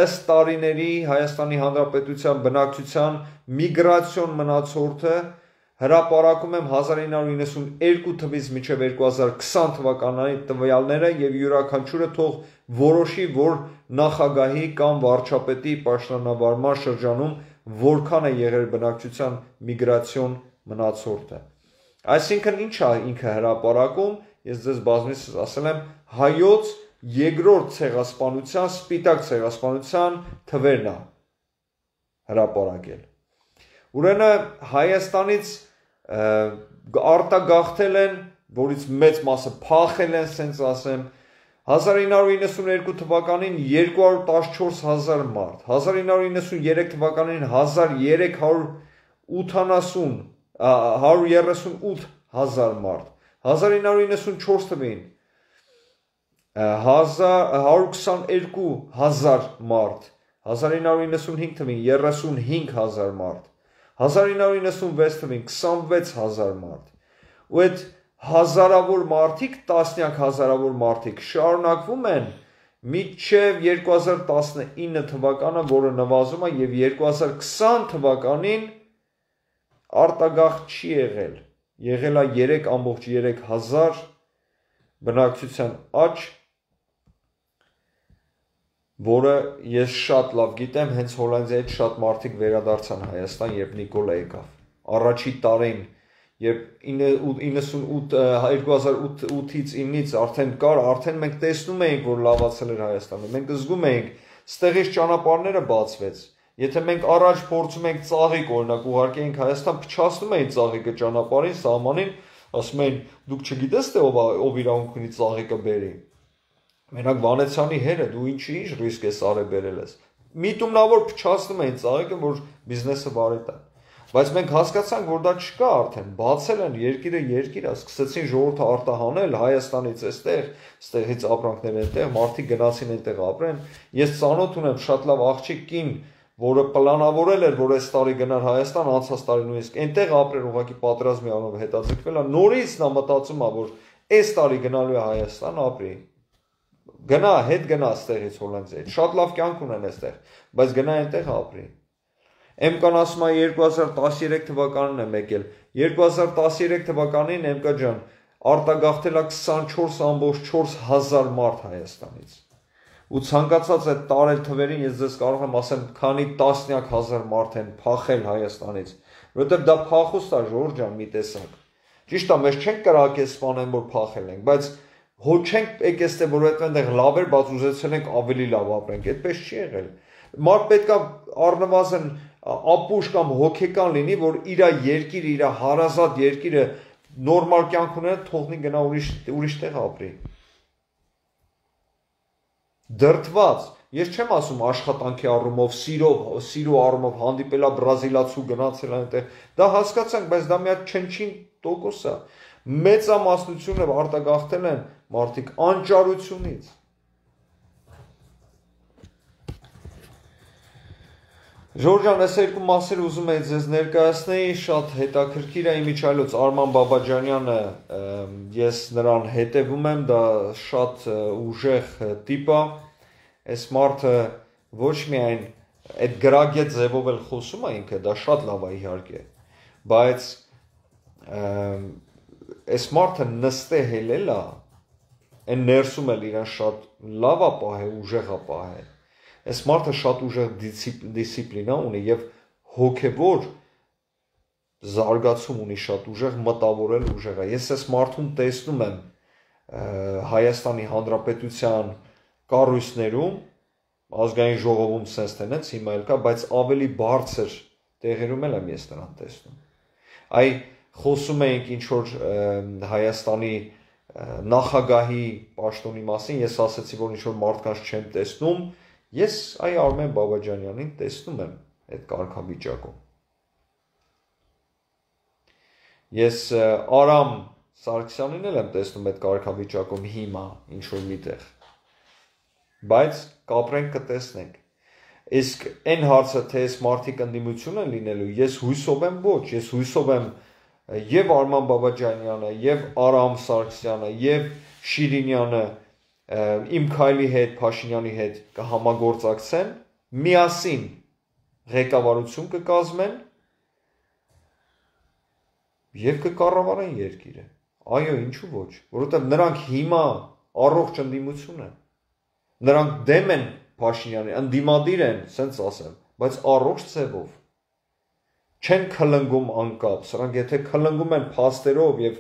ըստ տարիների Հայաստանի Հանրապետության բնակչության միգրացիոն մնացորդը հրապարակում եմ 1992 թվականից մինչև 2020 թվականի տվյալները եւ յուրաքանչյուրը թող որոշի, որ նախագահի կամ վարչապետի պաշտոնավարման շրջանում որքան է եղել բնակչության միգրացիոն մնացորդը։ Այսինքն ինչ է ինքը հրապարակում, ես ձեզ բազմիցս ասել եմ, հայոց երկրորդ ցեղասպանության, սպիտակ ցեղասպանության թվերն է հրապարակել։ Ուրեմն Հայաստանից արտագաղթել են, որից մեծ մասը փախել են, ասենց ասեմ, 1992 թվականին 214,000 մարդ, 1993 թվականին 138,000 մարդ, 1994 թվականին 122,000 մարդ, 1995 թվականին 35,000 մարդ, 1996 թվականին 26,000 մարդ, ու այդ հազարավոր մարդիկ, տասնյակ հազարավոր մարդիկ շարունակվում են մինչև 2019 թվականը, որը նվազում է եւ 2020 թվականին արտագաղթ չի եղել, եղել է 3,3 բնակչության աճ, որը ես շատ լավ գիտեմ, հենց Հոլանդիայից շատ մարդիկ վերադարձան Հայաստան, երբ Նիկոլը եկավ։ Առաջի տարին, երբ 2008-ից 9-ից արդեն կար, արդեն մենք տեսնում էինք, որ լավացել էր Հայաստանը, մենք զգում էինք, ստեղից ճանապարհները բացվեց։ Եթե մենք առաջ փորձում ենք ծաղիկ, օրինակ ուղարկե ենք Հայաստան, փչացնում էին ծաղիկը ճանապարհին, սահմանին, ասում էին, դուք չգիտես թե ով իրավունք ունի ծաղիկը բերի։ Մենակ Վանեցյանի հերը, դու ինչ ռիսկ ես արել բերել ես։ Միտումնավոր փչացնում էին ծաղիկը, որ բիզնեսը բարի տա։ Բայց մենք հասկացանք, որ դա չկա արդեն, բացել են երկիրը երկիր, սկսեցին ժողովուրդը արտահանել Հայաստանից այստեղ, ստեղից ապրանքներ այնտեղ, մարդիկ գնացին այնտեղ ապրեն։ Ես ծանոթ ունեմ շատ լավ աղջիկ կին, որը պլանավորել էր, որ այս տարի գնար Հայաստան, անցած տարի նույնիսկ այնտեղ ապրել, ուղղակի պատերազմի անով հետաձգվել է, նորից նա մտածում է, որ այս տարի գնալու է Հայաստան ապրի։ Գնա, հետ գնա ստեղից Հոլանդիայից, շատ լավ կյանք ունեն այստեղ, բայց գնա այնտեղ ապրի։ Էմկան ասում է 2013 թվականին եմ եկել, 2013 թվականին Էմկա ջան արտագաղթել է 24,4 հազար մարդ Հայաստանից։ ու ցանկացած այդ տարել թվերին ես ձեզ կարող եմ ասեմ, քանի տասնյակ հազար մարդ են փախել Հայաստանից, որովհետև դա փախուստ է, Ժորժ ջան, մի տեսակ։ Ճիշտ է, մեզ չենք կրակել սպանեն, որ փախել ենք, բայց հո չենք եկել ստե, որ այդտեղ լավ էր, բայց ուզեցել ենք ավելի լավ ապրենք, այդպես չի եղել։ Մարդ պետք է առնվազն ապուշ կամ հոգեկան լինի, որ իր երկիրը, իր հարազատ երկիրը նորմալ կյանք ունենա, թողնի գնա ուրիշ տեղ ապրի։ Դրդված, ես չեմ ասում աշխատանքի առումով, սիրո առումով հանդիպելա բրազիլացու գնացել այնտեղ, դա հասկացանք, բայց դա մի հատ չնչին տոկոս է։ Մեծամասնությունը արտագաղթել են մարդիկ անճարությունից։ Ժորժ ջան, այս երկու մասերը ուզում էի ձեզ ներկայացնեի, շատ հետաքրքիր է իմիջիայլոց Արման Բաբաջանյանը, ես նրան հետևում եմ, դա շատ ուժեղ տիպ է, այս մարդը ոչ միայն այդ գրագետ ձևով էլ խոսում է ինքը, դա շատ լավ է իհարկե, բայց այս մարդը նստե հելել է, այն ներսում էլ իրան շատ լավ է պահել, ուժեղ է պահել։ Այս մարդը շատ ուժեղ դիսցիպլինա ունի եւ հոգեվոր զարգացում ունի, շատ ուժեղ մտավորել ուժեղ է։ Ես այս մարդուն տեսնում եմ Հայաստանի Հանրապետության կառույցներում, ազգային ժողովում sense տենից հիմա էլ կա, բայց ավելի բարձր տեղերում էլ եմ ես նրան տեսնում։ Այ խոսում էինք ինչ որ Հայաստանի նախագահի պաշտոնի մասին, ես ասացի, որ ինչ որ մարդկանց չեմ տեսնում, ես այ Արմեն Բաբաջանյանին տեսնում եմ այդ կարգավիճակում։ Ես Արամ Սարգսյանին էլ եմ տեսնում այդ կարգավիճակում հիմա ինչ որ միտեղ։ Բայց կապրենք կտեսնենք։ Իսկ այն հարցը, թե այս մարդիկ ընդդիմություն են լինելու, ես հույսով եմ ոչ, ես հույսով եմ եւ Արման Բաբաջանյանը, եւ Արամ Սարգսյանը, եւ Շիրինյանը իմ քայլի հետ, Փաշինյանի հետ կհամագործակցեն, միասին ղեկավարություն կկազմեն եւ կկառավարեն երկիրը։ Այո, ինչու ոչ, որովհետեւ նրանք հիմա առողջ ընդդիմություն են։ Նրանք դեմ են Փաշինյանին, ընդդիմադիր են, ասենց ասեմ, բայց առողջ ձևով չեն քլնգում անկապ, սրանք եթե քլնգում են փաստերով եւ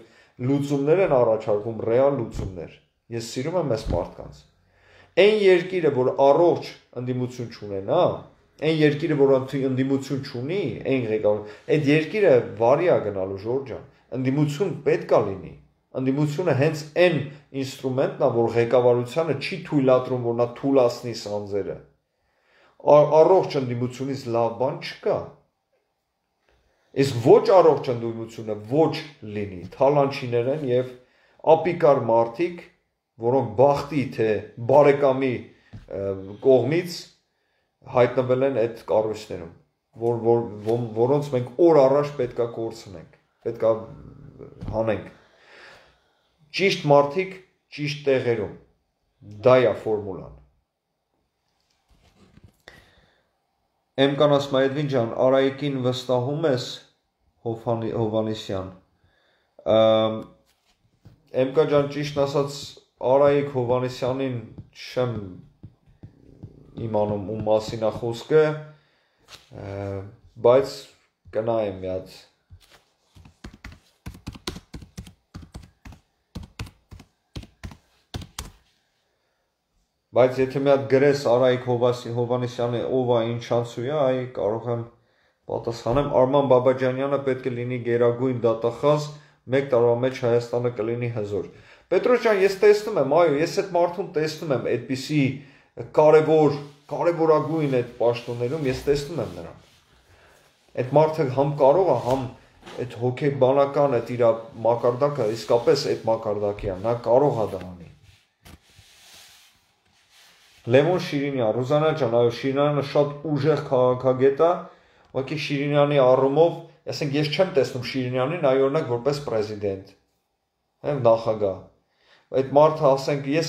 լուծումներ են առաջարկում, ռեալ լուծումներ։ Ես սիրում եմ այս մարդկանց։ Այն երկիրը, որ առողջ ընդդիմություն չունենա, այն երկիրը, որ ընդդիմություն չունի, այն ղեկավար, այդ երկիրը վարի է գնալու Ժորժ ջան։ Ընդդիմություն պետք է լինի։ Ընդդիմությունը հենց այն ինստրումենտն է, որ ղեկավարությանը չի թույլատրում, որ նա թուլացնի սանձերը։ Առողջ ընդդիմությունից լավ բան չկա։ Իսկ ոչ առողջ ընդդիմությունը ոչ լինի, թալանչիներ են եւ ապիկար մարդիկ, որոնք բախտի թե բարեկամի կողմից հայտնվել են այդ կառույցներում, որոնց մենք օր առաջ պետքա կորցնենք, պետքա հանենք։ Ճիշտ մարդիկ ճիշտ տեղերում, դա է ֆորմուլան։ Էմկան ասում է Էդվին ջան, Արայիկին վստահում ես Հովանեսյան։ Էմկա ջան, ճիշտ ասած Արայիկ Հովանեսյանին չեմ իմանում ում մասին է խոսքը, բայց կնայեմ մի հատ։ Բայց եթե մի հատ գրես Արայիկ Հովանեսյանը ով է, ինչ անցու է, այ կարող եմ պատասխանեմ։ Արման Բաբաջանյանը պետք է լինի գերագույն դատախազ, 1 տարվա մեջ Հայաստանը կլինի հզոր։ Պետրոս ջան, ես տեսնում եմ, այո, ես այդ մարդուն տեսնում եմ, այդպիսի կարևորագույն այդ պաշտոններում ես տեսնում եմ նրան։ Այդ մարդը համ կարող է, համ այդ հոգեբանական այդ իր մակարդակը իսկապես այդ մակարդակի է, նա կարող է դա անի։ Լևոն Շիրինյան, Ռուզանա ջան, այո, Շիրինյանը շատ ուժեղ քաղաքագետ է, ուղղակի Շիրինյանի առումով, ասենք ես չեմ տեսնում Շիրինյանին, այ օրինակ որպես պրեզիդենտ, նախագահ։ Այդ մարդը, ասենք, ես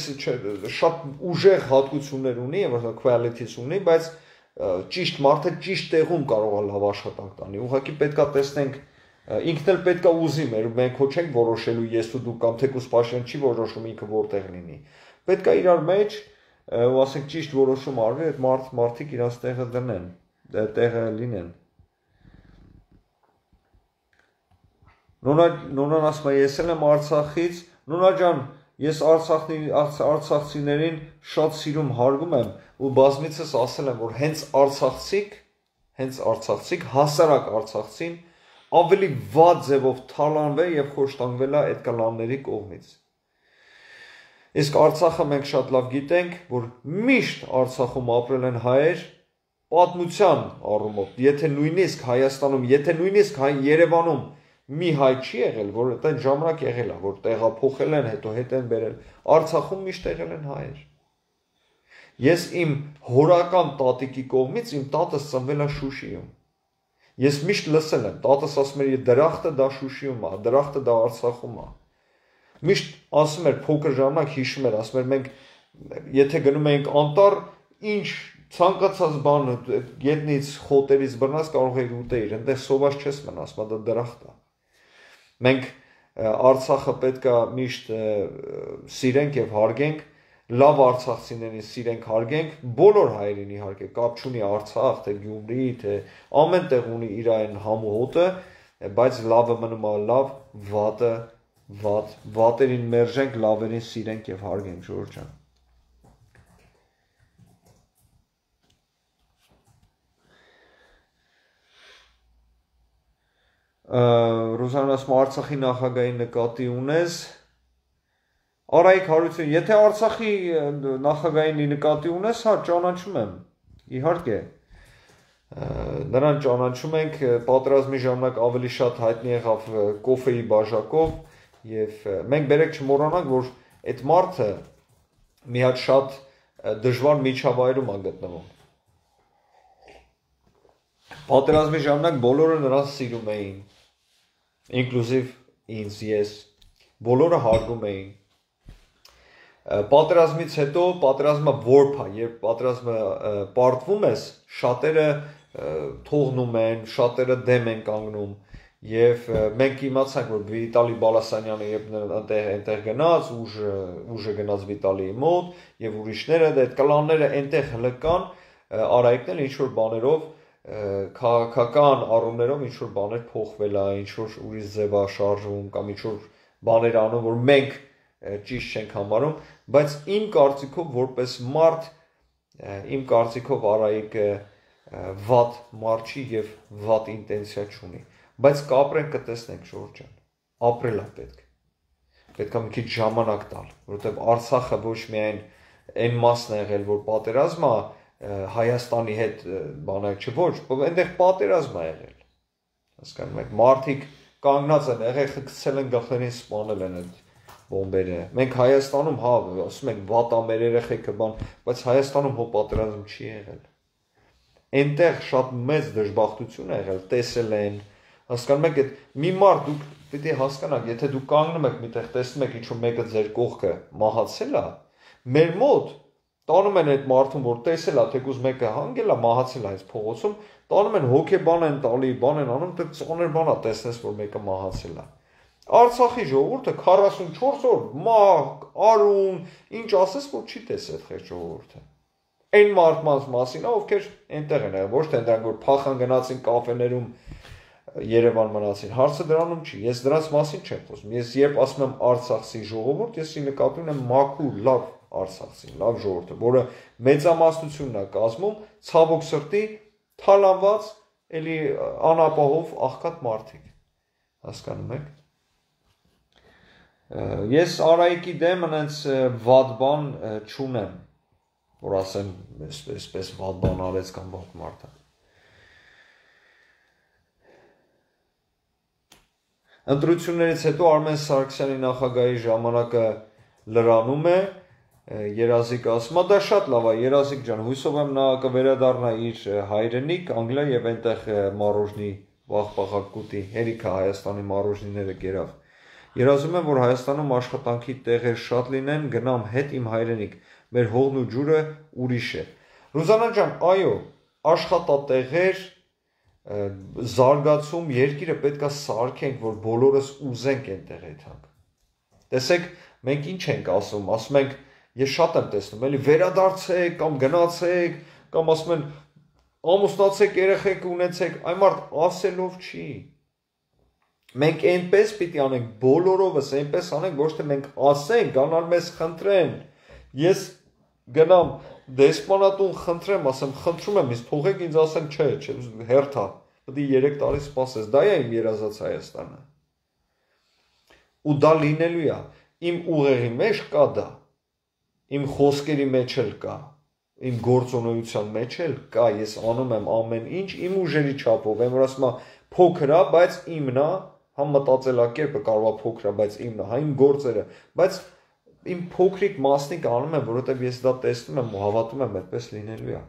շատ ուժեղ հատկություններ ունի, qualities ունի, բայց ճիշտ մարդը ճիշտ տեղում կարող է լավ աշխատանք տանի։ Ուղղակի պետքա տեսնենք, ինքն էլ պետքա ուզի, մենք հո չենք որոշելու ես ու դու կամ թեկուզ Փաշինյանը չի որոշում ինքը որտեղ լինի։ Պետքա իրար մեջ ու ասենք ճիշտ որոշում արվի, այդ մարդիկ իրաց տեղը դնեն, տեղը լինեն։ Նոնան ասում է, ես էլ եմ Արցախից, Նոնա ջան, ես արցախցիներին շատ սիրում հարգում եմ ու բազմիցս ասել եմ, որ հենց արցախցիք, հասարակ արցախցին ավելի վատ ձևով թալանվել եւ խոշտանգվել է այդ կլանների կողմից։ Իսկ Արցախը մենք շատ լավ գիտենք, որ միշտ Արցախում ապրել են հայեր պատմության առումով, եթե նույնիսկ Հայաստանում, եթե նույնիսկ Երևանում մի հայ չի եղել, որ այդ ժամանակ եղել է, որ տեղափոխել են, հետո հետ են բերել, Արցախում միշտ եղել են հայեր։ Ես իմ հորական տատիկի կողմից իմ տատս ծնվել է Շուշիում։ Ես միշտ լսել եմ, տատս ասում էր, դրախտը դա Շուշիում է, դրախտը դա Արցախում է։ Միշտ ասում էր, փոքր ժամանակ հիշում էր, ասում էր, մենք եթե գնում էինք անտառ, ինչ ցանկացած բան գետնից, խոտերից բռնած կարող էիր ուտեիր, այնտեղ սոված չես մնաս, դա դրախտ է։ Մենք Արցախը պետք է միշտ սիրենք եւ հարգենք, լավ արցախցիներին սիրենք, հարգենք, բոլոր հայերին իհարկե, կապ չունի Արցախ, թե Գյումրի, թե ամեն տեղ ունի իր այն համու հոտը, բայց լավը մնում է լավ, վատը վատ, վատերին մերժենք, լավերին սիրենք եւ հարգենք, Ժորժ ջան։ Ռուզանն ասում Արցախի նախագահի նկատի ունես։ Արայիկ Հարություն, եթե Արցախի նախագահին նկատի ունես, հա, ճանաչում եմ, իհարկե։ Նրան ճանաչում ենք, պատերազմի ժամանակ ավելի շատ հայտնի եղավ կոֆեի բաժակով եւ մենք բերեք չմոռանանք, որ այդ մարդը մի հատ շատ դժվար միջավայրում է գտնվում։ Պատերազմի ժամանակ բոլորը նրան սիրում էին, ինկլյուզիվ ինձ, ես, բոլորը հարգում էին։ Պատերազմից հետո պատերազմը որբ է, երբ պատերազմը պարտվում ես, շատերը թողնում են, շատերը դեմ են կանգնում եւ մենք իմացանք, որ Վիտալի Բալասանյանը երբ այնտեղ գնաց, ուժը գնաց Վիտալիի մոտ եւ ուրիշները, այդ կլանները այնտեղ հլկան, Արայիկն էլ ինչ որ բաներով քաղաքական առումներով ինչ որ բաներ փոխվել է, ինչ որ ուրիշ ձև է շարժվում կամ ինչ որ բաներ անում, որ մենք ճիշտ չենք համարում, բայց իմ կարծիքով որպես մարդ, իմ կարծիքով Արայիկը վատ մարդ չի եւ վատ ինտենսիա չունի, բայց կապրենք կտեսնենք, Ժորժ ջան, ապրել է պետք է մի քիչ ժամանակ տալ, որովհետեւ Արցախը ոչ միայն այն մասն է եղել, որ պատերազմ է Հայաստանի հետ բանակ ոչ, այնտեղ պատերազմ է եղել, հասկանում եք, մարդիկ կանգնած են, եղեգը գցել են գլխերին սպանել են այդ բոմբերը, մենք Հայաստանում, հա, ասում ենք, վատ է մեր երեխեքը բան, բայց Հայաստանում հո պատերազմ չի եղել, այնտեղ շատ մեծ դժբախտություն է եղել, տեսել են, հասկանում եք, մի մարդ դուք պիտի հասկանաք, եթե դուք կանգնում եք միտեղ, տեսնում եք ինչ-որ մեկը ձեր կողքը մահացել է, մեր մոտ տանում են այդ մարդուն, որ տեսել է, թեկուզ մեկը հանգել է, մահացել է այս փողոցում, տանում են հոգեբան են տալի, բան են անում, դե ծոներ բան է տեսնես, որ մեկը մահացել է։ Արցախի ժողովուրդը 44 օր մահ, արում, ինչ ասես, որ չի տեսել այդ խեղճ ժողովուրդը։ Այն մարդկանց մասին է, ովքեր այնտեղ են, ոչ թե նրանք որ փախան գնացին կաֆեներում Երևան մնացին, հարցը դրանում չի, ես դրանց մասին չեմ խոսում, ես երբ ասում եմ Արցախի ժողովուրդ, ես նկատի ունեմ մաքուր, լավ Արցախցին, լավ ժողովուրդը, որը մեծամասնությունն է կազմում, ցավոք սրտի թալանված, էլի անապահով աղքատ մարդիկ, հասկանում եք։ Ես Արայիկի դեմ այնց վատ բան չունեմ, որ ասեմ, այսպես վատ բան արեց կամ վատ մարդ է։ Ընտրություններից հետո Արմեն Սարգսյանի նախագահի ժամանակը լրանում է, Երազիկ ասում է, դա շատ լավ է, Երազիկ ջան, հույսով եմ նա կվերադառնա իր հայրենիք, Անգլիա եւ այնտեղ մարոժնի վաղ-պաղակ կուտի, հերիքը Հայաստանի մարոժնիները գերավ։ Երազում եմ, որ Հայաստանում աշխատանքի տեղեր շատ լինեն, գնամ հետ իմ հայրենիք, մեր հողն ու ջուրը ուրիշ է։ Ռուզանա ջան, այո, աշխատատեղեր, զարգացում, երկիրը պետք է սարքենք, որ բոլորս ուզենք այնտեղ եթանք։ Տեսեք, մենք ինչ ենք ասում ենք, Ես շատ եմ տեսնում, էլի վերադարձեք կամ գնացեք, կամ ասում են ամուսնացեք, երեխեք ունեցեք, այն մարդ ասելով չի։ Մենք այնպես պիտի անենք, բոլորովս այնպես անենք, ոչ թե մենք ասենք, գանալ մեզ խնդրեն։ Ես գնամ դեսպանատուն խնդրեմ, ասեմ, խնդրում եմ, ինձ թողեք ինձ ասեն, չէ, հերթա, պետք է 3 տարի սպասես, դա է իմ երազած Հայաստանը։ Ու դա լինելու է, իմ ուղեղի մեջ կա դա, իմ խոսքերի մեջ էլ կա, իմ գործունեության մեջ էլ կա, ես անում եմ ամեն ինչ իմ ուժերի չափով, եմ որ ասում եմ փոքր է, բայց իմն է, համ մտածելակերպը կարող է փոքր է, բայց իմն է, հա իմ գործերը, բայց իմ փոքրիկ մասնիկ անում եմ, որովհետև ես դա տեսնում եմ ու հավատում եմ, այդպես լինելու է։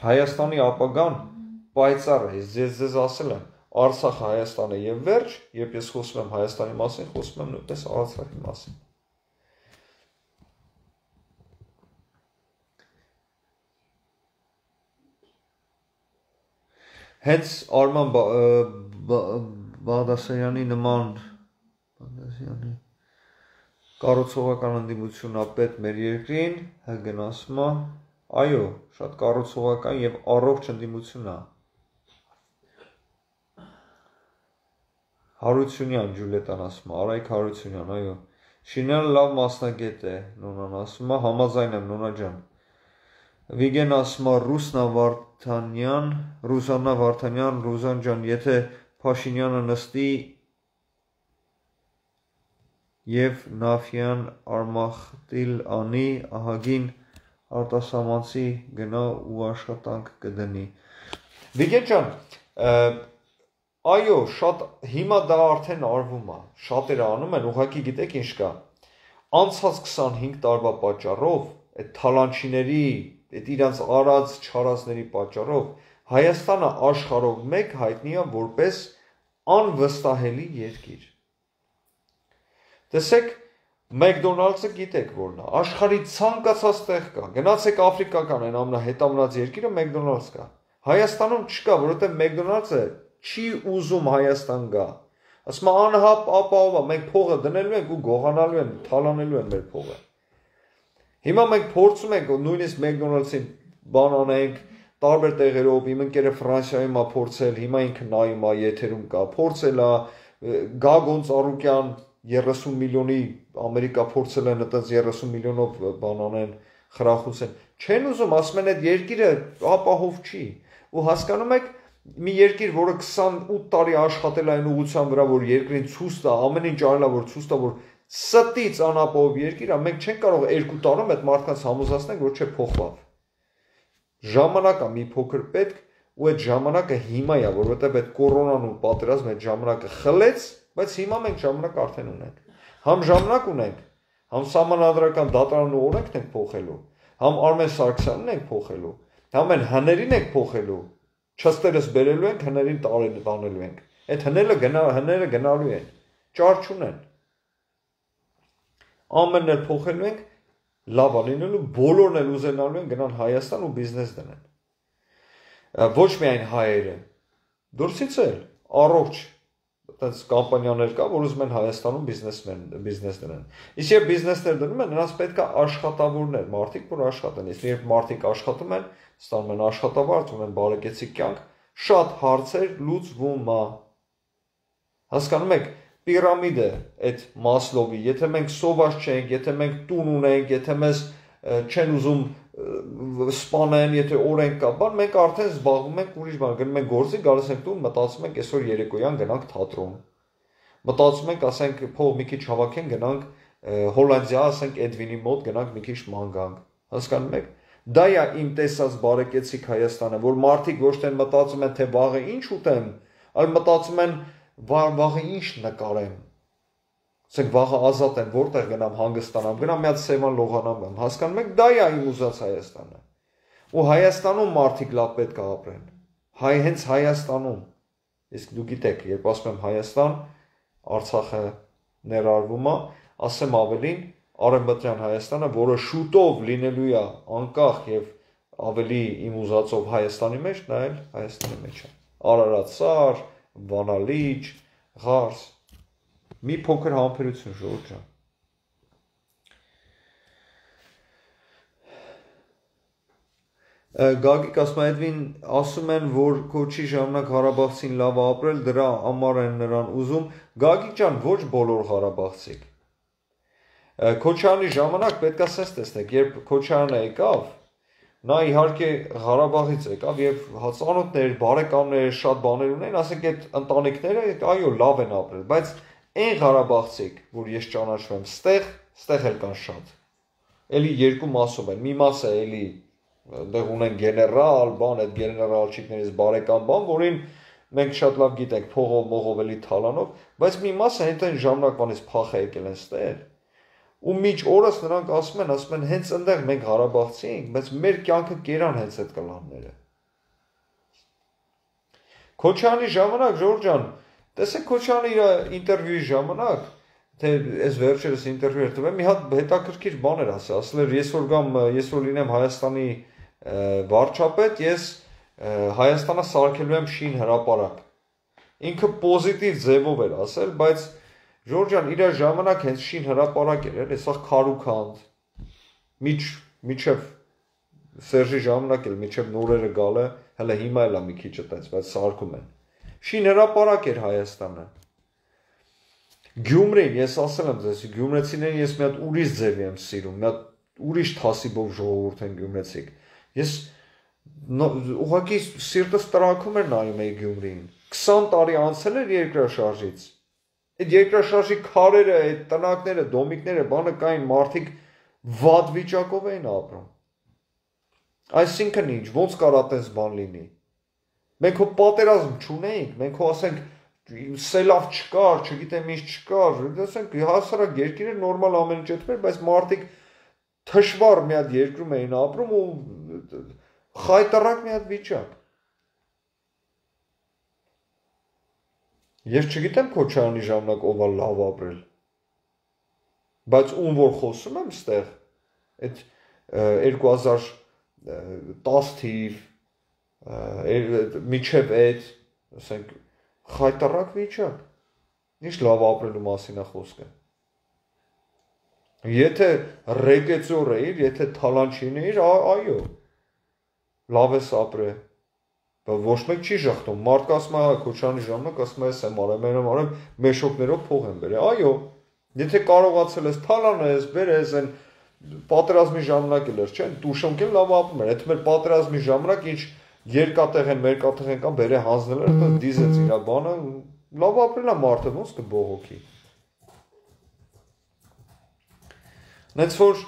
Հայաստանի ապագան պայծառ է, ես ձեզ ասել եմ, Արցախը Հայաստանը եւ վերջ, երբ ես խոսում եմ Հայաստանի մասին, խոսում եմ նույնպես Արցախի մասին։ Հենց Արման Բաղդասարյանի նման կառուցողական ընդդիմություն ապետ մեր երկրին, հգնասում է, այո, շատ կառուցողական եւ առողջ ընդդիմություն է։ Հարությունյան Ջուլիետան ասում է, Արայք Հարությունյան, այո։ Շինյանը լավ մասնագետ է, Նոնան ասում է, համաձայն եմ Նոնա ջան։ Վիգեն ասում է, Ռուսաննա Վարդանյան, Ռուզան ջան, եթե Փաշինյանը նստի եւ Նաֆյան Արմախտիլ անի, ահագին արտասահմանցի գնա ու աշխատանք կդնի։ Վիգեն ջան, այո, շատ հիմա դա արդեն արվում է, շատերը անում են, ուղղակի գիտեք ինչ կա։ Անցած 25 տարվա պատճառով, այդ թալանչիների, այդ իրանց արած չարածների պատճառով Հայաստանը աշխարհով մեկ հայտնի է որպես անվստահելի երկիր։ Տեսեք, McDonald's-ը գիտեք որն է, աշխարհի ցանկացած տեղ կա։ Գնացեք աֆրիկական այն ամենահետամնաց երկիրը McDonald's կա։ Հայաստանում չկա, որովհետև McDonald's-ը չի ուզում Հայաստան գա։ Ասում է անհապ ապահով է, մենք փողը դնելու ենք ու գողանալու են, թալանելու են մեր փողը։ Հիմա մենք փորձում ենք նույնիսկ McDonald's-ին բան անենք, տարբեր տեղերով, իմ ընկերը Ֆրանսիայում է փորձել, հիմա ինքը նայում է, եթերում կա, փորձել է, Գագոն Ծառուկյան 30 միլիոնի Ամերիկա փորձել են այդպես 30 միլիոնով բան անեն, խրախուսեն։ Չեն ուզում, ասում են այդ երկիրը ապահով չի։ Ու հասկանում եք, մի երկիր, որը 28 տարի աշխատել է այն ուղղության վրա, որ երկրին ցույց տա, ամեն ինչ արել է, որ ցույց տա, որ ստից անապահով երկիր է, մենք չենք կարող 2 տարում այդ մարդկանց համոզացնենք, որ չէ փոխվավ։ Ժամանակ է մի փոքր պետք ու այդ ժամանակը հիմա է, որովհետև այդ կորոնան ու պատերազմը այդ ժամանակը խլեց, բայց հիմա մենք ժամանակ արդեն ունենք։ Համ ժամանակ ունենք, համ սահմանադրական դատարանն ու օրենքն ենք փոխելու, համ Արմեն Սարգսյանն ենք փոխելու, համ այն հներին ենք փոխելու, չստերս բերելու ենք, հներին տանելու ենք։ Այդ հները գնալու են, ճար չունեն։ Ամենն էլ փոխելու ենք, լավ լինելու, բոլորն էլ ուզենալու են գնան Հայաստան ու բիզնես դնեն։ Ոչ միայն հայերը, դուրսից էլ առողջ այդպես կամպանիաներ կա, որ ուզում են Հայաստանում բիզնես դնեն։ Իսկ երբ բիզնեսներ դնում են, նրանց պետք է աշխատավորներ, մարդիկ, որ աշխատեն։ Իսկ երբ մարդիկ աշխատում են, ստանում են աշխատավարձ, ունեն բարեկեցիկ կյանք, շատ հարցեր լուծվում է։ Հասկանում եք, պիրամիդը այդ Մասլովի, եթե մենք սոված չենք, եթե մենք տուն ունենք, եթե մեզ չեն ուզում սպանեն, եթե օրենք կա, բան մենք արդեն զբաղվում ենք ուրիշ բան, գնում ենք գործի, գալիս ենք տուն, մտածում ենք այսօր երեկոյան գնանք թատրոն։ Մտածում ենք, ասենք, փող մի քիչ հավաքենք, գնանք Հոլանդիա, ասենք Էդվինի մոտ գնանք մի քիչ ման գանք։ Հասկանում եք։ Դա է իմ տեսած բարեկեցիկ Հայաստանը, որ մարդիկ ոչ թե մտածում են, թե վաղը ինչ ուտեմ, այլ մտածում են վաղը ինչ նկարեմ։ Ասենք վաղը ազատ եմ, որտեղ գնամ հանգստանամ, գնամ մի հատ Սևան լողանամ, հասկանում եք, դա է իմ ուզած Հայաստանը։ Ու Հայաստանում մարդիկ լավ պետք է ապրեն։ Հենց Հայաստանում։ Իսկ դու գիտեք, երբ ասում եմ Հայաստան, Արցախը ներառվում է, ասեմ ավելին, Արևմտյան Հայաստանը, որը շուտով լինելու է անկախ եւ ավելի իմ ուզածով Հայաստանի մեջ, նա էլ Հայաստանի մեջ է։ Արարատսար, Վանալիճ, Ղարս։ Մի փոքր համբերություն, ժողովուրդ ջան։ Գագիկ ասում ասում են, որ քոչի ժամանակ Ղարաբաղցին լավ ապրել, դրա համար են նրան ուզում։ Գագիկ ջան, ոչ բոլոր ղարաբաղցիք։ Քոչարյանի ժամանակ պետք է sense տեսնեք, երբ Քոչարյանը եկավ, նա իհարկե Ղարաբաղից եկավ եւ ծանոթներ, բարեկամներ, շատ բաներ ունեն, ասենք այդ ընտանիքները, այո, լավ են ապրել, բայց այն Ղարաբաղցիք, որ ես ճանաչում եմ, ստեղ էլ կան շատ։ Էլի երկու մասով են։ Մի մասը էլի դեղ ունեն գեներալ, բան, այդ գեներալչիկներից բարեկամ բան, որին մենք շատ լավ գիտենք, փողով, մողով էլի թալանով, բայց մի մասը հենց ժամանակվանից փախ է եկել են ստեր։ Ու միջ օրս նրանք ասում են, հենց այնտեղ մենք Ղարաբաղցի ենք, բայց մեր կյանքը կերան հենց այդ կլանները։ Քոչարյանի ժամանակ, Ժորժ ջան, տեսեք Քոչարյանը իր ինտերվյուի ժամանակ, թե այս վերջերս ինտերվյու էր տվել, մի հատ հետաքրքիր բան էր ասել էր, ես որ լինեմ Հայաստանի վարչապետ, ես Հայաստանը սարքելու եմ շին հրապարակ։ Ինքը պոզիտիվ ձևով էր ասել, բայց Ժորժ ջան, իր ժամանակ հենց շին հրապարակ էր, հեսա քարուքանդ, միջև Սերժի ժամանակ էլ, միջև նորերը գալը, հələ հիմա էլ է մի քիչ այդպես, բայց սարքում են։ Շին հրապարակ էր Հայաստանը։ Գյումրին, ես ասել եմ ձեզ, գյումրեցիներին ես մի հատ ուրիշ ձևի եմ սիրում, մի հատ ուրիշ թասիբով ժողովուրդ են գյումրեցիք։ Ես ուղղակի սիրտս տրաքում էր նայում էի Գյումրիին։ 20 տարի անցել էր երկրաշարժից։ Այդ երկրաշարժի քարերը, այդ տնակները, դոմիկները, բանը կային, մարդիկ վատ վիճակով էին ապրում։ Այսինքն ինչ, ոնց կարա այդպես բան լինի։ Մենք հո պատերազմ չունեինք, մենք հո ասենք սելավ չկար, չգիտեմ ինչ չկար, ասենք հասարակ երկիրը նորմալ ամեն ինչ էր, բայց մարդիկ թշվառ մի հատ երկրում էին ապրում ու խայտարակ մի հատ վիճակ։ Ես չգիտեմ Քոչարյանի ժամանակ ով է լավ ապրել։ Բայց ում որ խոսում եմ ստեղ, այդ 2010 թիվ, միջև այդ, ասենք, խայտարակ վիճակ։ Ինչ լավ ապրելու մասին է խոսքը։ Եթե ռեգեծոր էիր, եթե թալանչին էիր, այո, լավ ես ապրել։ Ոչ մեկ չի ժխտում, մարդկ ասում է Քոչարյանի ժամանակ, ասում է ես եմ արեմ, մեշոկներով փող եմ բերել, այո, եթե կարողացել ես թալանես, բերես, են պատերազմի ժամանակ էլ էր, չէ՞, տուշոնք էլ լավ ապրում էր, եթե մեր պատերազմի ժամանակ ինչ երկատեղ են, մերկատեղ են կամ բերե հանձնել էր, դա դիզեց իր բանը, լավ ապրել է մարդը, ոնց կբողոքի։ Նենց որ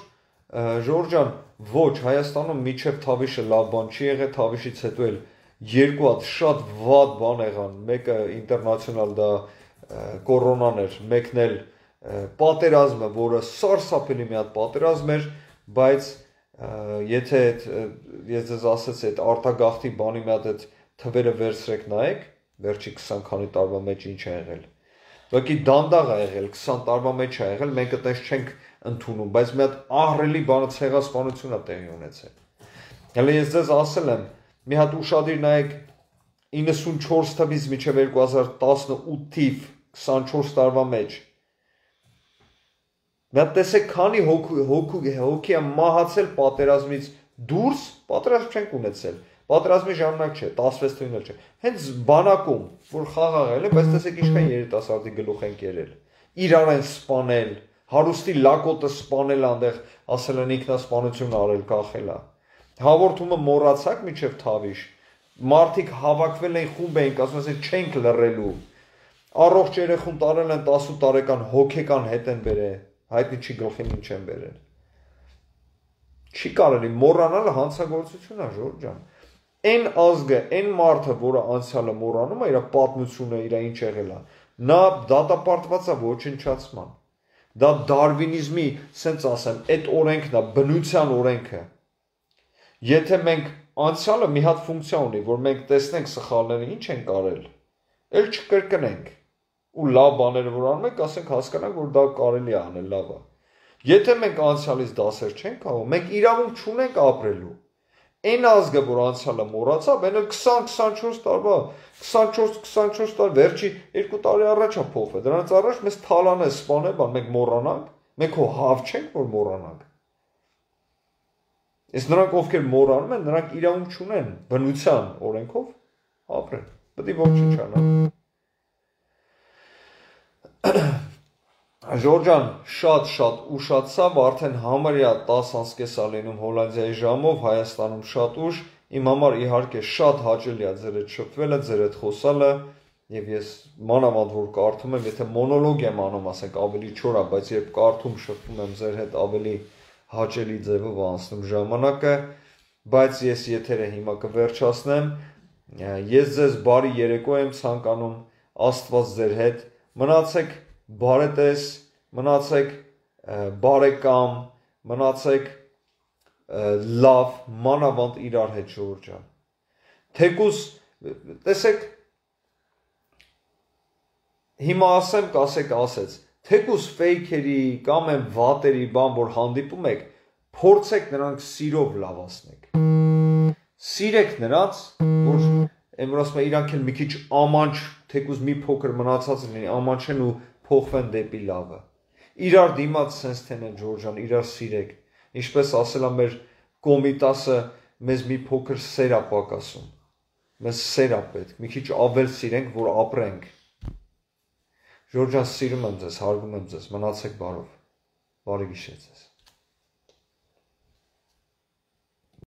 Ժորժ ջան, ոչ, Հայաստանում միջև Թավիշը լավ բան չի եղել, Թավիշից հետո էլ երկու հատ շատ վատ բան եղան, մեկը ինտերնացիոնալ դա կորոնան էր, մեկն էլ պատերազմը, որը սարսափելի մի հատ պատերազմ էր, բայց եթե ես ձեզ ասեցի այդ արտագաղթի բանի մի հատ այդ թվերը վերցրեք նայեք, վերջի 20 քանի տարվա մեջ ինչ է եղել։ Ուղղակի դանդաղ է եղել, 20 տարվա մեջ է եղել, մենք այդպես չենք ընդունում, բայց մի հատ ահռելի բանը ցեղասպանություն է տեղի ունեցել։ Հələ ես ձեզ ասել եմ, մի հատ ուշադիր նայեք 94 թվականից մինչև 2018 թիվ 24 տարվա մեջ։ Նա տեսեք քանի հոգի է մահացել պատերազմից դուրս, պատերազմ չենք ունեցել։ Պատերազմի ժամանակ չէ, 16 թվականին չէ։ Հենց բանակում, որ խաղաղել է, բայց տեսեք ինչքան երիտասարդի գլուխ են կերել։ Իրար են սպանել, հարուստի լակոտը սպանել այնտեղ, ասել են ինքնասպանություն արել, կախել է։ Հաղորդումը մոռացաք միջև Թավիշ։ Մարդիկ հավաքվել են խումբ էին, ասում են չենք լռելու։ Առողջ երեխուն տարել են 18 տարեկան հոգեկան հետ են բերել, հայտնի չի գլխին ինչ են բերել։ Չի կարելի մոռանալը հանցագործություն է, Ժորժ ջան։ Այն ազգը, այն մարդը, որը անցյալը մոռանում է, իր պատմությունը, իր ինչ եղել է, նա դատապարտված է ոչնչացման։ Դա դարվինիզմի, սենց ասեմ, այդ օրենքն է, բնության օրենքը։ Եթե մենք անցյալը մի հատ ֆունկցիա ունի, որ մենք տեսնենք սխալները ինչ են կարել, էլ չկրկնենք։ Ու լավ բաները որ անում ենք, ասենք հասկանանք, որ դա կարելի է անել, լավ է։ Եթե մենք անցյալից դասեր չենք քաղում, մենք իրավունք չունենք ապրելու։ Այն ազգը, որ անցյալը մոռացավ, այն էլ 20-24 տարվա, 24 տարի, վերջի 2 տարի առաջ է փոխվել։ Դրանից առաջ մեզ թալանը սպանել, բան մենք մոռանանք, մենք հո հավ չենք, որ մոռանանք։ Իսկ նրանք ովքեր մոռանում են, նրանք իրավունք չունեն բնության օրենքով ապրել։ Պետք է ոչնչանան։ Ժորժան շատ ուշացավ, արդեն համարյա 10:30 լինում Հոլանդիայի ժամով, Հայաստանում շատ ուշ, իմ համար իհարկե շատ հաճելի է ձեր հետ շփվելը, ձեր հետ խոսալը, եւ ես մանավանդ որ կարդում եմ, եթե մոնոլոգ եմ անում, ասենք ավելի չոր է, բայց երբ կարդում շփվում եմ ձեր հետ ավելի հաճելի ձևով անցնում ժամանակը, բայց ես եթերը հիմա կվերջացնեմ, ես ձեզ բարի երեկո եմ ցանկանում, Աստված ձեր հետ, մնացեք բարետես, մնացեք բարեկամ, մնացեք լավ, մանավանդ իրար հետ Ժորժան։ Թեկուզ, տեսեք, հիմա ասեմ, կասեք ասեց, թեկուզ ֆեյքերի կամ են վատերի բան, որ հանդիպում եք, փորձեք նրանք սիրով լավացնեք։ Սիրեք նրանց, որ որ ասում են իրանք էլ մի քիչ ամանչ, թեկուզ մի փոքր մնացած լինի, ամանչեն ու փոխվեն դեպի լավը։ Իրար դիմաց sense թենեն Ժորժան, իրար սիրեք։ Ինչպես ասել է մեր Կոմիտասը, մեզ մի փոքր սեր է պակասում։ Մեզ սեր է պետք, մի քիչ ավել սիրենք, որ ապրենք։ Ժորժան, սիրում եմ ձեզ, հարգում եմ ձեզ, մնացեք բարով։ Բարի գիշեր ձեզ։